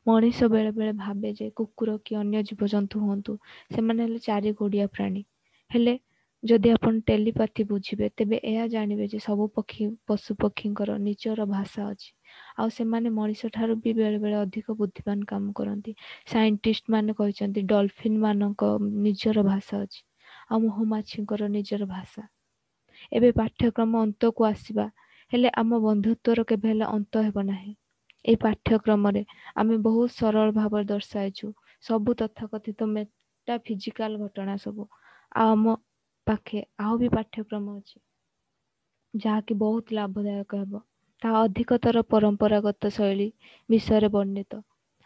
ମଣିଷ ବେଳେବେଳେ ଭାବେ ଯେ କୁକୁର କି ଅନ୍ୟ ଜୀବଜନ୍ତୁ ହୁଅନ୍ତୁ, ସେମାନେ ହେଲେ ଚାରି ଗୋଡ଼ିଆ ପ୍ରାଣୀ। ହେଲେ ଯଦି ଆପଣ ଟେଲିପାଥି ବୁଝିବେ ତେବେ ଏହା ଜାଣିବେ ଯେ ସବୁ ପକ୍ଷୀ ପଶୁ ପକ୍ଷୀଙ୍କର ନିଜର ଭାଷା ଅଛି, ଆଉ ସେମାନେ ମଣିଷ ଠାରୁ ବି ବେଳେବେଳେ ଅଧିକ ବୁଦ୍ଧିମାନ କାମ କରନ୍ତି। ସାଇଣ୍ଟିଷ୍ଟ ମାନେ କହିଛନ୍ତି ଡଲଫିନ୍ ମାନଙ୍କ ନିଜର ଭାଷା ଅଛି, ଆଉ ମହୁମାଛିଙ୍କର ନିଜର ଭାଷା। ଏବେ ପାଠ୍ୟକ୍ରମ ଅନ୍ତକୁ ଆସିବା, ହେଲେ ଆମ ବନ୍ଧୁତ୍ୱର କେବେ ହେଲେ ଅନ୍ତ ହେବ ନାହିଁ। ଏହି ପାଠ୍ୟକ୍ରମରେ ଆମେ ବହୁତ ସରଳ ଭାବରେ ଦର୍ଶାଇଛୁ ସବୁ ତଥାକଥିତ ମେଟାଫିଜିକାଲ ଘଟଣା ସବୁ। ଆଉ ଆମ ପାଖେ ଆଉ ବି ପାଠ୍ୟକ୍ରମ ଅଛି ଯାହାକି ବହୁତ ଲାଭଦାୟକ ହେବ। ତାହା ଅଧିକତର ପରମ୍ପରାଗତ ଶୈଳୀ ବିଷୟରେ ବର୍ଣ୍ଣିତ।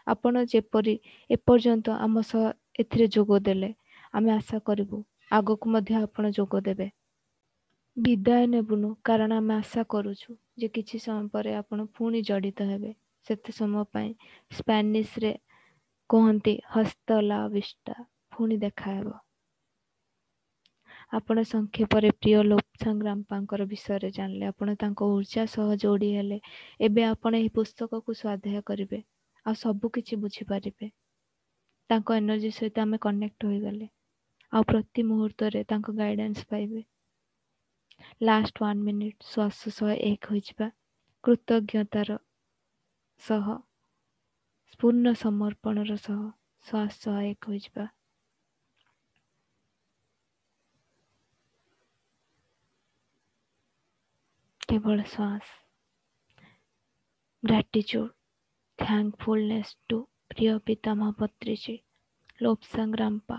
ଆପଣ ଯେପରି ଏପର୍ଯ୍ୟନ୍ତ ଆମ ସହ ଏଥିରେ ଯୋଗ ଦେଲେ, ଆମେ ଆଶା କରିବୁ ଆଗକୁ ମଧ୍ୟ ଆପଣ ଯୋଗ ଦେବେ। ବିଦାୟ ନେବୁନୁ, କାରଣ ଆମେ ଆଶା କରୁଛୁ ଯେ କିଛି ସମୟ ପରେ ଆପଣ ପୁଣି ଜଡ଼ିତ ହେବେ। ସେତେ ସମୟ ପାଇଁ ସ୍ପାନିଶରେ କୁହନ୍ତି ହସ୍ତ ଲା ଭିସ୍ଟା, ପୁଣି ଦେଖାହେବ। ଆପଣ ସଂକ୍ଷେପରେ ପ୍ରିୟ ଲୋପସାଙ୍ଗ ରାମ୍ପାଙ୍କର ବିଷୟରେ ଜାଣିଲେ, ଆପଣ ତାଙ୍କ ଉର୍ଜା ସହ ଯୋଡ଼ି ହେଲେ। ଏବେ ଆପଣ ଏହି ପୁସ୍ତକକୁ ସ୍ୱାଧ୍ୟାୟ କରିବେ ଆଉ ସବୁ କିଛି ବୁଝିପାରିବେ। ତାଙ୍କ ଏନର୍ଜି ସହିତ ଆମେ କନେକ୍ଟ ହୋଇଗଲେ ଆଉ ପ୍ରତି ମୁହୂର୍ତ୍ତରେ ତାଙ୍କ ଗାଇଡାନ୍ସ ପାଇବେ। ଲାଷ୍ଟ ୱାନ୍ ମିନିଟ୍ ଶ୍ୱାସ ସହ ଏକ ହୋଇଯିବା, କୃତଜ୍ଞତାର ସହ, ପୂର୍ଣ୍ଣ ସମର୍ପଣର ସହ ଶ୍ୱାସ ସହ ଏକ ହୋଇଯିବା। କେବଳ ଶ୍ୱାସ। ଗ୍ରାଟିଚ୍ୟୁଡ୍, ଥ୍ୟାଙ୍କଫୁଲନେସ୍ ଟୁ ପ୍ରିୟ ପିତାମହ ପତ୍ରୀଜୀ, ଲୋପସାଙ୍ଗ ରାମ୍ପା,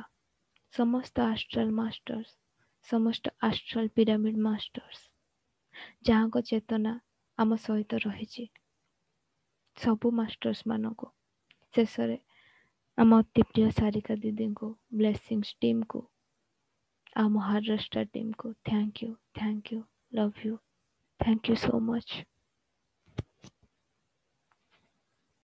ସମସ୍ତ ଆଷ୍ଟ୍ରାଲ ମାଷ୍ଟର୍ସ, ସମସ୍ତ ଆଷ୍ଟ୍ରାଲ ପିରାମିଡ ମାଷ୍ଟର୍ସ, ଯାହାଙ୍କ ଚେତନା ଆମ ସହିତ ରହିଛି, ସବୁ ମାଷ୍ଟର୍ସ ମାନଙ୍କୁ। ଶେଷରେ ଆମ ଅତି ପ୍ରିୟ ସାରିକା ଦିଦିଙ୍କୁ, ବ୍ଲେସିଂସ୍ ଟିମ୍କୁ, ଆଉ ମହାରାଷ୍ଟ୍ର ଟିମ୍କୁ thank you, thank you, love you, thank you so much.